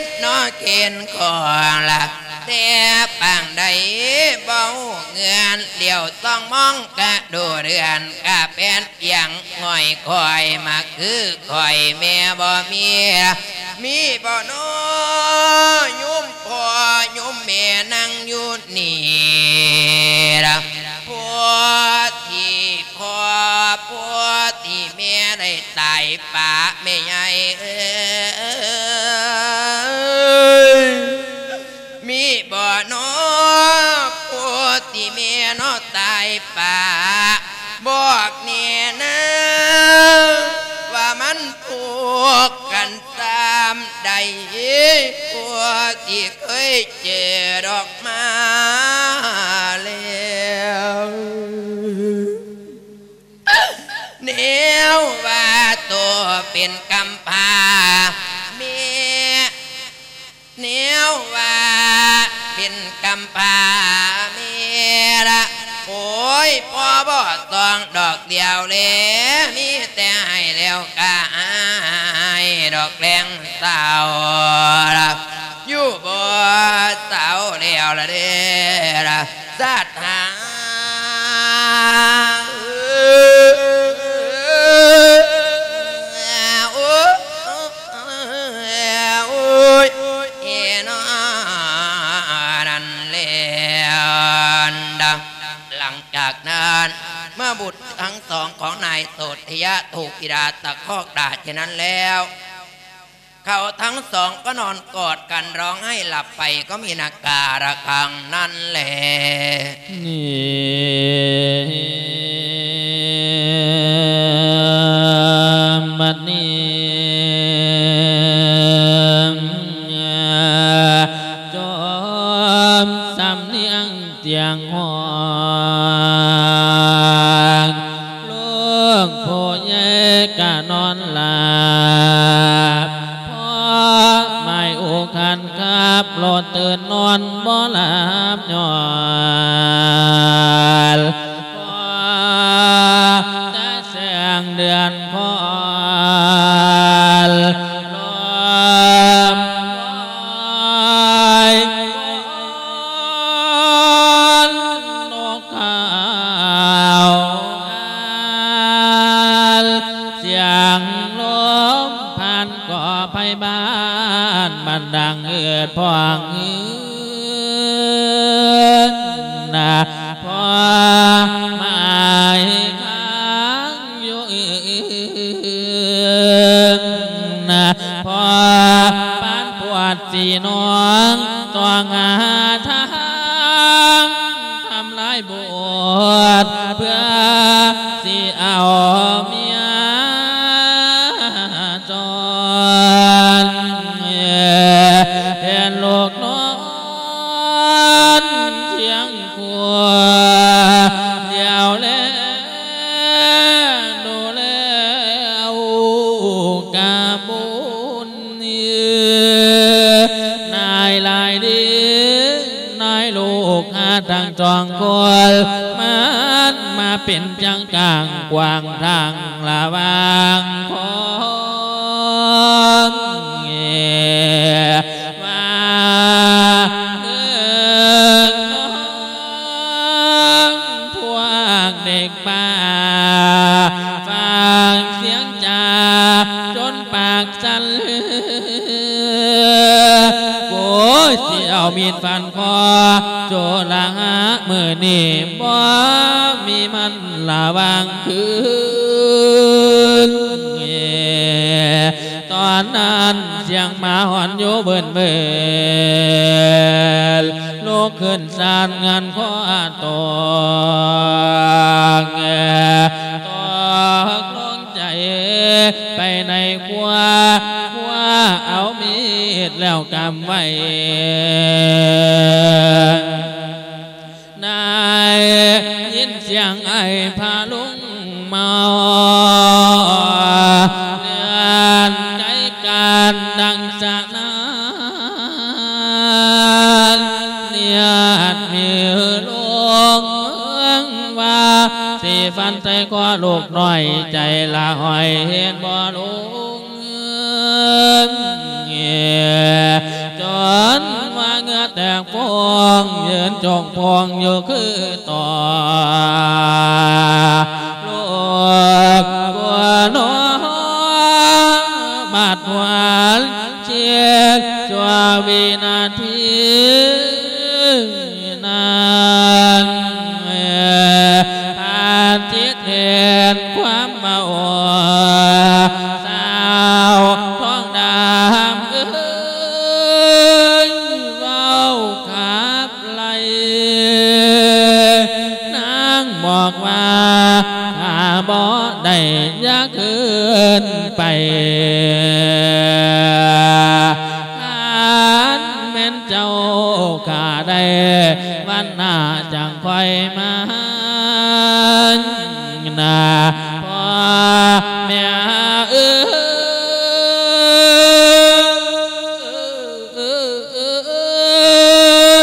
ນເນາະເຂນຂອງລະ ແຕ່ປາງໃດບໍ່ຮູ້ເງື່ອນ ຫຼຽວສ່ອງມອງກະດູເດືອນ ກະແປນອຽງຫງອຍຄອຍ ມາຄືຂ້ອຍແມ່ບໍ່ມີ ມີບໍ່ນໍໂຍມພໍ່ໂຍມແມ່ນັ່ງຢູ່ນີ້ລະ ຜູ້ທີ່ພໍ່ ຜູ້ທີ່ແມ່ໄດ້ຕາຍປະແມ່ໃຫຍ່ເອີຍ. ມີບໍ່ນໍຜູ້ທີ່ແມ່ເນາະຕາຍປະ ບອກແນ່ນາ ວ່າມັນທຸກກັນສ່ຳໃດ ຜູ້ທີ່ເຄີຍເຈີດອກມາແລ້ວ ແນວວ່າໂຕເປັນກຳພ້າແມ່ ແນວວ່າເປັນກຳພ້າແມ່ລະ ໂອ້ຍ ພໍ່ບໍ່ຕ້ອງດອກດຽວແລ ມີແຕ່ໃຫ້ແລ້ວກະອາຍ ດອກແລງເສົ້າລະ ຢູ່ບໍ່ເຊົາແລ້ວລະເດ້ລະ ສາດຫາ ໂອ້ຍ ໂອ້ຍ ເອນອ ນັ້ນແລ້ວ ຫຼັງຈາກນັ້ນ ເມື່ອບຸດທັງສອງຂອງນາຍໂສດທະຍະ ຖືກອີດາຕະຄອກດ່າເຊັ່ນນັ້ນແລ້ວ ເຂົາທັງສອງກໍນອນກອດກັນຮ້ອງໄຫ້ຫຼັບໄປ ກໍມີນາກາລະຄັງນັ້ນແລ. ນີ້ ບັດນີ້ ຈອມສຳນຽງ ສຽງຮ້ອງ ລູກຜູ້ໃຫຍ່ກະນອນຫຼັບ ພໍ່ໝາຍອຸຄັນຂັບລົດຕື່ນນອນບໍ່ຫຼັບຍ້ອນ ພໍແຕ່ແສງເດືອນພອນ ລົມລອຍ ນອນນົກ ຂາວອານ ສຽງລົມພັນກໍໄພບ້ານ ບັນດັງເອີດພອງຮືນນະ ພໍ່ໝາຍຄ້າງຢູ່ອື່ນນະ ພໍ່ປານປວດສີນອງ ຕ້ອງຫາທາງ ທຳລາຍບົດ ເພື່ອຊິເອົາເມຍຈອນ ເຫັນລູກນອນຄຽງຄູ່ ຫຼຽວແລດູແລ ກະບຸນນາຍຫຼາຍດີ. ສອງຄົນ ມັນມາເປັນຈັ່ງກາງຂວາງທາງລະຫວ່າງຄົນ ວ່າເອີ ພວກເດັກ ປ່າຟັງສຽງຈາຈົນປາກສັ່ນເລືອ ໂອ້ຍ ຊິເອົາມີດຟັນຄໍໂຈລະຫາ ມື້ນີ້ບໍ່ມີມັນລະຫວ່າງຄືນ. ຕອນນັ້ນສຽງໝາຫອນຢູ່ເບິ່ນໆ ລຸກຂຶ້ນສ້ານງານຄໍຕົງ ຕົກລົງໃຈໄປໃນຄົວ ຄົວເອົາມີດແລ້ວກຳໄວ້ ໄດ້ຍິນສຽງໄອ້ພະລຸງເມົາ ເລື່ອນໄກການດັ່ງສະໜານ ເນດມີລົງວ່າ ຊິຟັນໃສ່ຄໍລູກນ້ອຍ ໃຈລະຫ້ອຍເຮັດບໍ່ລົງ ຈົນວ່າເຫື່ອແຕກຟອງ ຢືນຈົກພອງຢູ່ຄືຕໍ່ ລູກກົວໜໍ ບາດຫວນເຈັບຊົ່ວວິນາທີ ນັ້ນ ພາທິດເຫັນຄວາມເວົ້າ ສາວທອງດຳເອີຍ ເວົ້າຂັບໄລ່ ນາງບອກວ່າ ຂ້າບໍ່ໄດ້ຢາກຄືນໄປ ຄັນແມ່ນເຈົ້າຂ້າໄດ້ວັນໜ້າຈັ່ງຄ່ອຍມານາ ພໍ່ແມ່ເອີ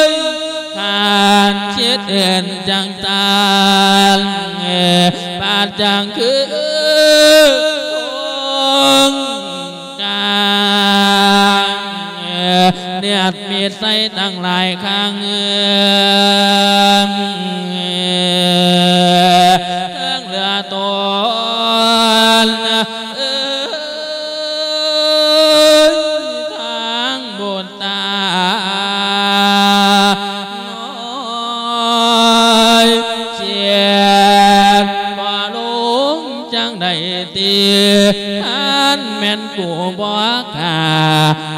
ຍ ຄັນຄິດເຫັນຈັ່ງຊັ້ນ ບາດຈັ່ງຄື ກາງ ເນດມີດໃສ່ຕັ້ງຫຼາຍຄັ້ງ ເທິງເຫຼືອຕົນ ເອີຍ ທາງບຸດຕານ້ອຍ ເຈັບບໍ່ລົງ ຈັ່ງໃດຕິ ຄັນແມ່ນກູບໍ່ຂ້າ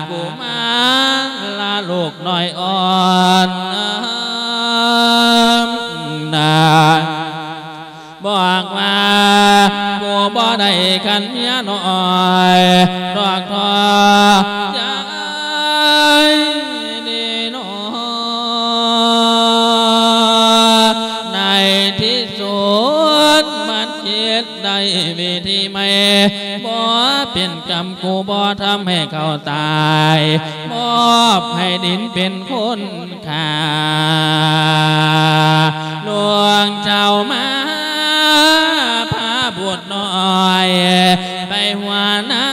ກູມາລາລູກນ້ອຍອ່ອນນາ ບອກວ່າ ກູບໍ່ໄດ້ຄັນເມຍນ້ອຍ ດອກທໍໃຈນີ້ໜໍ ໃນທີ່ສຸດມັນຄິດ ໄດ້ວິທີໃໝ່ ບໍ່ເປັນກຳ ກູບໍ່ທຳໃຫ້ເຂົາຕາຍ ມອບໃຫ້ດິນເປັນຄົນຂ້າ ຫຼວງເຈົ້າມາພາບຸດນ້ອຍ ໄປຫົວໜ້າ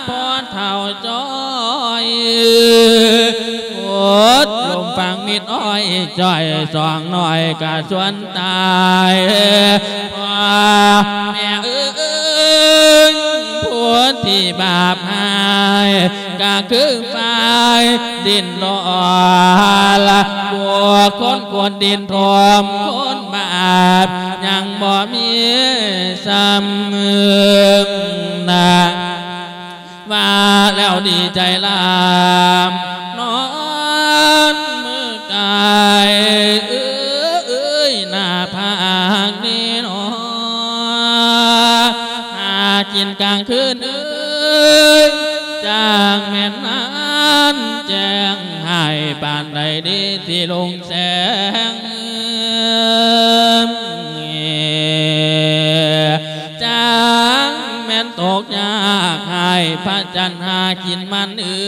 ພໍ່ເຖົ້າຈ້ອຍ ໂອດລົມຟັງມິດອ້ອຍຈ້ອຍ ສອງນ້ອຍກະຊວນ ຕາຍ ພໍ່ແມ່ເອີຍ ຜູ້ທີ່ບາບຮ້າຍ ກະຄືຝ່າຍດິນຫຼໍ່ລະ ພວກຄົນຄວນດິນຖົມ ຄົນບາບຍັງບໍ່ມີຊ້ຳນາ ວ່າແລ້ວດີໃຈຫຼາຍ ນອນມືກາຍເອີຍ ໜ້າຜາກນີ້ໜໍ ຫາກິນກາງຄືນເອີຍ ຈ້າງແມ່ນນານແຈ້ງ ໃຫ້ປານໃດດີຊິລຸງແສງ ຈ້າງແມ່ນຕົກຍາກ ໃຫ້ພະຈັນຫາກິນມັນເອີ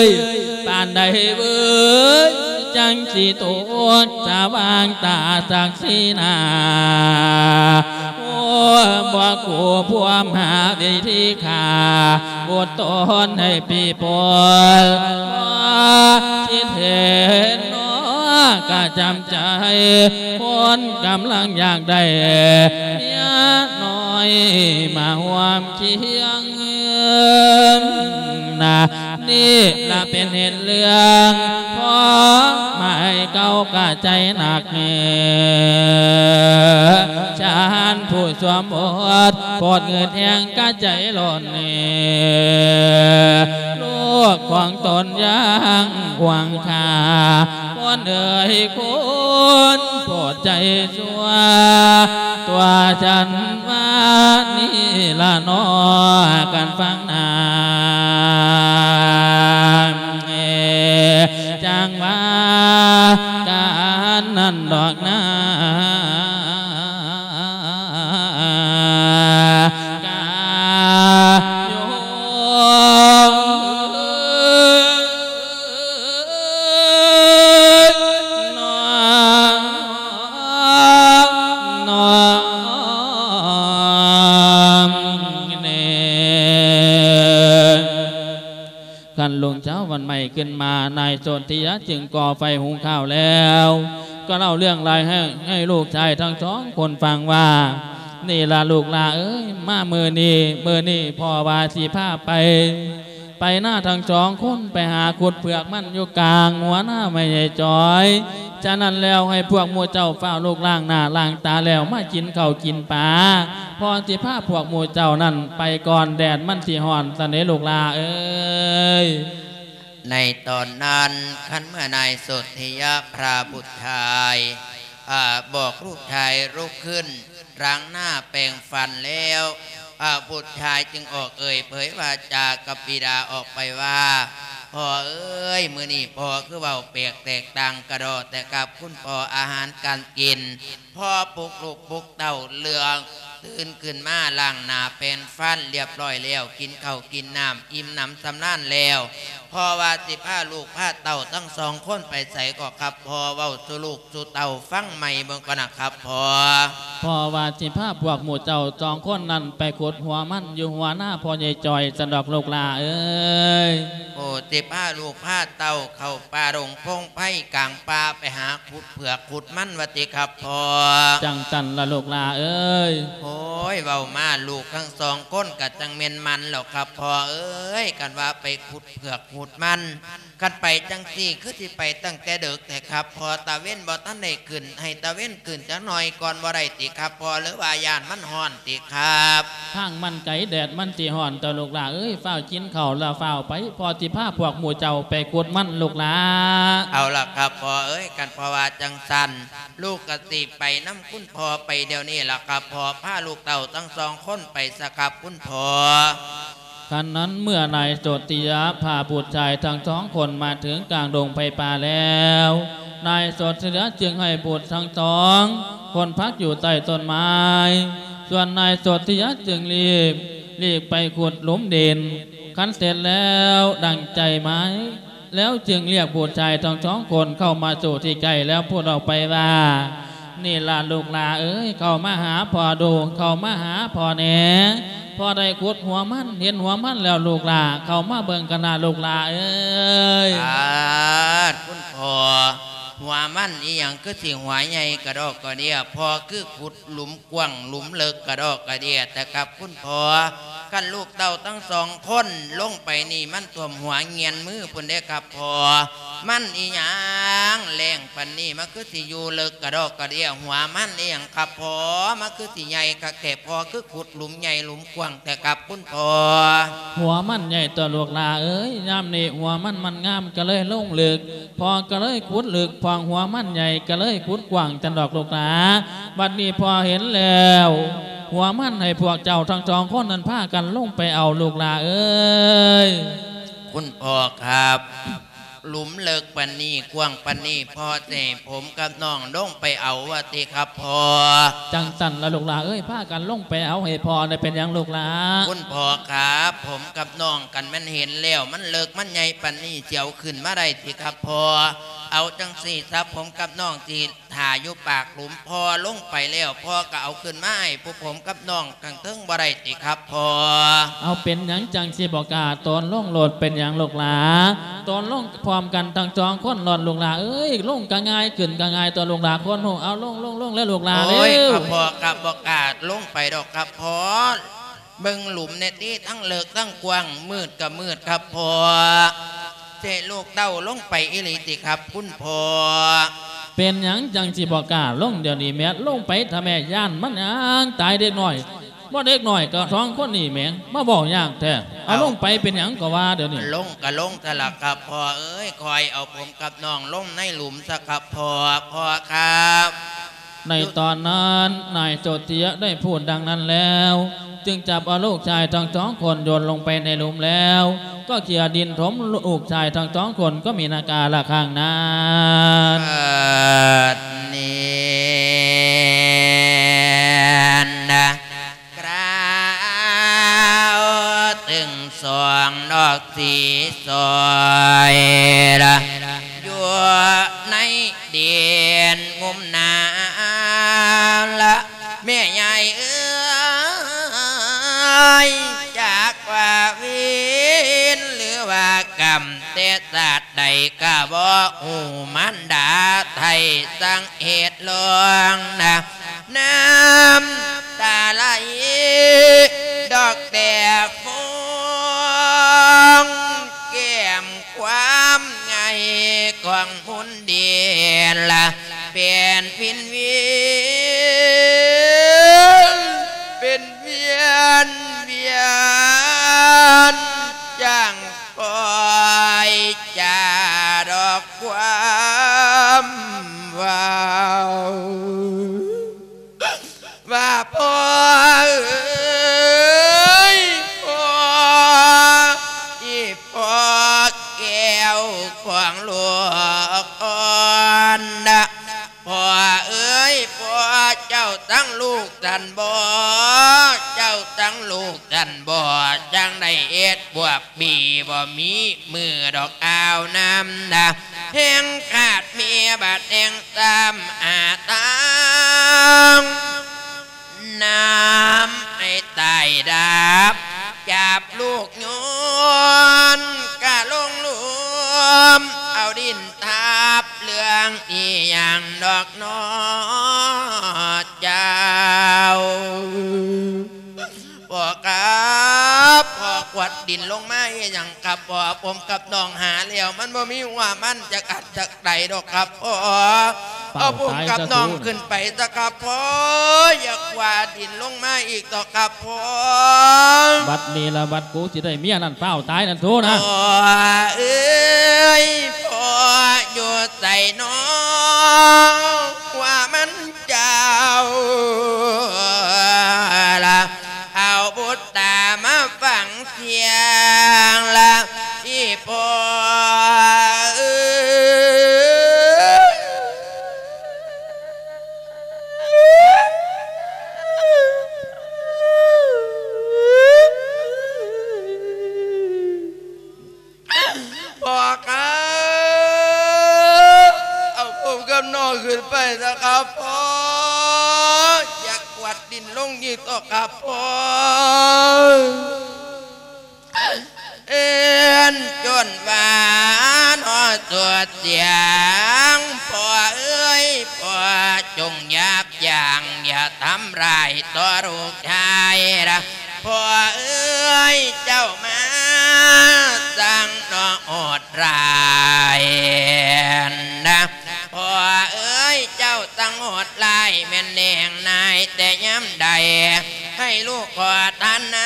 ຍ ປານໃດເວີຍ ຈັ່ງຊິຕົກສະຫວ່າງຕາສັກສີໜ້າ ໂອ້ ບໍ່ກູພວມຫາວິທີຂ້າ ອົດທົນໃຫ້ປີປົນ ບໍ່ຄິດເຫັນໜໍກະຈຳໃຈ ຄົນກຳລັງຢາກໄດ້ ເມຍນ້ອຍມາຮ່ວມຄຽງນະ ນີ້ລະເປັນເຫດເລື່ອງ ພໍໝາຍເກົ່າກະໃຈໜັກ ຊານຜູ້ສວມບົດ ໂພດເຫືອດແຮງກະໃຈຮ້ອນ ລູກຂອງຕົນຍັງຫວງຄ່າ ຄົນເອີຍຄົນໂພດໃຈຊົ່ວ ຕົວະສັນມານີ້ລະເນາະ ກັນຟັງນາ ຈັ່ງວ່າການນັ້ນດອກນາ ກາຍໂຍ ຄັນລຸງເຊົ້າວັນໃໝ່ຂຶ້ນມາ ນາຍສົນທິຍາຈຶ່ງກໍ່ໄຟຫຸງຂ້າວແລ້ວ ກໍເລົ່າເລື່ອງລາວໃຫ້ ໃຫ້ລູກຊາຍທັງສອງຄົນຟັງວ່າ ນີ້ລະລູກຫຼ້າເອີຍ ມາມື້ນີ້ ມື້ນີ້ພໍ່ວ່າຊິພາໄປ ໄປນາທັງສອງຄົນ ໄປຫາຂຸດເຜືອກມັນຢູ່ກາງຫົວນາແມ່ໃຫຍ່ຈອຍ. ສະນັ້ນແລ້ວໃຫ້ພວກໝູ່ເຈົ້າຟ້າວລຸກລ້າງໜ້າລ້າງຕາແລ້ວ ມາກິນເຂົ້າກິນປາ ພໍ່ຊິພາພວກໝູ່ເຈົ້ານັ້ນໄປກ່ອນ ແດດມັນຊິຮ້ອນຊັ້ນເດລູກຫຼ້າເອີຍ. ໃນຕອນນັ້ນ ຄັນເມື່ອນາຍສົນທິຍະພະບຸດຊາຍ ອາ ບອກລູກຊາຍລຸກຂຶ້ນ ລ້າງໜ້າແປງຟັນແລ້ວ ອາ ບຸດຊາຍຈຶ່ງອອກເອີ່ຍເຜີຍວາຈາກັບບິດາອອກໄປວ່າ ພໍ່ເອີຍ ມື້ນີ້ພໍ່ຄືເວົ້າແປກແຕກຕ່າງກະດໍແຕ່ກັບຄຸນພໍ່ ອາຫານການກິນ ພໍ່ປຸກລູກປຸກເຕົ້າເລື່ອງ ຕື່ນຂຶ້ນມາລ້າງໜ້າແປງຟັນລຽບຮ້ອຍແລ້ວ ກິນເຂົ້າກິນນ້ຳອີ່ມໜຳສຳລານແລ້ວ ພໍ່ວ່າຊິພາລູກພາເຕົ້າທັງສອງຄົນໄປໃສກໍຄັບພໍ່ ເວົ້າສູ່ລູກສູ່ເຕົ້າຟັງໃໝ່ເບິ່ງກ່ອນນະຄັບພໍ່. ພໍ່ວ່າຊິພາພວກໝູ່ເຈົ້າສອງຄົນນັ້ນໄປຂຸດຫົວມັນຢູ່ຫົວນາພໍ່ໃຫຍ່ຈອຍຊັ້ນດອກລູກຫຼ້າເອີຍ. ໂອ້ ຊິພາລູກພາເຕົ້າເຂົ້າປ່າດົງພົງໄພກາງປ່າ ໄປຫາຂຸດເຜືອກຂຸດມັນວ່າຕິຄັບພໍ່. ຈັ່ງຊັ້ນລະລູກຫຼ້າເອີຍ. ໂອ້ຍ ເວົ້າມາລູກທັງສອງຄົນກະຈັ່ງແມ່ນມັນແລ້ວຄັບພໍ່ເອີຍ ຄັນວ່າໄປຂຸດເຜືອກຂຸດມັນ ຄັນໄປຈັ່ງຊີ້ຄືຊິໄປຕັ້ງແຕ່ເດິກແທ້ຄັບພໍ່ ຕາເວັນບໍ່ທັນໄດ້ຂຶ້ນ ໃຫ້ຕາເວັນຂຶ້ນຈັກໜ້ອຍກ່ອນບໍ່ໄດ້ຕິຄັບພໍ່ ຫຼືວ່າຢ້ານມັນຮ້ອນຕິຄັບ? ທາງມັນໄກແດດມັນຊິຮ້ອນຕົວະລູກຫຼ້າເອີຍ ຟ້າວກິນເຂົ້າແລ້ວຟ້າວໄປ ພໍ່ຊິພາພວກໝູ່ເຈົ້າໄປຂຸດມັນລູກຫຼ້າ. ເອົາລະຄັບພໍ່ເອີຍ ຄັນພໍ່ວ່າຈັ່ງຊັ້ນ ລູກກະຊິໄປນຳຄຸນພໍ່ໄປດຽວນີ້ລະຄັບພໍ່ ພາລູກເຕົ້າທັງສອງຄົນໄປຊະຄັບຄຸນພໍ່. ຄັນນັ້ນເມື່ອນາຍສົນທິຍະພາບຸດຊາຍທັງສອງຄົນມາເຖິງກາງດົງໄພປ່າແລ້ວ ນາຍສົນທິຍະຈຶ່ງໃຫ້ບຸດທັງສອງຄົນພັກຢູ່ໃຕ້ຕົ້ນໄມ້ ສ່ວນນາຍສົນທິຍະຈຶ່ງລີບ ລີກໄປຂຸດຫຼຸມດິນ ຄັນເສັດແລ້ວດັ່ງໃຈໝາຍ ແລ້ວຈຶ່ງລຽກບຸດຊາຍທັງສອງຄົນເຂົ້າມາສູ່ທີ່ໃກ້ ແລ້ວພູດອອກໄປວ່າ ນີ້ລະລູກຫຼ້າເອີຍ ເຂົ້າມາຫາພໍ່ດູ ເຂົ້າມາຫາພໍ່ແດ່ ພໍ່ໄດ້ຂຸດຫົວມັນ ເຫັນຫົວມັນແລ້ວລູກຫຼ້າ ເຂົ້າມາເບິ່ງກັນນະລູກຫຼ້າເອີຍ. ປາດ ຄຸນພໍ່ ຫົວມັນອີ່ຫຍັງຄືຊິຫົວໃຫຍ່ກະດອກກະເດຍ ພໍ່ຄືຂຸດ ຫຼຸມກວ້າງ ຫຼຸມເລິກກະດອກກະເດຍແທ້ຄັບຄຸນພໍ່. ຄັນລູກເຕົ້າທັງສອງຄົນລົງໄປນີ້ ມັນຖ້ວມຫົວງຽນມືພຸ້ນເດ້ຄັບພໍ່. ມັນອີ່ຫຍັງແຫຼງປານນີ້ ມັນຄືຊິຢູ່ເລິກກະດອກກະເດຍ ຫົວມັນອີ່ຫຍັງຄັບພໍ່ ມັນຄືຊິໃຫຍ່ຄັກແທ້ ພໍ່ຄືຂຸດຫຼຸມໃຫຍ່ຫຼຸມກວ້າງແທ້ຄັບຄຸນພໍ່. ຫົວມັນໃຫຍ່ຕົວະລູກຫຼ້າເອີຍ ຍາມນີ້ຫົວມັນມັນງາມກະເລີຍລົງເລິກ ພໍ່ກະເລີຍຂຸດເລິກ ພວກຫົວມັນໃຫຍ່ກະເລີຍຂຸດກວ້າງຊັ້ນດອກລູກຫຼ້າ. ບັດນີ້ພໍ່ເຫັນແລ້ວ ຫົວມັນໃຫ້ພວກເຈົ້າທັງສອງຄົນນັ້ນພາກັນລົງໄປເອົາລູກຫຼ້າເອີຍ. ຄຸນພໍ່ຄັບ ຫຼຸມເລິກປານນີ້ ກວ້າງປານນີ້ ພໍ່ຊິໃຫ້ຜົມກັບນ້ອງລົງໄປເອົາວ່າຕິຄັບພໍ່. ຈັ່ງຊັ້ນລະລູກຫຼ້າເອີຍ ພາກັນລົງໄປເອົາໃຫ້ພໍ່ໄດ້ ເປັນຫຍັງລູກຫຼ້າ? ຄຸນພໍ່ຄັບ ຜົມກັບນ້ອງ ຄັນແມ່ນເຫັນແລ້ວ ມັນເລິກມັນໃຫຍ່ປານນີ້ ຊິເອົາຂຶ້ນມາໄດ້ຕິຄັບພໍ່? ເອົາຈັ່ງຊີ້ຊະ ຜົມກັບນ້ອງຊິຖ້າຢູ່ປາກຫຼຸມ ພໍ່ລົງໄປແລ້ວ ພໍ່ກໍເອົາຂຶ້ນມາໃຫ້ພວກຜົມກັບນ້ອງຂ້າງເທິງບໍ່ໄດ້ຕິຄັບພໍ່? ເອົາ ເປັນຫຍັງຈັ່ງຊິບໍ່ກ້າ? ໂຕນລົງໂລດ ເປັນຫຍັງລູກຫຼາ? ໂຕນລົງພ້ອມກັນທັງສອງຄົນໂລດລູກຫຼາເອີຍ ລົງກໍງ່າຍ ຂຶ້ນກໍງ່າຍຕົວະລູກຫຼາ ຄົນຮູ້. ເອົາ ລົງ ລົງ ລົງແລ້ວລູກຫຼາເອີຍ. ໂອ້ຍ ຄັບພໍ່ ຄັບ ບໍ່ກ້າລົງໄປດອກຄັບພໍ່. ເບິ່ງຫຼຸມແດ່ຕິ ທັງເລິກທັງກວ້າງ ມືດກໍມືດຄັບພໍ່. ເຈະລູກເຕົ້າລົງໄປອີ່ຫຼີຕິຄັບຄຸນພໍ່? ເປັນຫຍັງຈັ່ງຊິບໍ່ກ້າລົງດຽວນີ້ແມ້? ລົງໄປທະແມ້ ຢ້ານມັນຫຍັງ ຕາຍເດັກນ້ອຍ ບໍ່ເດັກນ້ອຍກໍສອງຄົນນີ້ແມ້ ມາເວົ້າຍາກແທ້. ເອົາ ເອົາ ລົງໄປເປັນຫຍັງກໍວ່າດຽວນີ້? ລົງກໍລົງຊະລະຄັບພໍ່ເອີຍ ຄ່ອຍເອົາຜົມກັບນ້ອງລົງໃນຫຼຸມຊະຄັບພໍ່ ພໍ່ຄັບ. ໃນຕອນນັ້ນ ນາຍໂຊເທຍໄດ້ພູດດັ່ງນັ້ນແລ້ວ ຈຶ່ງຈັບເອົາລູກຊາຍທັງສອງຄົນໂຍນລົງໄປໃນຫຼຸມແລ້ວ ກໍເຂຍດິນຖົມລູກຊາຍທັງສອງຄົນກໍມີນາກາລະຂ້າງນັ້ນ. ບັດນີ້ນະ ຄາວເຖິງສອງດອກສີສອຍລະ ຢູ່ໃນດິນງຸມນ້ຳລະ ແມ່ຍາຍເອີຍ ຈັກວ່າເວນ ຫຼືວ່າກຳ ແຕ່ຊາດໃດກະບໍ່ຮູ້ ມານດາໄຖ່ສັງເຫດລອງນະ ນ້ຳຕາໄຫຼດອກແຕ່ຟອງ ແກ້ມຄວາມໃຫຍ່ຂອງມຸນດິນລະ ເປັນວິນວຽນ ເປັນວຽນວຽນ ຈັ່ງປ່ອຍຈາດອກຄວາມເວົ້າ ວ່າພໍ່ເອີຍ ພໍ່ ອີ່ພໍ່ແກ້ວຂອງລູກອ່ອນນະ ພໍ່ເອີຍ ພໍ່ ເຈົ້າທັງລູກທັນບໍ່? ເຈົ້າທັງລູກທັນບໍ່? ຈັ່ງໄດ້ເຮັດບວບບີ ບໍ່ມີມື້ດອກອາວນ້ຳນະ ແຮງຂາດເມຍບາດແຮງຕາມຫາທາງ ນ້ຳໃຫ້ຕາຍດັບ ຈັບລູກໂຍນກະລົງຫຼຸມ ເອົາດິນທັບ ເລື່ອງອີ່ຫຍັງດອກນໍເຈົ້າ? ພໍ່ຄັບ ພໍ່ກວາດດິນລົງມາເຮັດຫຍັງຄັບ? ພໍ່ ຜົມກັບນ້ອງຫາແລ້ວ ມັນບໍ່ມີຫົວມັນຈັກອັນຈັກໃດດອກຄັບພໍ່. ເອົາຜົມກັບນ້ອງຂຶ້ນໄປຊະຄັບພໍ່ ຢ່າກວາດດິນລົງມາອີກດອກຄັບພໍ່. ບັດນີ້ລະ ບັດກູຊິໄດ້ເມຍນັ້ນ ຟ້າວຕາຍນັ້ນໂທນະ. ພໍ່ເອີຍ ພໍ່ຢູ່ໃສນໍ ວ່າມັນ ເຈົ້າລະ ເອົາບຸດຕາມາຟັງສຽງລະ ອີ່ພໍ່ເອີຍ. ພໍ່ຄັບ ເອົາຜົມກັບນ້ອງຂຶ້ນໄປຊະຄັບພໍ່ ຢ່າກວາດດິນລົງອີກເຖາະຄັບພໍ່. ເອີ້ນຈົນວ່ານອດສຸດສຽງ ພໍ່ເອີຍ ພໍ່ຈົ່ງຢ່າບຢ່າງ ຢ່າທຳຮ້າຍຕໍ່ລູກຊາຍລະ ພໍ່ເອີຍ ເຈົ້າມາຊ່າງເນາະໂຫດຮ້າຍນະ ພໍ່ເອີຍ ເຈົ້າຊ່າງໂຫດຮ້າຍ ແມ່ນແນງນາຍແຕ່ຍາມໃດ ໃຫ້ລູກຂໍທານນ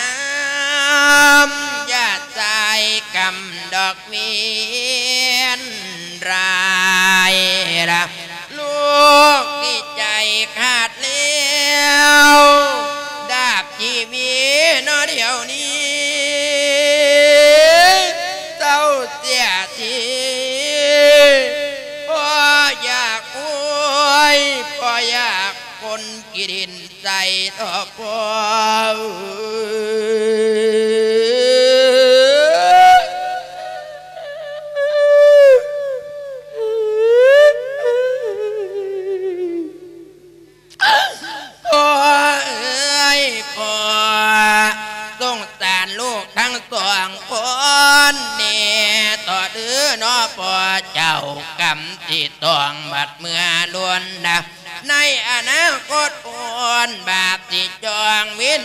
ຳ ຢ່າໃຊ້ກຳດອກເວນຮ້າຍລະ ລູກນີ້ໃຈຂາດແລ້ວ ດາບຊີວິດເນາະດຽວນີ້ ເສົ້າເສຍທີ ພໍ່ຢາກໂອຍ ພໍ່ຢາກຄົນຂີ້ດິນໃສ່ເຖາະພໍ່.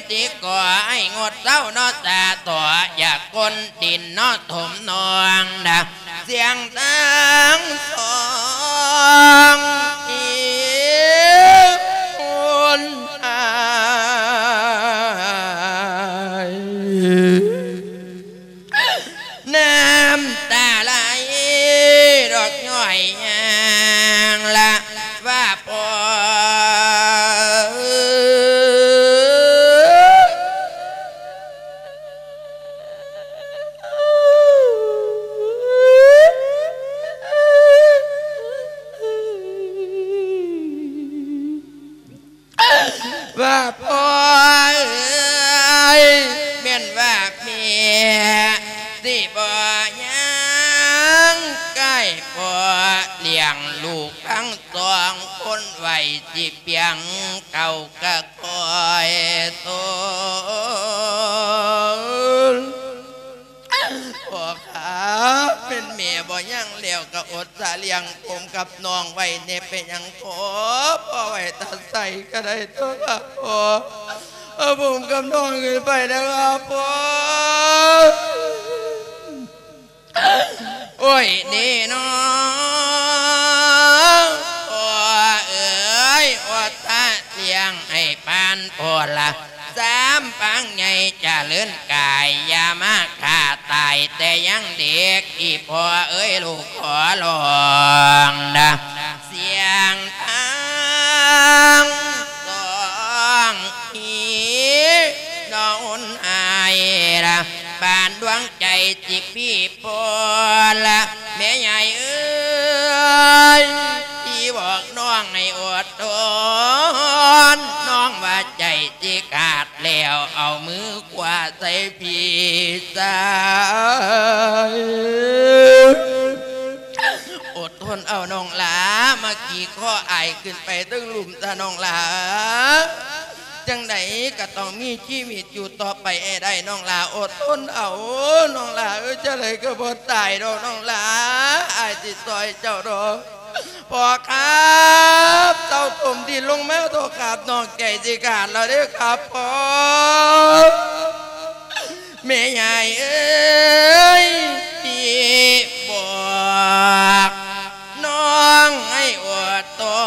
ທີ່ກໍໃຫ້ງົດເຊົາເນາະ ສາໂຕ ຢ່າກົ້ນດິນເນາະ ຖົມນ້ອງນະ ສຽງທັງສອງ ອີ່ຄົນອ້າຍ ນ້ຳຕາໄຫຼດອກຍ້ອຍຍາງລະວ່າພໍ ວ່າພໍ່ເອີຍ ແມ່ນວ່າແມ່ຊິບໍ່ຍັງໃກ້ພໍ່ ລ້ຽງລູກທັງສອງຄົນໄວ້ ຊິປຽງເຂົ້າກະຄອຍໂຕນ. ພໍ່ຂາ ແມ່ນແມ່ບໍ່ຍັງແລ້ວ ກໍອົດສາລ້ຽງຜົມກັບນ້ອງໄວ້ແດ່ ເປັນຫຍັງພໍ່ ພໍ່ໄວ້ຕາໃສກໍໄດ້ຕົວະ ພໍ່ ເອົາຜົມກັບນ້ອງຂຶ້ນໄປນະຄັບພໍ່. ໂອ້ຍ ນີ້ນ້ອງ ພໍ່ເອີຍ ອົດສາລ້ຽງໃຫ້ປານໂພລະ ສາມປາງໃຫຍ່ຈະເລີນກາຍ ຢ່າມາຂ້າຕາຍແຕ່ຍັງເດັກ ອີ່ພໍ່ເອີຍ ລູກຂໍຮ້ອງນະ ສຽງທັງສອງ ອີ ນ້ອງອາຍລະ ປານດວງໃຈຊິປີໂພລະ ແມ່ໃຫຍ່ເອີຍ ທີ່ບອກນ້ອງໃຫ້ອົດທົນ ນ້ອງວ່າໃຈ ຊິຂາດແລ້ວ ເອົາມືຂວາໃສ່ພີ້ຊາຍ ອົດທົນເອົານ້ອງຫຼາ ມາຂີ່ຄໍອ້າຍຂຶ້ນໄປເທິງລຸ່ມຊະນ້ອງຫຼາ ຈັ່ງໃດກໍຕ້ອງມີຊີວິດຢູ່ຕໍ່ໄປໃຫ້ໄດ້ນ້ອງຫຼາ ອົດທົນເອົາ ນ້ອງຫຼາເອີຍ ຈັ່ງໃດກໍບໍ່ຕາຍດອກນ້ອງຫຼາ ອ້າຍຊິຊ່ອຍເຈົ້າດອກ. ພໍ່ຂາບ ເຕົ້າຖົມດິນລົງມາເຖາະຂາບ ນ້ອງໃຈຊິຂາດແລ້ວເດີຂາບພໍ່. ແມ່ຍາຍເອີຍ ທີ່ບອກນ້ອງໃຫ້ອົດທົ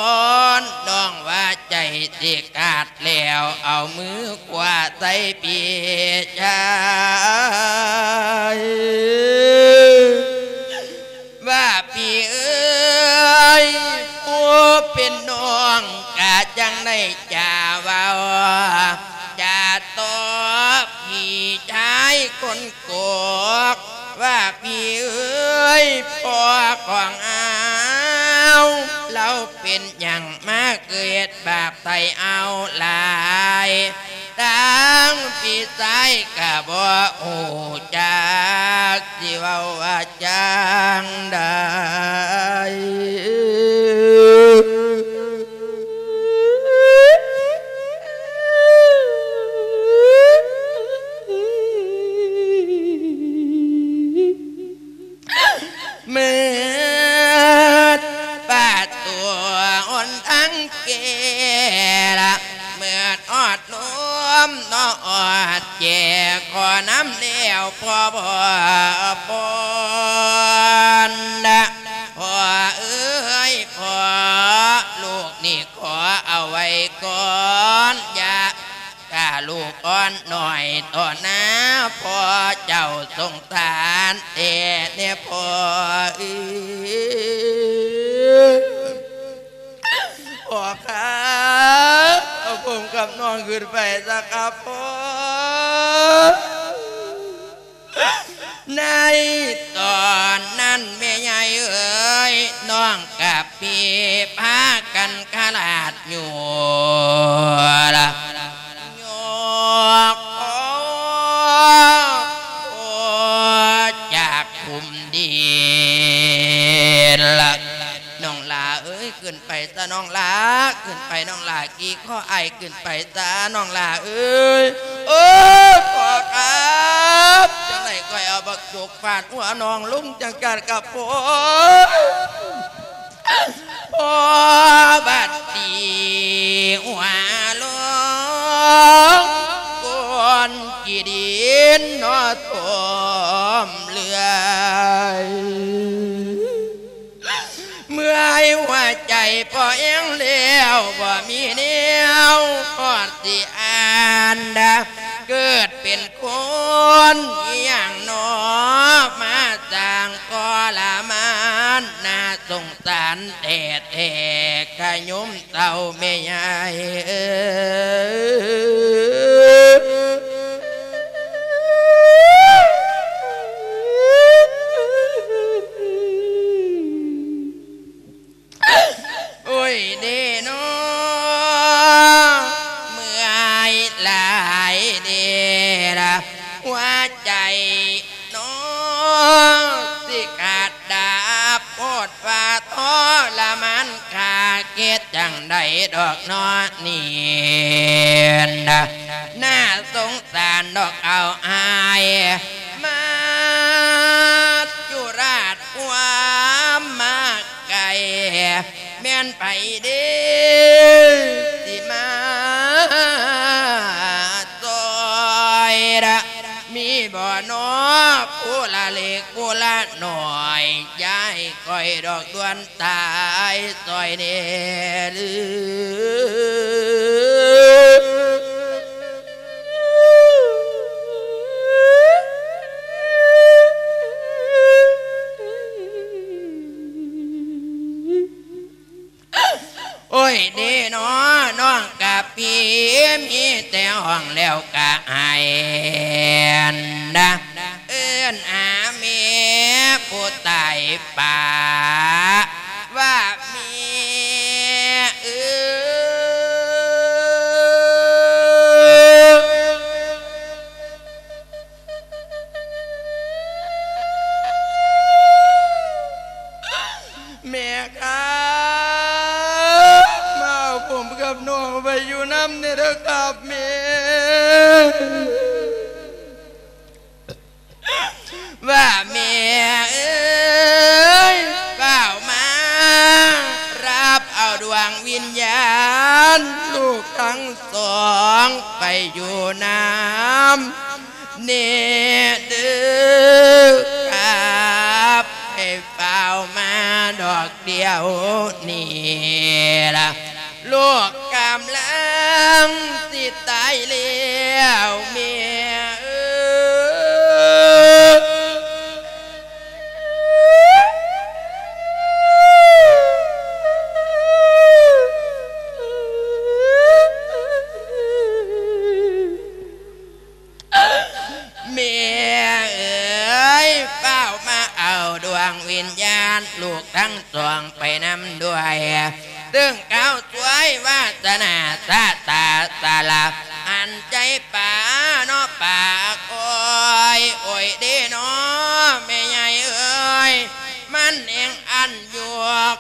ນ ນ້ອງວ່າໃຈຊິຂາດແລ້ວ ເອົາມືຂວາໃສ່ປີກຊາຍ. ວ່າພີ່ເອີຍ ຜູ້ເປັນນ້ອງກະຈັ່ງໄດ້ຈາເວົ້າ ຈາຕອບພີ່ຊາຍຄົນໂກກ ວ່າພີ່ເອີຍ ພໍ່ຂອງເຮົາ ລາວເປັນຫຍັງມາເກີດບາບໃສ່ເຮົາຫຼາຍ ທັງພີ່ຊາຍກະບໍ່ຮູ້ຈັກ ຊິເວົ້າວ່າຈັ່ງໃດ. ມືດປະຕູຫົນທາງແກ້ລະ ມືດຮອດລົມເນາະ ຮອດແຈຂໍນຳແລ້ວພໍ່ບໍ່ພົນນະ ພໍ່ເອີຍ ພໍ່ ລູກນີ້ຂໍເອົາໄວ້ກ່ອນ ຢ່າ ຖ້າລູກອ່ອນນ້ອຍຕໍ່ໜ້າພໍ່ເຈົ້າ ສົງສານແທ້ແນ່ພໍ່ເອີຍ. ພໍ່ຄະ ເອົາຜົມກັບນ້ອງຂຶ້ນໄປຊະຄະພໍ່. ໃນຕອນນັ້ນແມ່ໃຫຍ່ເອີຍ ນ້ອງກັບພີ່ພາກັນຄະລາດຢູ່ລະ ຍົກຄອຈາກຂຸມດິນລະ ນ້ອງຫຼ້າເອີຍ ຂຶ້ນໄປຊະນ້ອງຫຼ້າ ຂຶ້ນໄປນ້ອງຫຼ້າ ຂີ່ຄໍອ້າຍຂຶ້ນໄປຊະນ້ອງຫຼ້າເອີຍ. ໂອ້ ພໍ່ຄະ ຈັ່ງໃດຂ້ອຍເອົາບັກຈົກຟາດຫົວນ້ອງລົງຈັງກາດກະໂປ ພໍ່ບາດຕີຫົວລົງ ນເນາະ ໂທມເລື່ອຍ ເມື່ອຍຫົວໃຈພໍແຮງແລ້ວ ບໍ່ມີແນວຮອດຊິອ່ານ ເກີດເປັນຄົນອີ່ຫຍັງເນາະ ມາສ້າງທໍລະມານ ໜ້າສົງສານແທ້ໆ ຂະຍົມ ເຕົ້າແມ່ຍາຍເອີຍ ໂອ້ຍເດ້ເນາະ ເມື່ອຍຫຼາຍເດ້ລະ ຫົວໃຈ ເນາະ ຊິຂາດດາບໂພດວ່າທໍລະມານ ຂ້າເຮັດຈັ່ງໃດດອກເນາະນີ້ນະ ໜ້າສົງສານດອກເອົາອ້າຍ ມາຈຸລາດຄວາມມາ ໄກ ແມ່ນໃຜເດ້ ຊິມາຊ່ອຍລະ ມີບໍ່ເນາະ ຜູ້ລະເລັກຜູ້ລະນ້ອຍ ຢ່າໃຫ້ຂ້ອຍດອກດ່ວນຕາຍຊ່ອຍແດ່ເດີ. ໂອ້ຍເດ້ເນາະ ນ້ອງກະປີ ມີແຕ່ຮ້ອງແລ້ວກະໄຫ້ນະ ເອີ້ນຫາແມ່ຜູ້ຕາຍປະ ວ່າແມ່ເອີຍ ແມ່ຄັບ ມາເອົາຜົມກັບນ້ອງໄປຢູ່ນຳແດ່ເດີຄັບແມ່. ວ່າແມ່ເອີຍ ຟ້າວມາຮັບເອົາດວງວິນຍານລູກທັງສອງໄປຢູ່ນຳແດ່ເດີຄັບ ໃຫ້ຟ້າວມາດອກດຽວນີ້ລະ. ລູກກຳລັງຊິຕາຍແລ້ວແມ່ເອີຍ ແມ່ເອີຍ ຟ້າວມາເອົາດວງວິນຍານລູກທັງສອງໄປນຳດ້ວຍ ເຊິ່ງເຂົາສວຍວາສະໜາຊະຕາສາລະ ອັນໃຈປາເນາະປາຄອຍ ໂອ້ຍເດ້ເນາະ ແມ່ໃຫຍ່ເອີຍ ມັນແຮ່ງອັນຢູ່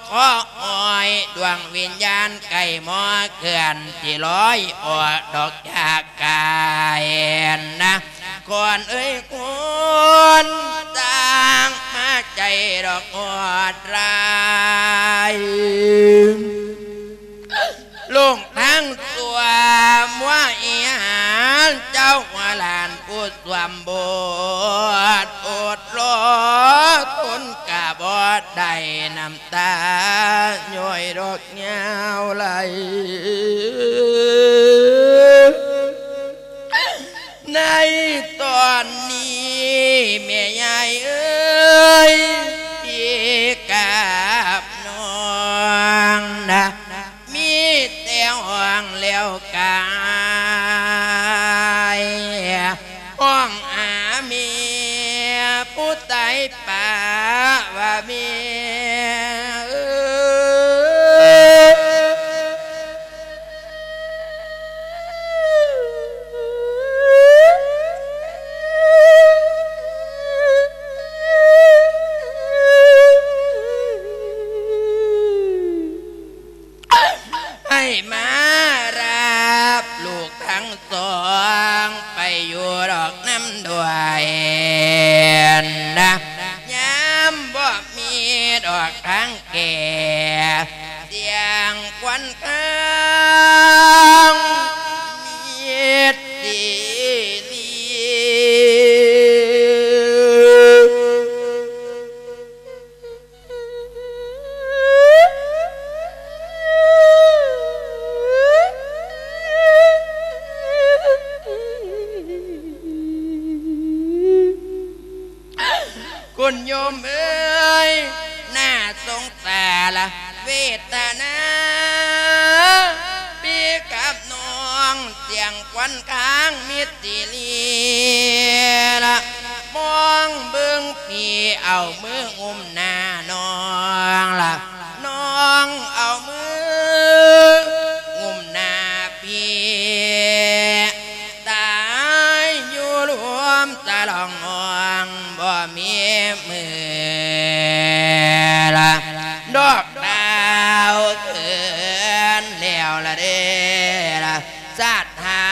ຂໍອອຍດວງວິນຍານໄກ່ໝໍເຄື່ອນ ຊິລອຍອອກດອກຈາກກາຍນະ ຄອນເອີຍ ຄອນ ສ້າງມາໃຈດອກໂຫດຮ້າຍ ລົງທາງຊົ່ວມົວອີຫຍັງ ເຈົ້າຫົວຫຼານຜູ້ສວມບົດ ອົດລໍທົນກະບໍ່ໄດ້ ນ້ຳຕາຍ້ອຍດອກຍາວໄຫຼ. ໃນຕອນນີ້ແມ່ຍາຍເອີຍ ພີ່ກັບນ້ອງນະ ມີແຕ່ຮ້ອງແລ້ວກາຍ ຮ້ອງຫາແມ່ຜູ້ຕາຍປະວ່າແມ່ເອີຍ ໃຫ້ມາຮັບລູກທັງສອງໄປຢູ່ດອກນຳດ້ວຍນະ ຍາມບໍ່ມີດອກທາງແກ່ ສຽງຄວັນຄາງມີດສີລີ ໂຍມເອີຍ ໜ້າສົງສາລະເວທະນາ ພີ່ກັບນ້ອງ ສຽງຄວັນຄ້າງມິດຊິລີລະ ມອງເບິ່ງພີ່ ເອົາມືງຸ້ມໜ້ານ້ອງລະ ນ້ອງເອົາມືງຸ້ມໜ້າພີ່ ຕາຍຢູ່ລວມສະຫຼອງຫ້ອງ ບໍ່ມີມືລະ ດອກດາວເກີນແລ້ວລະເດ້ລະ ສາດຫາ.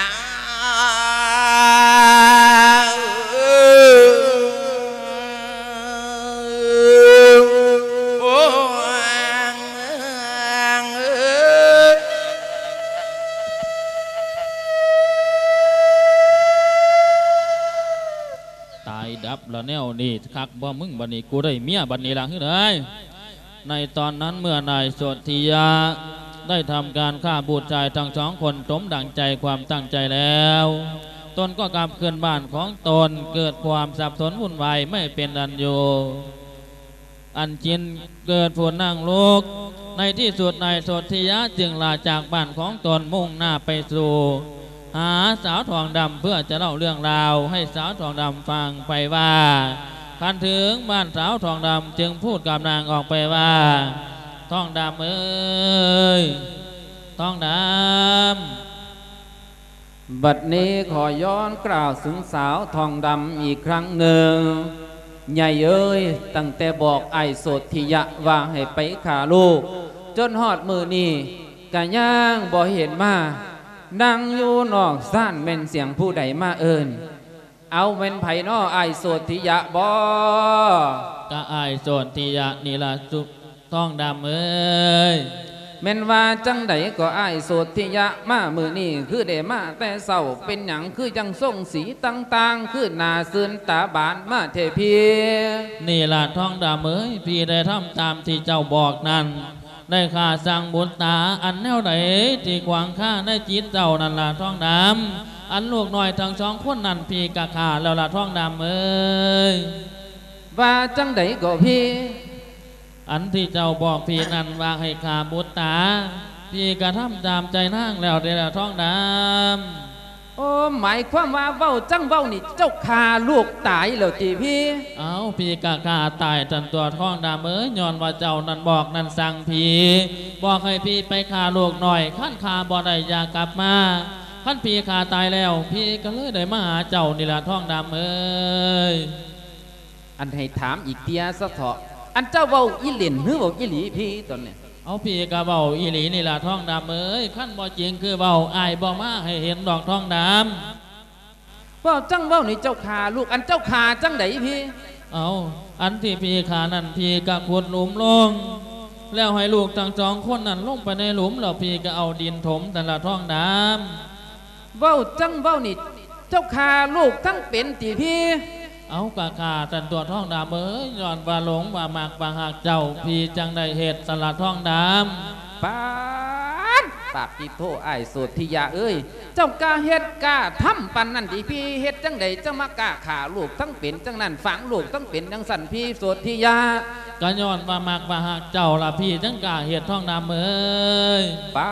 ຕາຍດັບລະແນວນີ້ ຄັກບໍ່ມຶງ ບັດນີ້ກູໄດ້ເມຍບັດນີ້ລະ ເຮີ້ຍ. ໃນຕອນນັ້ນເມື່ອນາຍໂສທິຍະໄດ້ທຳການຂ້າບຸດຊາຍທັງສອງຄົນສົມດັ່ງໃຈຄວາມຕັ້ງໃຈແລ້ວ ຕົນກໍກັບຄືນບ້ານຂອງຕົນ ເກີດຄວາມສັບສົນວຸ່ນວາຍໄມ່ເປັນອັນຢູ່ ອັນຈິນເກີດຜຸນນັ່ງລຸກ. ໃນທີ່ສຸດນາຍໂສທິຍະຈຶ່ງລາຈາກບ້ານຂອງຕົນ ມຸ່ງໜ້າໄປສູ່ ຫາສາວທອງດຳ ເພື່ອຈະເລົ່າເລື່ອງລາວໃຫ້ສາວທອງດຳຟັງໄປວ່າ ຄັນເຖິງບ້ານສາວທອງດຳຈຶ່ງພູດກັບນາງອອກໄປວ່າ ທອງດຳເອີຍ ທອງດຳ. ບັດນີ້ຂໍຍ້ອນກ່າວເຖິງສາວທອງດຳອີກຄັ້ງໜຶ່ງ ໃຫຍ່ເອີຍ ຕັ້ງແຕ່ບອກອ້າຍໂສທິຍະວ່າໃຫ້ໄປຂ້າລູກ ຈົນຮອດມື້ນີ້ ກະຍັງບໍ່ເຫັນມາ ນັ່ງຢູ່ນອກຊານ ແມ່ນສຽງຜູ້ໃດມາເອີ້ນ? ເອົາ ແມ່ນໃຜນໍ ອ້າຍໂສທິຍະບໍ? ກະອ້າຍໂສທິຍະນີ້ລະ ທອງດຳເອີຍ. ແມ່ນວ່າຈັ່ງໃດກໍອ້າຍໂສທິຍະ ມາມື້ນີ້ຄືໄດ້ມາແຕ່ເຊົ້າ ເປັນຫຍັງຄືຈັ່ງຊົງສີຕ່າງໆ ຄືໜ້າຊື່ນຕາບານມາແທ້ພີ່? ນີ້ລະທອງດຳເອີຍ ພີ່ໄດ້ທຳຕາມທີ່ເຈົ້າບອກນັ້ນ ໄດ້ຂ້າສັງບຸດຕາ ອັນແນວໃດທີ່ຂວາງຄາໃນຈິດເຈົ້ານັ້ນລະທອງດຳ ອັນລູກນ້ອຍທັງສອງຄົນນັ້ນ ພີ່ກະຂ້າແລ້ວລະທອງດຳເອີຍ. ວ່າຈັ່ງໃດກໍພີ່? ອັນທີ່ເຈົ້າບອກພີ່ນັ້ນວ່າໃຫ້ຂ້າບຸດຕາ ພີ່ກະທຳຕາມໃຈນາງແລ້ວເດ້ລະທອງດຳ. ໂອ້ ໝາຍຄວາມວ່າເວົ້າຈັ່ງເວົ້ານີ້ ເຈົ້າຂ້າລູກຕາຍແລ້ວຕິພີ່? ເອົ້າ ພີ່ກະຂ້າຕາຍຫັ້ນຕົວະທອງດຳເອີຍ ຍ້ອນວ່າເຈົ້ານັ້ນບອກນັ້ນສັ່ງພີ່ ບອກໃຫ້ພີ່ໄປຂ້າລູກນ້ອຍ ຄັນຂ້າບໍ່ໄດ້ຢ່າກັບມາ ຄັນພີ່ຂ້າຕາຍແລ້ວ ພີ່ກະເລີຍໄດ້ມາຫາເຈົ້ານີ້ລະທອງດຳເອີຍ. ອັນໃຫ້ຖາມອີກເທື່ອສະເທາະ ອັນເຈົ້າເວົ້າອີ່ຫຼິ້ນ ຫຼືເວົ້າອີ່ຫຼີພີ່ຕອນນີ້? ເອົາ ພີ່ກະເວົ້າອີ່ຫຼີນີ້ລະທອງດຳເອີຍ ຄັນບໍ່ຈິງຄືເວົ້າ ອ້າຍບໍ່ມາໃຫ້ເຫັນດອກທອງດຳ. ເວົ້າຈັ່ງເວົ້ານີ້ເຈົ້າຂ້າລູກ ອັນເຈົ້າຂ້າຈັ່ງໃດພີ່? ເອົາ ອັນທີ່ພີ່ຂ້ານັ້ນ ພີ່ກະຂຸດຫຼຸມລົງ ແລ້ວໃຫ້ລູກທັງສອງຄົນນັ້ນລົງໄປໃນຫຼຸມ ແລ້ວພີ່ກະເອົາດິນຖົມຫັ້ນລະທອງດຳ. ເວົ້າຈັ່ງເວົ້ານີ້ ເຈົ້າຂ້າລູກທັງເປັນຕິພີ່? ເອົາ ກະຂ້າຫັ້ນຕົວະທອງດຳເອີຍ ຍ້ອນວ່າຫຼົງວ່າມັກວ່າຮັກເຈົ້າ ພີ່ຈັ່ງໄດ້ເຮັດຊັ້ນລະທອງດຳ. ປາດ ປາດຕິໂທ ອ້າຍໂສທິຍະເອີຍ ເຈົ້າກ້າເຮັດກ້າທຳປານນັ້ນຕິພີ່? ເຮັດຈັ່ງໃດຈັ່ງມາກ້າຂ້າລູກທັງເປັນຈັ່ງນັ້ນ ຝັງລູກທັງເປັນຈັ່ງຊັ້ນ ພີ່ໂສທິຍະ? ກະຍ້ອນວ່າມັກວ່າຮັກເຈົ້າລະ ພີ່ຈຶ່ງກ້າເຮັດທອງດຳເອີຍ. ປາ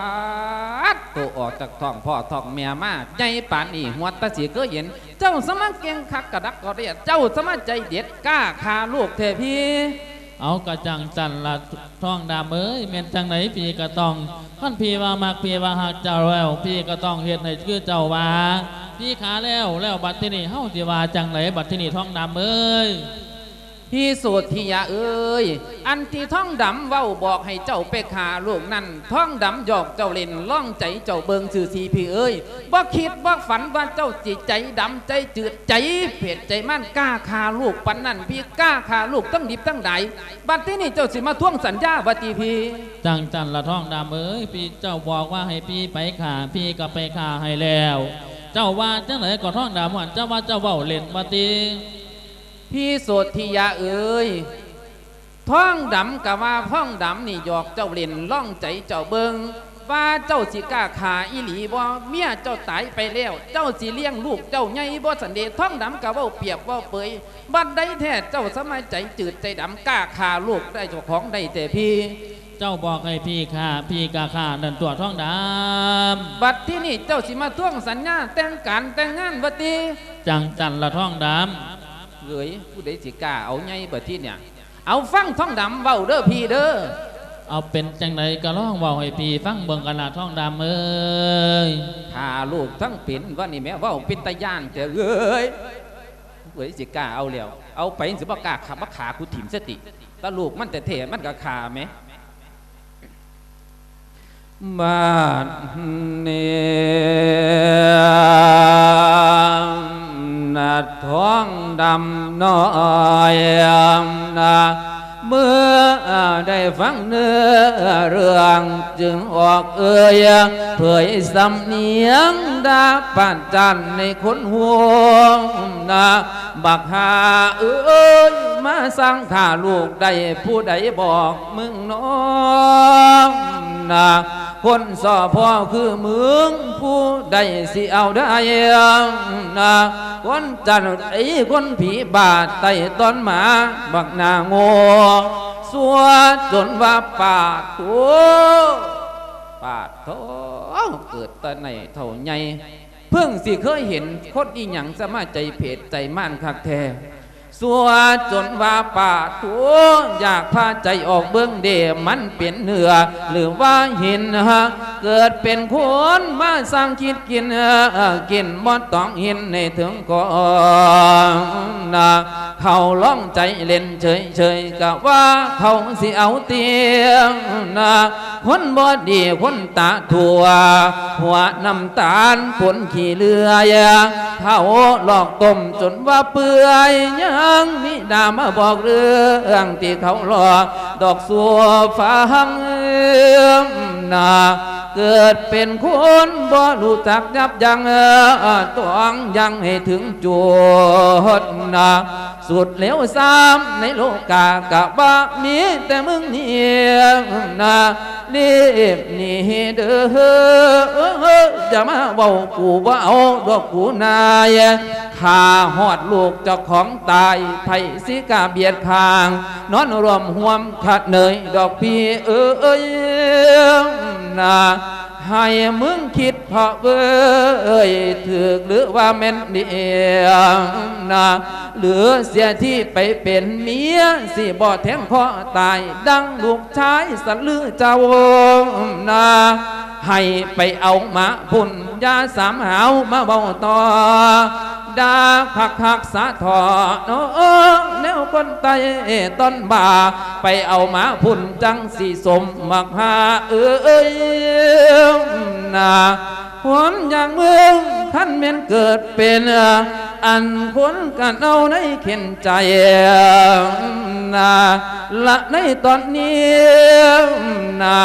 ດໂທ ອອກຈາກທ້ອງພໍ່ທ້ອງແມ່ມາ ໃຫຍ່ປານນີ້ ຫົວຕາຊິເຄີຍເຫັນ ເຈົ້າສະມາເກັ່ງຄັກກະດັກກະເດຍ ເຈົ້າສະມາໃຈເດັດ ກ້າຂ້າລູກແທ້ພີ່. ເອົາ ກະຈັ່ງຊັ້ນລະທອງດຳເອີຍ ແມ່ນຈັ່ງໃດພີ່ກະຕ້ອງ ຄັນພີ່ວ່າມັກ ພີ່ວ່າຮັກເຈົ້າແລ້ວ ພີ່ກະຕ້ອງເຮັດໃຫ້ຄືເຈົ້າວ່າ. ພີ່ຂ້າແລ້ວ ແລ້ວບັດທີນີ້ເຮົາຊິວ່າຈັ່ງໃດບັດທີນີ້ທອງດຳເອີຍ? ພີ່ໂສທິຍະເອີຍ ອັນທີ່ທອງດຳເວົ້າບອກໃຫ້ເຈົ້າໄປຂ້າລູກນັ້ນ ທອງດຳຫຍອກເຈົ້າຫຼິ້ນ ລອງໃຈເຈົ້າເບິ່ງຊື່ໆ ພີ່ເອີຍ. ບໍ່ຄິດບໍ່ຝັນວ່າເຈົ້າຊິໃຈດຳ ໃຈຈືດ ໃຈເຜັດ ໃຈມັນ ກ້າຂ້າລູກປານນັ້ນ ພີ່ກ້າຂ້າລູກທັງດິບທັງດາຍ. ບັດທີນີ້ເຈົ້າຊິມາທວງສັນຍາວ່າຕິພີ່? ຈັ່ງຊັ້ນລະທອງດຳເອີຍ ພີ່ເຈົ້າບອກວ່າໃຫ້ພີ່ໄປຂ້າ ພີ່ກະໄປຂ້າໃຫ້ແລ້ວ. ເຈົ້າວ່າຈັ່ງໃດກໍທອງດຳ ເຈົ້າວ່າເຈົ້າເວົ້າຫຼິ້ນວ່າຕິ? ພີ່ໂສທິຍະເອີຍ ທອງດຳກະວ່າທອງດຳນີ້ຫຍອກເຈົ້າຫຼິ້ນ ລອງໃຈເຈົ້າເບິ່ງ. ວ່າເຈົ້າຊິກ້າຂ້າອີ່ຫຼີບໍ່? ເມຍເຈົ້າຕາຍໄປແລ້ວ ເຈົ້າຊິລ້ຽງລູກເຈົ້າໃຫຍ່ບໍ່ຊັ້ນເດ? ທອງດຳກໍເວົ້າປຽບເວົ້າເປີຍ. ບັດໃດແທ້ເຈົ້າສະມາໃຈຈືດໃຈດຳ ກ້າຂ້າລູກໄດ້ເຈົ້າຂອງໄດ້ແທ້ພີ່? ເຈົ້າບອກໃຫ້ພີ່ຂ້າ ພີ່ກໍຂ້ານັ້ນຕົວະ ທອງດຳ. ບັດທີນີ້ເຈົ້າຊິມາທວງສັນຍາແຕ່ງການແຕ່ງງານວ່າຕິ? ຈັ່ງຊັ້ນລະ ທອງດຳ. ເອີຍ ຜູ້ໃດຊິກ້າເອົາໃຫຍ່ບັດທີນີ້? ເອົາ ຟັງທອງດຳເວົ້າເດີພີ່ເດີ. ເອົາ ເປັນຈັ່ງໃດກໍລອງເວົ້າໃຫ້ພີ່ຟັງເບິ່ງກັນລະ ທອງດຳເອີຍ. ຂ້າລູກທັງເປັນວ່ານີ້ແໝ ເວົ້າເປັນຕາຢ້ານແທ້ເອີຍ. ຜູ້ໃດຊິກ້າເອົາແລ້ວ ເອົາໄປ ຊິບໍ່ກ້າຂ້າ ມາຂ້າກູຖິ້ມສະຕິ. ຕາລູກມັນແທ້ໆ ມັນກໍຂ້າແໝ. ບາດນີ້ນະ ທອງດຳນ້ອຍນະ ເມື່ອໄດ້ຟັງເນື້ອເລື່ອງ ຈຶ່ງອອກເອີ່ຍເຜີຍສຳນຽງ ດາປະຈານໃນຄົນຮູ້ນະ. ບັກຫ່າເອີຍ ມາສ້າງຂ້າລູກໄດ້ ຜູ້ໃດບອກມຶງນ້ອງນະ? ຄົນສໍ່ພໍ່ຄືມຶງ ຜູ້ໃດຊິເອົາໄດ້ນະ? ຄົນຈັນໄອ ຄົນຜີບາດໄຕ້ຕອນໝາ ບັກໜ້າໂງ່ ຊົ່ວຈົນວ່າປາດໂທ້ ປາດໂທ້ ເກີດແຕ່ໃນເຖົ້າໃຫຍ່ ເພິ່ງຊິເຄີຍເຫັນຄົນອີ່ຫຍັງ ສະມາໃຈເຜດໃຈມານຄັກແທ້. ຊົ່ວຈົນວ່າປາດໂທ້ ຢາກພາໃຈອອກເບິ່ງເດ ມັນເປັນເນື້ອ ຫຼືວ່າຫີນ ເກີດເປັນຄົນມາສ້າງຄິດກິນ ກິນບໍ່ຕ້ອງຫີນໃນເຖິງກ່ອນນະ. ເຂົາລອງໃຈເຫຼັ້ນເສີຍໆ ກະວ່າເຂົາຊິເອົາຕຽງນະ. ຄົນບໍ່ດີຄົນຕາຖົ່ວ ຫົວນ້ຳຕານປົນຂີ້ເຫຼືອຍ ເຂົາຫຼອກຕົ້ມຈົນວ່າເປື່ອຍ ຍັງມີໜ້າມາບອກເລື່ອງທີ່ເຂົາຫຼອກດອກຊົ່ວຟັງນະ. ເກີດເປັນຄົນບໍ່ຮູ້ຈັກຍັບຢັ້ງ ຕ້ອງຍັງໃຫ້ເຖິງຈຸດນະ. ສຸດເລວຊາມໃນໂລກາກະວ່າມີແຕ່ມຶງນີ້ນະ ລີບໜີເດີ ຢ່າມາເວົ້າກູບໍ່ເອົາດອກກູນາຍ. ຂ້າຮອດລູກເຈົ້າຂອງຕາຍ ໃຜຊິກ້າບຽດຂ້າງ ນອນຮ່ວມຮ່ວມຂະເໜີຍດອກພີ່ເອີຍນະ. ໃຫ້ມຶງຄິດເພາະເວີຍ ຖືກຫຼືວ່າແມ່ນດຽວນະ ຫຼືເສຍທີ່ໄປເປັນເມຍ ຊິບໍ່ແທງຄໍຕາຍ ດັ່ງລູກຊາຍສັນລືເຈົ້ານະ. ໃຫ້ໄປເອົາມາພຸ້ນ ຢ່າສາມຫາວມາເວົ້າຕໍ່ ດາຄັກໆສະເທາະເນາະ ແນວຄົນໃຕ້ຕອນບ່າ ໄປເອົາມາພຸ້ນ ຈັ່ງຊິສົມບັກຫ່າເອີຍນະ. ຄົນຢ່າງມຶງ ຄັນແມ່ນເກີດເປັນ ອັນຄົນກັນເອົາໃນເຂັນໃຈນະ ລະໃນຕອນນີ້ນະ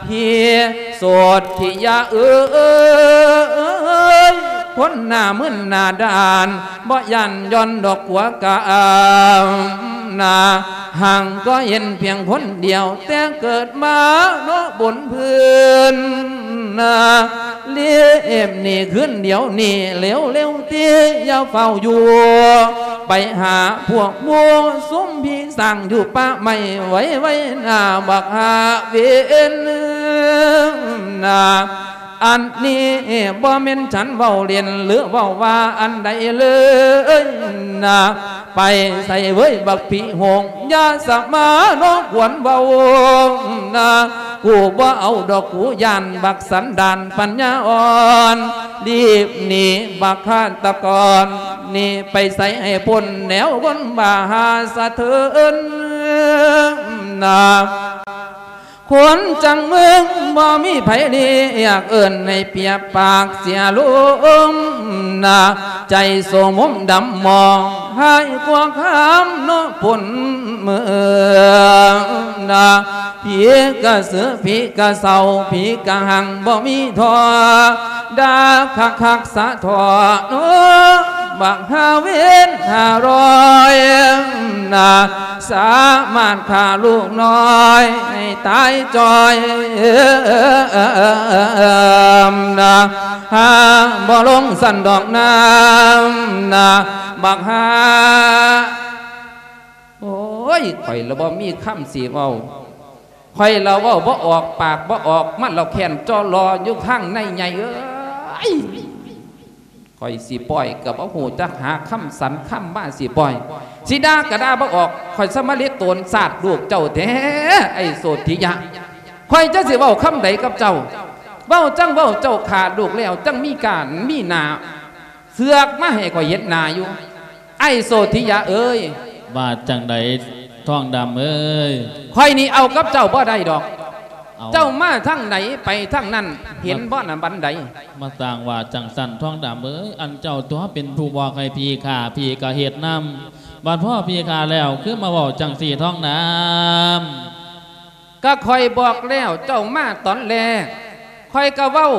ພີ່ໂສດທິຍາເອີຍ ຄົນໜ້າມຶນໜ້າດ້ານ ບໍ່ຢ້ານຢ່ອນດອກກົວກາມນະ ຮັ່ງກໍເຫັນພຽງຄົນດຽວ ແຕ່ເກີດມາເນາະບົນພື້ນນະ ລີບໜີຄືນດຽວນີ້ເລັວໆ ຕິຢ່າເຝົ້າຢູ່ ໄປຫາພວກໝູ່ຊຸມພີ່ ສ້າງຢູ່ປ່າໄມ້ໄວໆ ໜ້າບັກຫາເວນນະ. ອັນນີ້ບໍ່ແມ່ນສັນເວົ້າຫຼິ້ນ ຫຼືເວົ້າວ່າອັນໃດເລີຍນະ ໄປໃສເວີຍບັກຜີໂຫງ ຢ່າສະມາລບກວນເວົ້ານະ ກູບໍ່ເອົາດອກ ກູຢ້ານບັກສັນດານປັນຍາອ່ອນ ລີບໜີບັກຄາດຕະກອນ ໜີໄປໃສໃຫ້ພົ້ນແນວຄົນບ້າຫາສະເທີນນະ. ຄົນຈັ່ງມຶງບໍ່ມີໃຜລຽກເອີ້ນໃຫ້ປຽບປາກເສຍລົງນະ ໃຈໂສມົມດຳໝອງ ຮ້າຍກວ່າຄາມເນາະພົ້ນເມືອງນະ ຜີກະສື ຜີກະເຊົາ ຜີກະຫັງບໍ່ມີທໍ່ ດາຄັກໆສະເທາະເນາະ ບັກຫາເວນຫ້າຮ້ອຍນະ ສາມາດຂ້າລູກນ້ອຍໃຫ້ຕາຍຈ່ອຍນະ ຫາບໍ່ລົງຊັ້ນດອກນານະ ບັກຫາ ໂອ້ຍ ຂ້ອຍລະບໍ່ມີຄຳຊິເວົ້າ ຂ້ອຍລະເວົ້າບໍ່ອອກ ປາກບໍ່ອອກ ມັນລະແຄ້ນຈໍ່ລໍຢູ່ຂ້າງໃນໃຫຍ່ເອີຍ. ຂ້ອຍຊິປ່ອຍກໍບໍ່ຮູ້ຈັກຫາຄຳສັນຄຳມາຊິປ່ອຍ ຊິດ່າກໍດ່າບໍ່ອອກ ຂ້ອຍສະມາລິດໂຕນຊາດລູກເຈົ້າແທ້ ໄອ້ໂສທິຍະ ຂ້ອຍຈັກຊິເວົ້າຄຳໃດກັບເຈົ້າ ເວົ້າຈັ່ງເວົ້າ ເຈົ້າຂ້າລູກແລ້ວ ຈັ່ງມີການມີໜ້າເຊືອກມາໃຫ້ຂ້ອຍເຫັນໜ້າຢູ່ ໄອ້ໂສທິຍະເອີຍ. ວ່າຈັ່ງໃດ ທອງດຳເອີຍ? ຂ້ອຍນີ້ເອົາກັບເຈົ້າບໍ່ໄດ້ດອກ ເອົ້າ ເຈົ້າມາທາງໃດໄປທາງນັ້ນ ເຫັນບໍ່ນະບັນໄດ? ມາສ້າງວ່າຈັ່ງຊັ້ນ ທອງດຳເອີຍ ອັນເຈົ້າຕົວະເປັນຜູ້ບອກໃຫ້ພີ່ຂ້າ ພີ່ກໍເຮັດນຳ ບັດພໍພີ່ຂ້າແລ້ວ ຄືມາເວົ້າຈັ່ງຊີ້ ທອງດຳ? ກໍຂ້ອຍບອກແລ້ວ ເຈົ້າມາຕອນແລກ ຂ້ອຍກໍເວົ້າ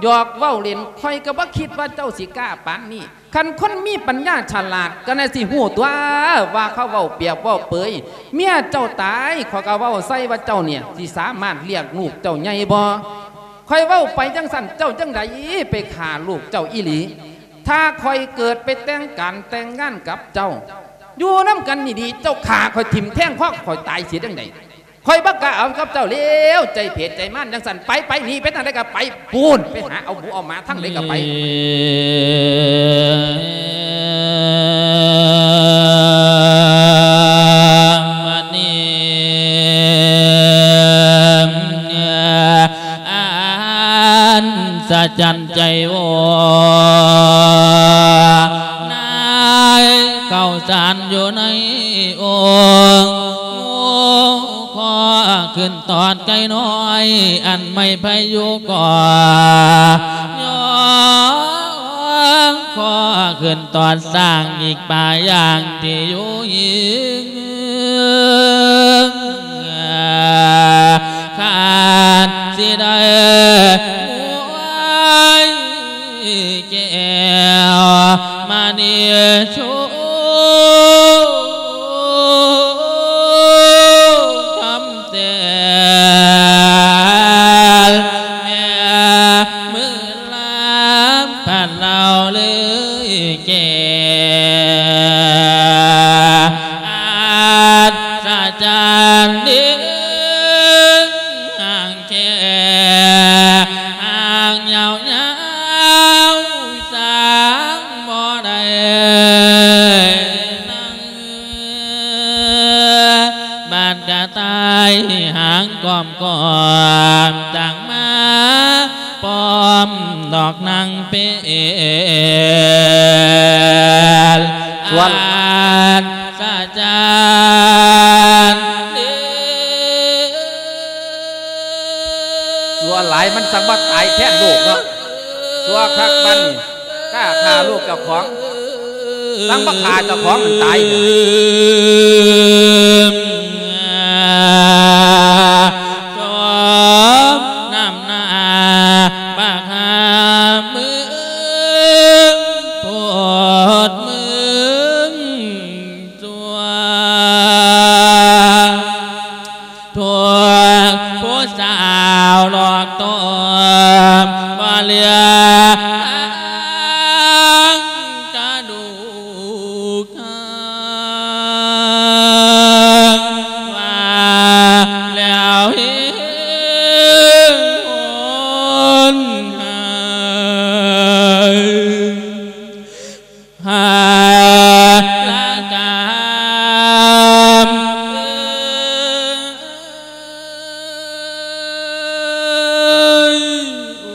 ຫຍອກເວົ້າຫຼິ້ນ ຂ້ອຍກໍບໍ່ຄິດວ່າເຈົ້າຊິກ້າປານນີ້. ຄັນຄົນມີປັນຍາສະຫຼາດ ກໍໜ້າຊິຮູ້ຕົວະ ວ່າເຂົາເວົ້າປຽບເວົ້າເປີຍ ເມຍເຈົ້າຕາຍ ຂ້ອຍກໍເວົ້າໃສ່ວ່າເຈົ້ານີ້ຊິສາມາດລ້ຽງລູກເຈົ້າໃຫຍ່ບໍ່? ຂ້ອຍເວົ້າໄປຈັ່ງຊັ້ນ ເຈົ້າຈັ່ງໃດໄປຂ້າລູກເຈົ້າອີ່ຫຼີ? ຖ້າຂ້ອຍເກີດໄປແຕ່ງການແຕ່ງງານກັບເຈົ້າ ຢູ່ນຳກັນດີໆ ເຈົ້າຂ້າຂ້ອຍຖິ້ມແທງຄໍຂ້ອຍຕາຍເສຍຈັ່ງໃດ? ຂ້ອຍບໍ່ກ້າເອົາກັບເຈົ້າແລ້ວ ໃຈເຜດໃຈມານຈັ່ງຊັ້ນ ໄປ ໄປ ໜີໄປທາງໃດກໍໄປ ປູນ ໄປຫາເອົາໝູເອົາໝາທາງໃດກໍໄປ. ບັດນີ້ ອັດສະຈັນໃຈໂອ ນາຍເຂົ້າສານຢູ່ໃນອົງ ງູຄໍຂຶ້ນຕອດໄກ່ນ້ອຍ ອັນໄມ້ໄຜ່ຢູ່ກໍຍ້ອງຄໍຂຶ້ນຕອດຊ້າງ ອີກປາຢ່າງທີ່ຢູ່ຫີງ ຄາດຊິໄດ້ໝວຍແກ້ວມະນີໂຊ ຄຳແຕ່ນ ແມ່ມື້ລາພັດລາວເລີຍແກ່ ອັດສະຈັນເດ ຫາງແຂ້ຫາງຍາວໆ ສ້າງບໍ່ໄດ້ນັ່ງ ບາດກະຕ່າຍຫາງກອມໆ ຕັ້ງມາປ້ອມດອກນາງເປັນ ສ່ວນ ອັດສະຈັນເດ ຊົ່ວຫຼາຍ ມັນສັງມາຕາຍແທນລູກເນາະ ຊົ່ວຄັກປານນີ້ ກ້າຂ້າລູກເຈົ້າຂອງ ສັງມາຂ້າເຈົ້າຂອງມັນຕາຍ ສມນ້ຳໜ້າບັກຫາມຶງ ໂພດມຶງ ຕົວະ ພວກຜູ້ສາວຫຼອກຕົວະ ບໍ່ເຫຼືອຫາງກະດູກ ວ່າແລ້ວເຮນຫາຍ ຫາລະກາມ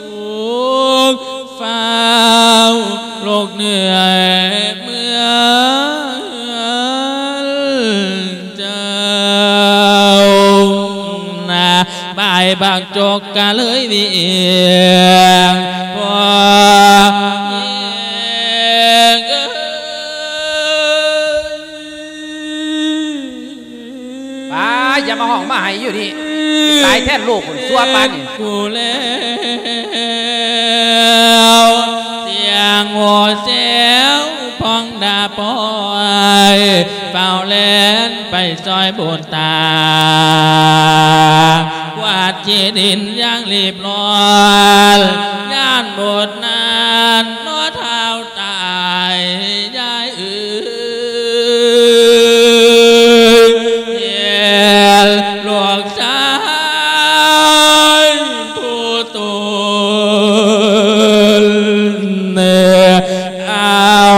ໂອ້ ຟ້າວລຸກເໜືອຍເມືອງເຈົ້ານະ ບາຍບັກຈົກກະເລີຍວຽງ ພໍ່ຍິງເອີຍ ປ້າ ຢ່າມາຮ້ອງມາໄຫ້ຢູ່ນີ້ ຕາຍແທນລູກພຸ້ນ ຊົ່ວປານນີ້ ກູແລ້ວ ເສຍ ນາງໂຫແຊວພອງດາປອຍ ຟ້າວແລ່ນໄປຊ່ອຍບຸດຕາ ກວາດຂີ້ດິນຢ່າງລີບລ້ອນ ຢ້ານບຸດນັ້ນເນາະທ້າວຕາຍ ຍາຍເອີຍ ເຫັນລູກຊາຍຜູ້ຕົນ ເອົາ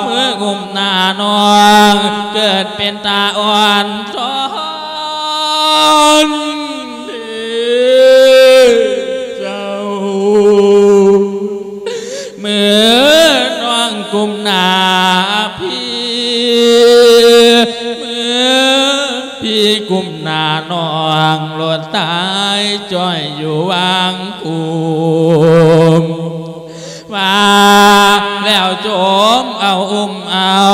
ມືກຸມໜ້ານ້ອງ ເກີດເປັນຕາອ່ອນຊ້ອນເດເຈົ້າ. ເມື່ອນ້ອງກຸມໜ້າພີ່ ເມື່ອພີ່ກຸມໜ້ານ້ອງ ໂລດຕາຍຈ້ອຍຢູ່ຫວ່າງກຸມ ວ່າແລ້ວຈົ່ມເອົາອຸ້ມເອົາ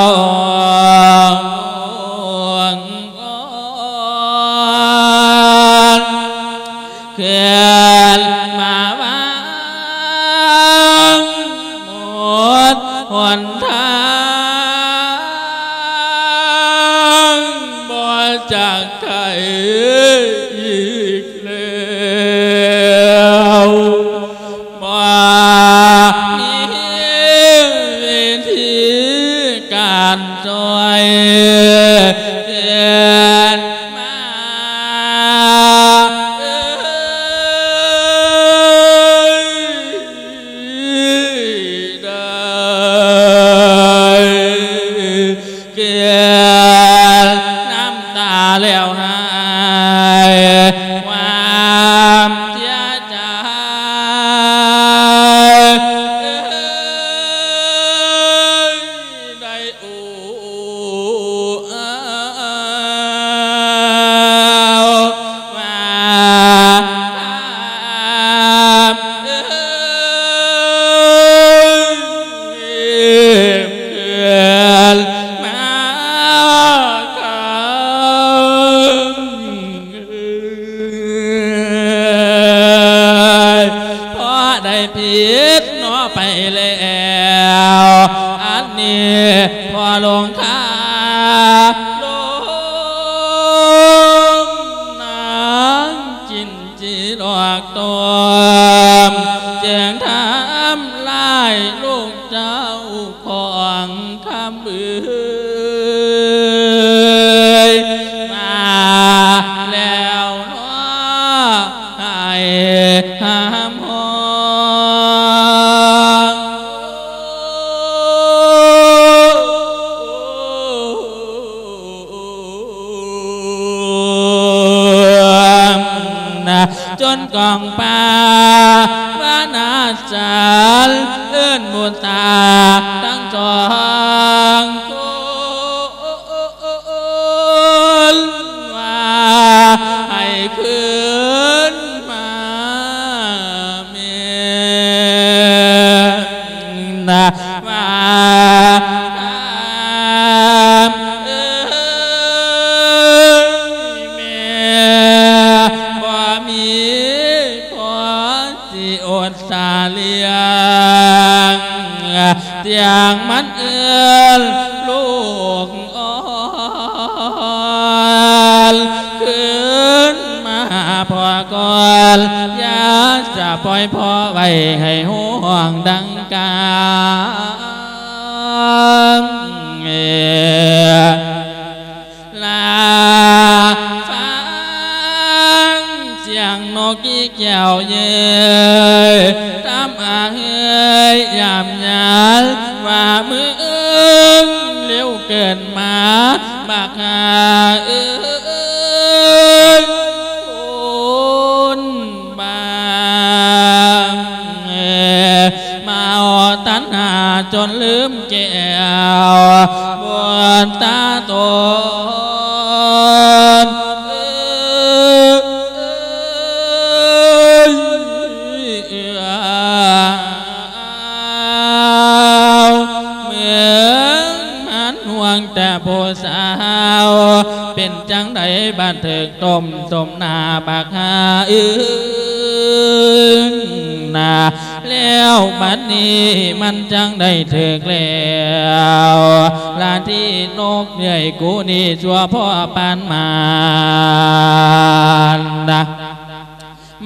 ເຄື່ອນມາວາງໝົດຫົນທາງ ບໍ່ຈັກໄຄອີກແລ້ວ ບໍ່ມີວິທີການຊ່ອຍເກີດມາ ເອີຍ ໄດ້ເກືອນນ້ຳຕາແລ້ວຫາຍຄວາມເສຍໃຈ ເອີຍ ໄດ້ໂອ້ອາວວ່າພາບເອີຍ ເກີດມາຄຳ ເອີຍ ເພາະໄດ້ຜິດເນາະໄປແລ້ວ ອັນນີ້ພໍ່ຫຼວງຂ້າລົງນາງຈິນຈີຫຼອກຕ້ອມ ຈຶ່ງທຳລາຍລູກເຈົ້າຂອງຄຳເອີຍ ມາແລ້ວເນາະ ໃຫ້ຫ້າມຮ້ອງ ຈົນກອງປ່າວານາສັນ ເອີ້ນບຸດຕາທັງສອງຄົນ ວ່າໃຫ້ຄືນມາແມ່ນວ່າ ເອີຍແມ່ ບໍ່ມີພໍ່ ຊິອົດສາລ້ຽງ ສຽງມັນເອີ້ນລູກອ່ອນ ຄືນມາຫາພໍ່ກ່ອນ ຢ່າສະປ່ອຍພໍ່ໄວ້ໃຫ້ຮ້ອງດັງກາງ ລາຟັງສຽງນົກກີແກ້ວເຍີ້ຍ ຕາມອາເຮີຍຍາມຍານ ວ່າມື້ອື່ນເລັວເກີນມາ ບັກຫາເອີຍ ຄົນບາງ ເມາຕັນຫາຈົນລືມແກ້ວ ບຸນຕາຕົນ ເອີຍ ເອີຍ ເອີຍ ເມືອງມັນຫ່ວງແຕ່ຜູ້ສາວ ເປັນຈັ່ງໃດບາດຖືກຕົ້ມຕົ້ມໜ້າບັກຫາເອີຍ ນາ ແລ້ວບັດນີ້ມັນຈັ່ງໄດ້ຖືກແລ້ວລະ ທີ່ນົກເອື້ອຍກູນີ້ຊົ່ວພໍປານມານນະ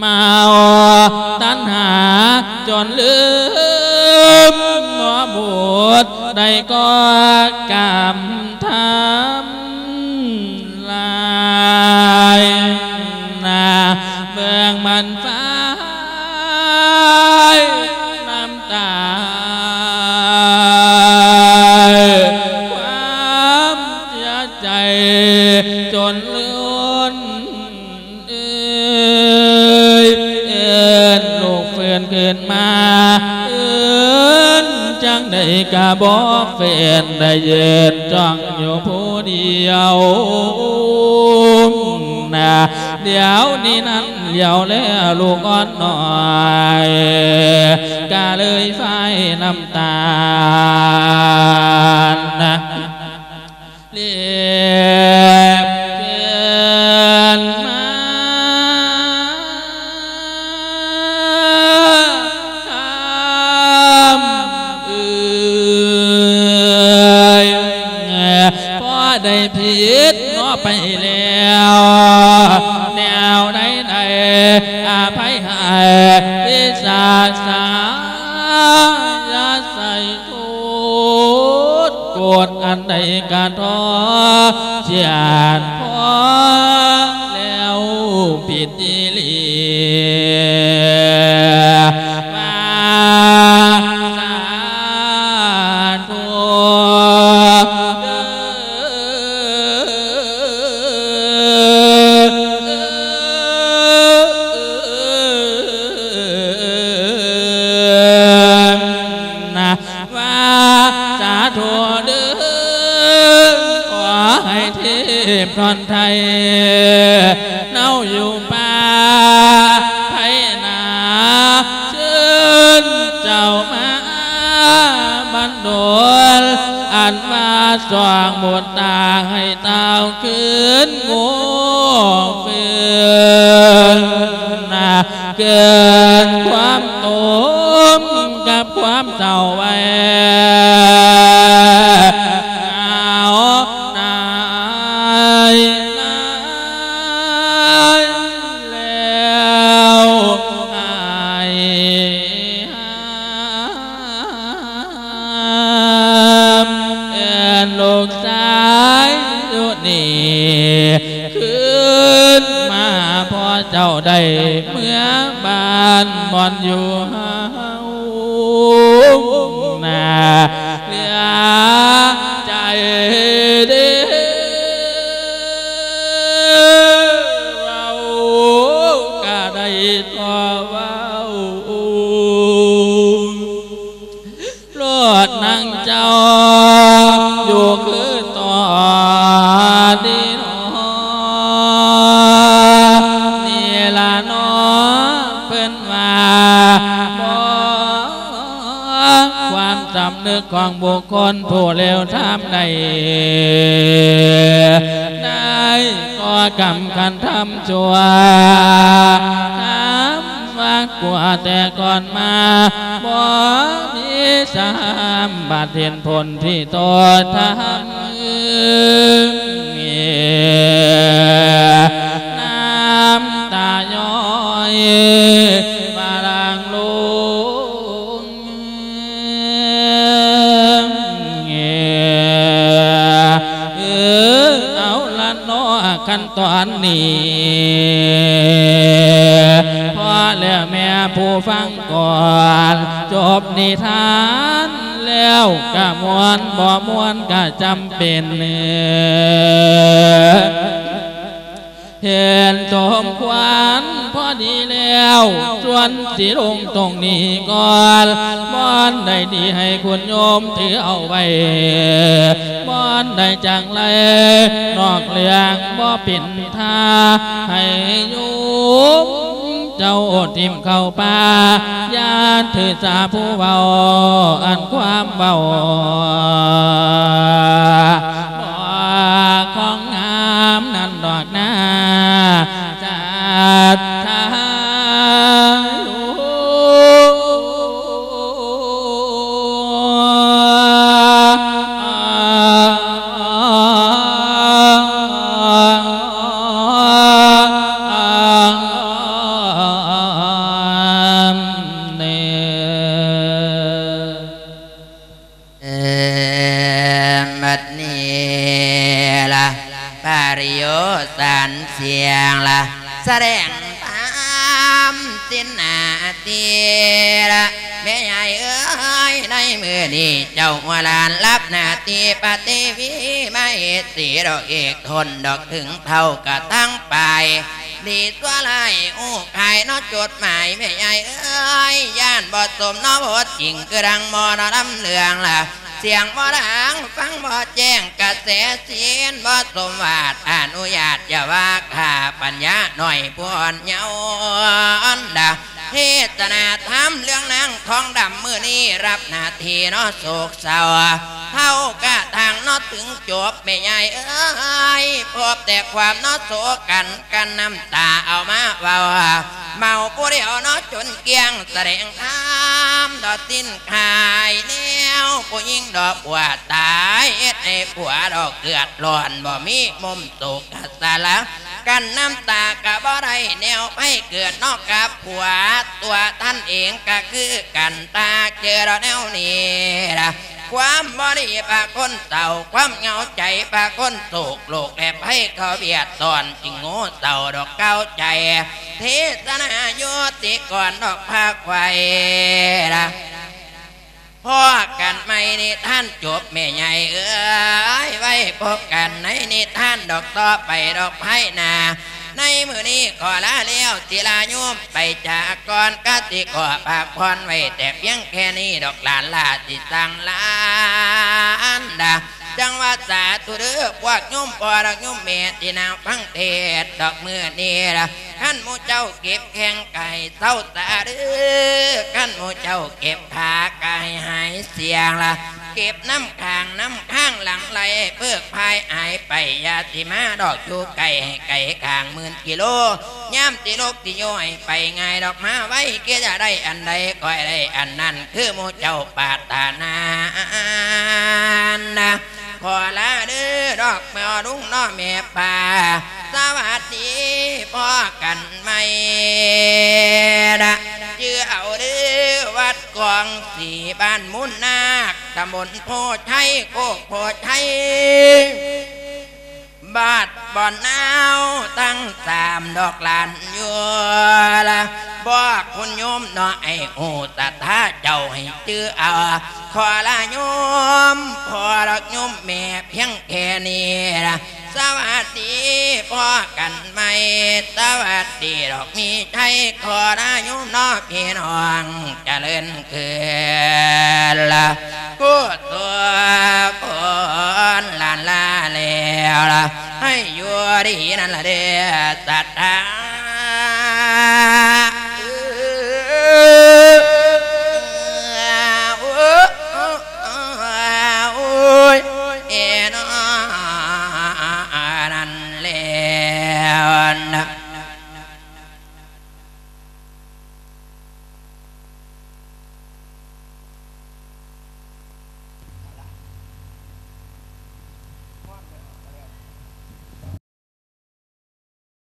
ມາເອົາຕັນຫາຈົນລືມ ບໍ່ບຸດໄດ້ກໍ່ກຳທຳລາຍນະ ເບິ່ງມັນໄຟນ້ຳຕາ ຄວາມເສຍໃຈຈົນລົ້ນ ເອີຍ ເອີ້ນລູກຟື້ນຄືນມາ ເອີ້ນຈັ່ງໃດກະບໍ່ຟື້ນ ໄດ້ຢືນຈ້ອງຢູ່ຜູ້ດຽວນະ ດຽວນີ້ນັ້ນຫຼຽວແລລູກອ່ອນນ້ອຍ ກະເລີຍໄຟນ້ຳຕານນະ ເລບເກີນມາຄຳເອີຍ ພໍໄດ້ຜິດເນາະໄປແລ້ວ ແນວໃດໃດອະໄພໃຫ້ ວິສາສາ ຢ່າໃສ່ ໂທດໂກດອັນໃດກະທໍ້ ສຽດພໍແລ້ວຜິດອີ່ຫຼີ ວ່າສາທຸເດີ. ນະ ວ່າສາທຸເດີ ຂໍໃຫ້ເທບທ່ອນໄທ ເນົາຢູ່ປ່າໄພນາ ເຊີນເຈົ້າມາບັນດົນ ອັນວ່າຊ່ອງບຸດຕາໃຫ້ ເຕົ້າຄືນໂງ່ເຟີນນະ ເກີນຄວາມຕົມກັບຄວາມເສົ້າໄວ້ ເອົານາຍນາຍແລ້ວໃຫ້ ເອີ້ນລູກຊາຍຢູ່ນີ້ຄືນມາ ພໍ່ເຈົ້າໄດ້ເມືອບ້ານບ່ອນຢູ່ເຮົານາ ເຫຼືອໃຈເດ້ ເວົ້າກະໄດ້ທໍ່ເວົ້າ ໂລດນາງເຈົ້າຢູ່ຄືຕອນນີ້ນໍ ນີ້ລະນໍ ເພິ່ນວ່າບໍ່ ຄວາມສຳນຶກຂອງບຸກຄົນຜູ້ເລວທາມໃດ ໄດ້ກໍ່ກຳຄັນທຳຊົ່ວ ທຳ ວ່າກວ່າແຕ່ກ່ອນມາ ບໍ່ມີສາມບາດເຫັນຜົນທີ່ໂຕທຳ ນ້ຳຕາຍ້ອຍມາຫຼັ່ງລົງ ເອີ ເອົາລະເນາະ ຄັນຕອນນີ້ ພໍແລ້ວແມ່ຜູ້ຟັງກ່ອນ ຈົບນິທານແລ້ວກະມ່ວນ ບໍ່ມ່ວນກະຈຳເປັນ ເຫັນສົມຄວນພໍດີແລ້ວ ສ່ວນຊິລົງຕົງນີ້ກ່ອນ ບ່ອນໃດດີໃຫ້ຄຸນໂຍມຖືເອົາໄວ້ ບ່ອນໃດຈັ່ງໄລນອກເລື່ອງບໍ່ເປັນ ຖ້າໃຫ້ໂຍມເຈົ້າຖິ້ມເຂົ້າປ່າ ຢ່າຖືສາຜູ້ເວົ້າ ອັນຄວາມເວົ້າບໍ່ຂອງງາມນັ້ນດອກນາ ສັດທາໂຍມ. ເອີ ບັດນີ້ລະ ປະລິໂຍສານສຽງລະ ສະແດງທຳສິນໜ້າທີ່ລະ ແມ່ໃຫຍ່ເອີຍ ໃນມື້ນີ້ເຈົ້າຫົວຫຼານຮັບໜ້າທີ່ພະເທວີມະເຫສີດອກເອກ ທົນດອກເຖິງເທົ່າກະທັງປາຍ ດີຊົ່ວຮ້າຍຮູ້ຂາຍເນາະ ຈົດໝາຍແມ່ໃຫຍ່ເອີຍ ຢ້ານບໍ່ສົມເນາະ ບໍ່ຈິງຄືດັ່ງໝໍເນາະ ນຳເລື່ອງລະ ສຽງບໍ່ດັງ ຟັງບໍ່ແຈ້ງ ກະແສສິນບໍ່ສົມວາດ ອະນຸຍາດຢ່າວ່າຂ້າ ປັນຍາໜ້ອຍຜູ້ອ່ອນເຍົາດາ ເທດສະໜາທຳເລື່ອງນາງທອງດຳ ມື້ນີ້ຮັບໜ້າທີ່ເນາະ ໂສກເສົ້າເທົ່າກະທັງເນາະ ເຖິງຈົບແມ່ໃຫຍ່ເອີຍ ພົບແຕ່ຄວາມເນາະ ໂສກັນກັນນ້ຳຕາເອົາມາເວົ້າ ເມົາຜູ້ດຽວເນາະ ຈົນກ້ຽງ ສະແດງທຳດອກສິນຂາຍແນວ ຜູ້ຍິງດອກບົວຕາຍ ເຮັດໃຫ້ຜົວດອກເດືອດຮ້ອນ ບໍ່ມີມຸມສຸກສາລະ ກັ້ນນ້ຳຕາກະບໍ່ໄດ້ແນວໄພເກີດເນາະ ກັບຜົວຕົວທ່ານເອງກະຄືກັນ ຖ້າເຈີດອກແນວນີ້ລະ ຄວາມບໍ່ດີພາຄົນເສົ້າ ຄວາມເຫງົາໃຈພາຄົນໂສກ ໂລກແລະໄພເຂົາບຽດຊ້ອນ ຈຶ່ງໂງ່ເສົ້າດອກເກົ່າໃຈ ເທດສະໜາໂຍຕິກອນດອກພາໄຂວ່ລະ ພໍ້ກັນໃໝ່ນິທານຈົບແມ່ໃຫຍ່ເອີຍ ໄວ້ພົບກັນໃນນິທານດອກຕໍ່ໄປດອກພາຍໜ້າ ໃນມື້ນີ້ຂໍລາແລ້ວ ສິລາໂຍມໄປຈາກກ່ອນ ກະສິຂໍພັກຜ່ອນໄວ້ແຕ່ພຽງແຄ່ນີ້ດອກຫຼານລາ ສິສັ່ງລາອັນດາ ຈັ່ງວ່າສາທຸເດີ ພວກໂຍມພໍ່ແລະໂຍມແມ່ທີ່ນັ່ງຟັງເທດດອກ ມື້ນີ້ລະ ຄັນໝູ່ເຈົ້າເຈັບແຂ້ງກະໃຫ້ເຊົາສາເດີ ຄັນໝູ່ເຈົ້າເຈັບຂາກະໃຫ້ຫາຍສຽງລະ ເກັບນ້ຳຄ້າງນ້ຳຄ້າງຫຼັ່ງໄຫຼເພິກພາຍຫາຍໄປ ຢ່າຊິມາດອກຢູ່ໃກ້ ໃຫ້ໄກຂ້າງໝື່ນກິໂລ ຍາມຊິລຸກຊິຍ່ອຍໄປງ່າຍດອກ ມາໄວ ຄິດຢາກໄດ້ອັນໃດກໍໃຫ້ໄດ້ອັນນັ້ນ ຄືໝູ່ເຈົ້າປາດຖະໜານະ ຂໍລາເດີດອກ ພໍ່ລຸງເນາະແມ່ປ້າ ສະຫວັດດີ ພໍ້ກັນໃໝ່ນະ ຈື່ເອົາເດີ ວັດກອງສີ ບ້ານມູນນາກ ຕຳບົນໂພໄຊ ໂຄກໂພໄຊ ບ້ານບ່ອນນາວ ທັງສາມດອກຫຼານຢູ່ລະ ບອກຄຸນໂຍມເນາະ ໃຫ້ຮູ້ສັດທາເຈົ້າໃຫ້ຈື່ເອົາ ຂໍລາໂຍມພໍ່ດອກໂຍມແມ່ພຽງແຄ່ນີ້ລະ ສະຫວັດດີ ພໍ້ກັນໃໝ່ ສະຫວັດດີດອກມີໄຊ ຂໍລາໂຍມເນາະພີ່ນ້ອງ ຈະເລີນຄືນລະ ກຸສົນຫຼານລາແລ້ວລະ ໃຫ້ຢູ່ດີນັ້ນລະເດີ ສັດທາ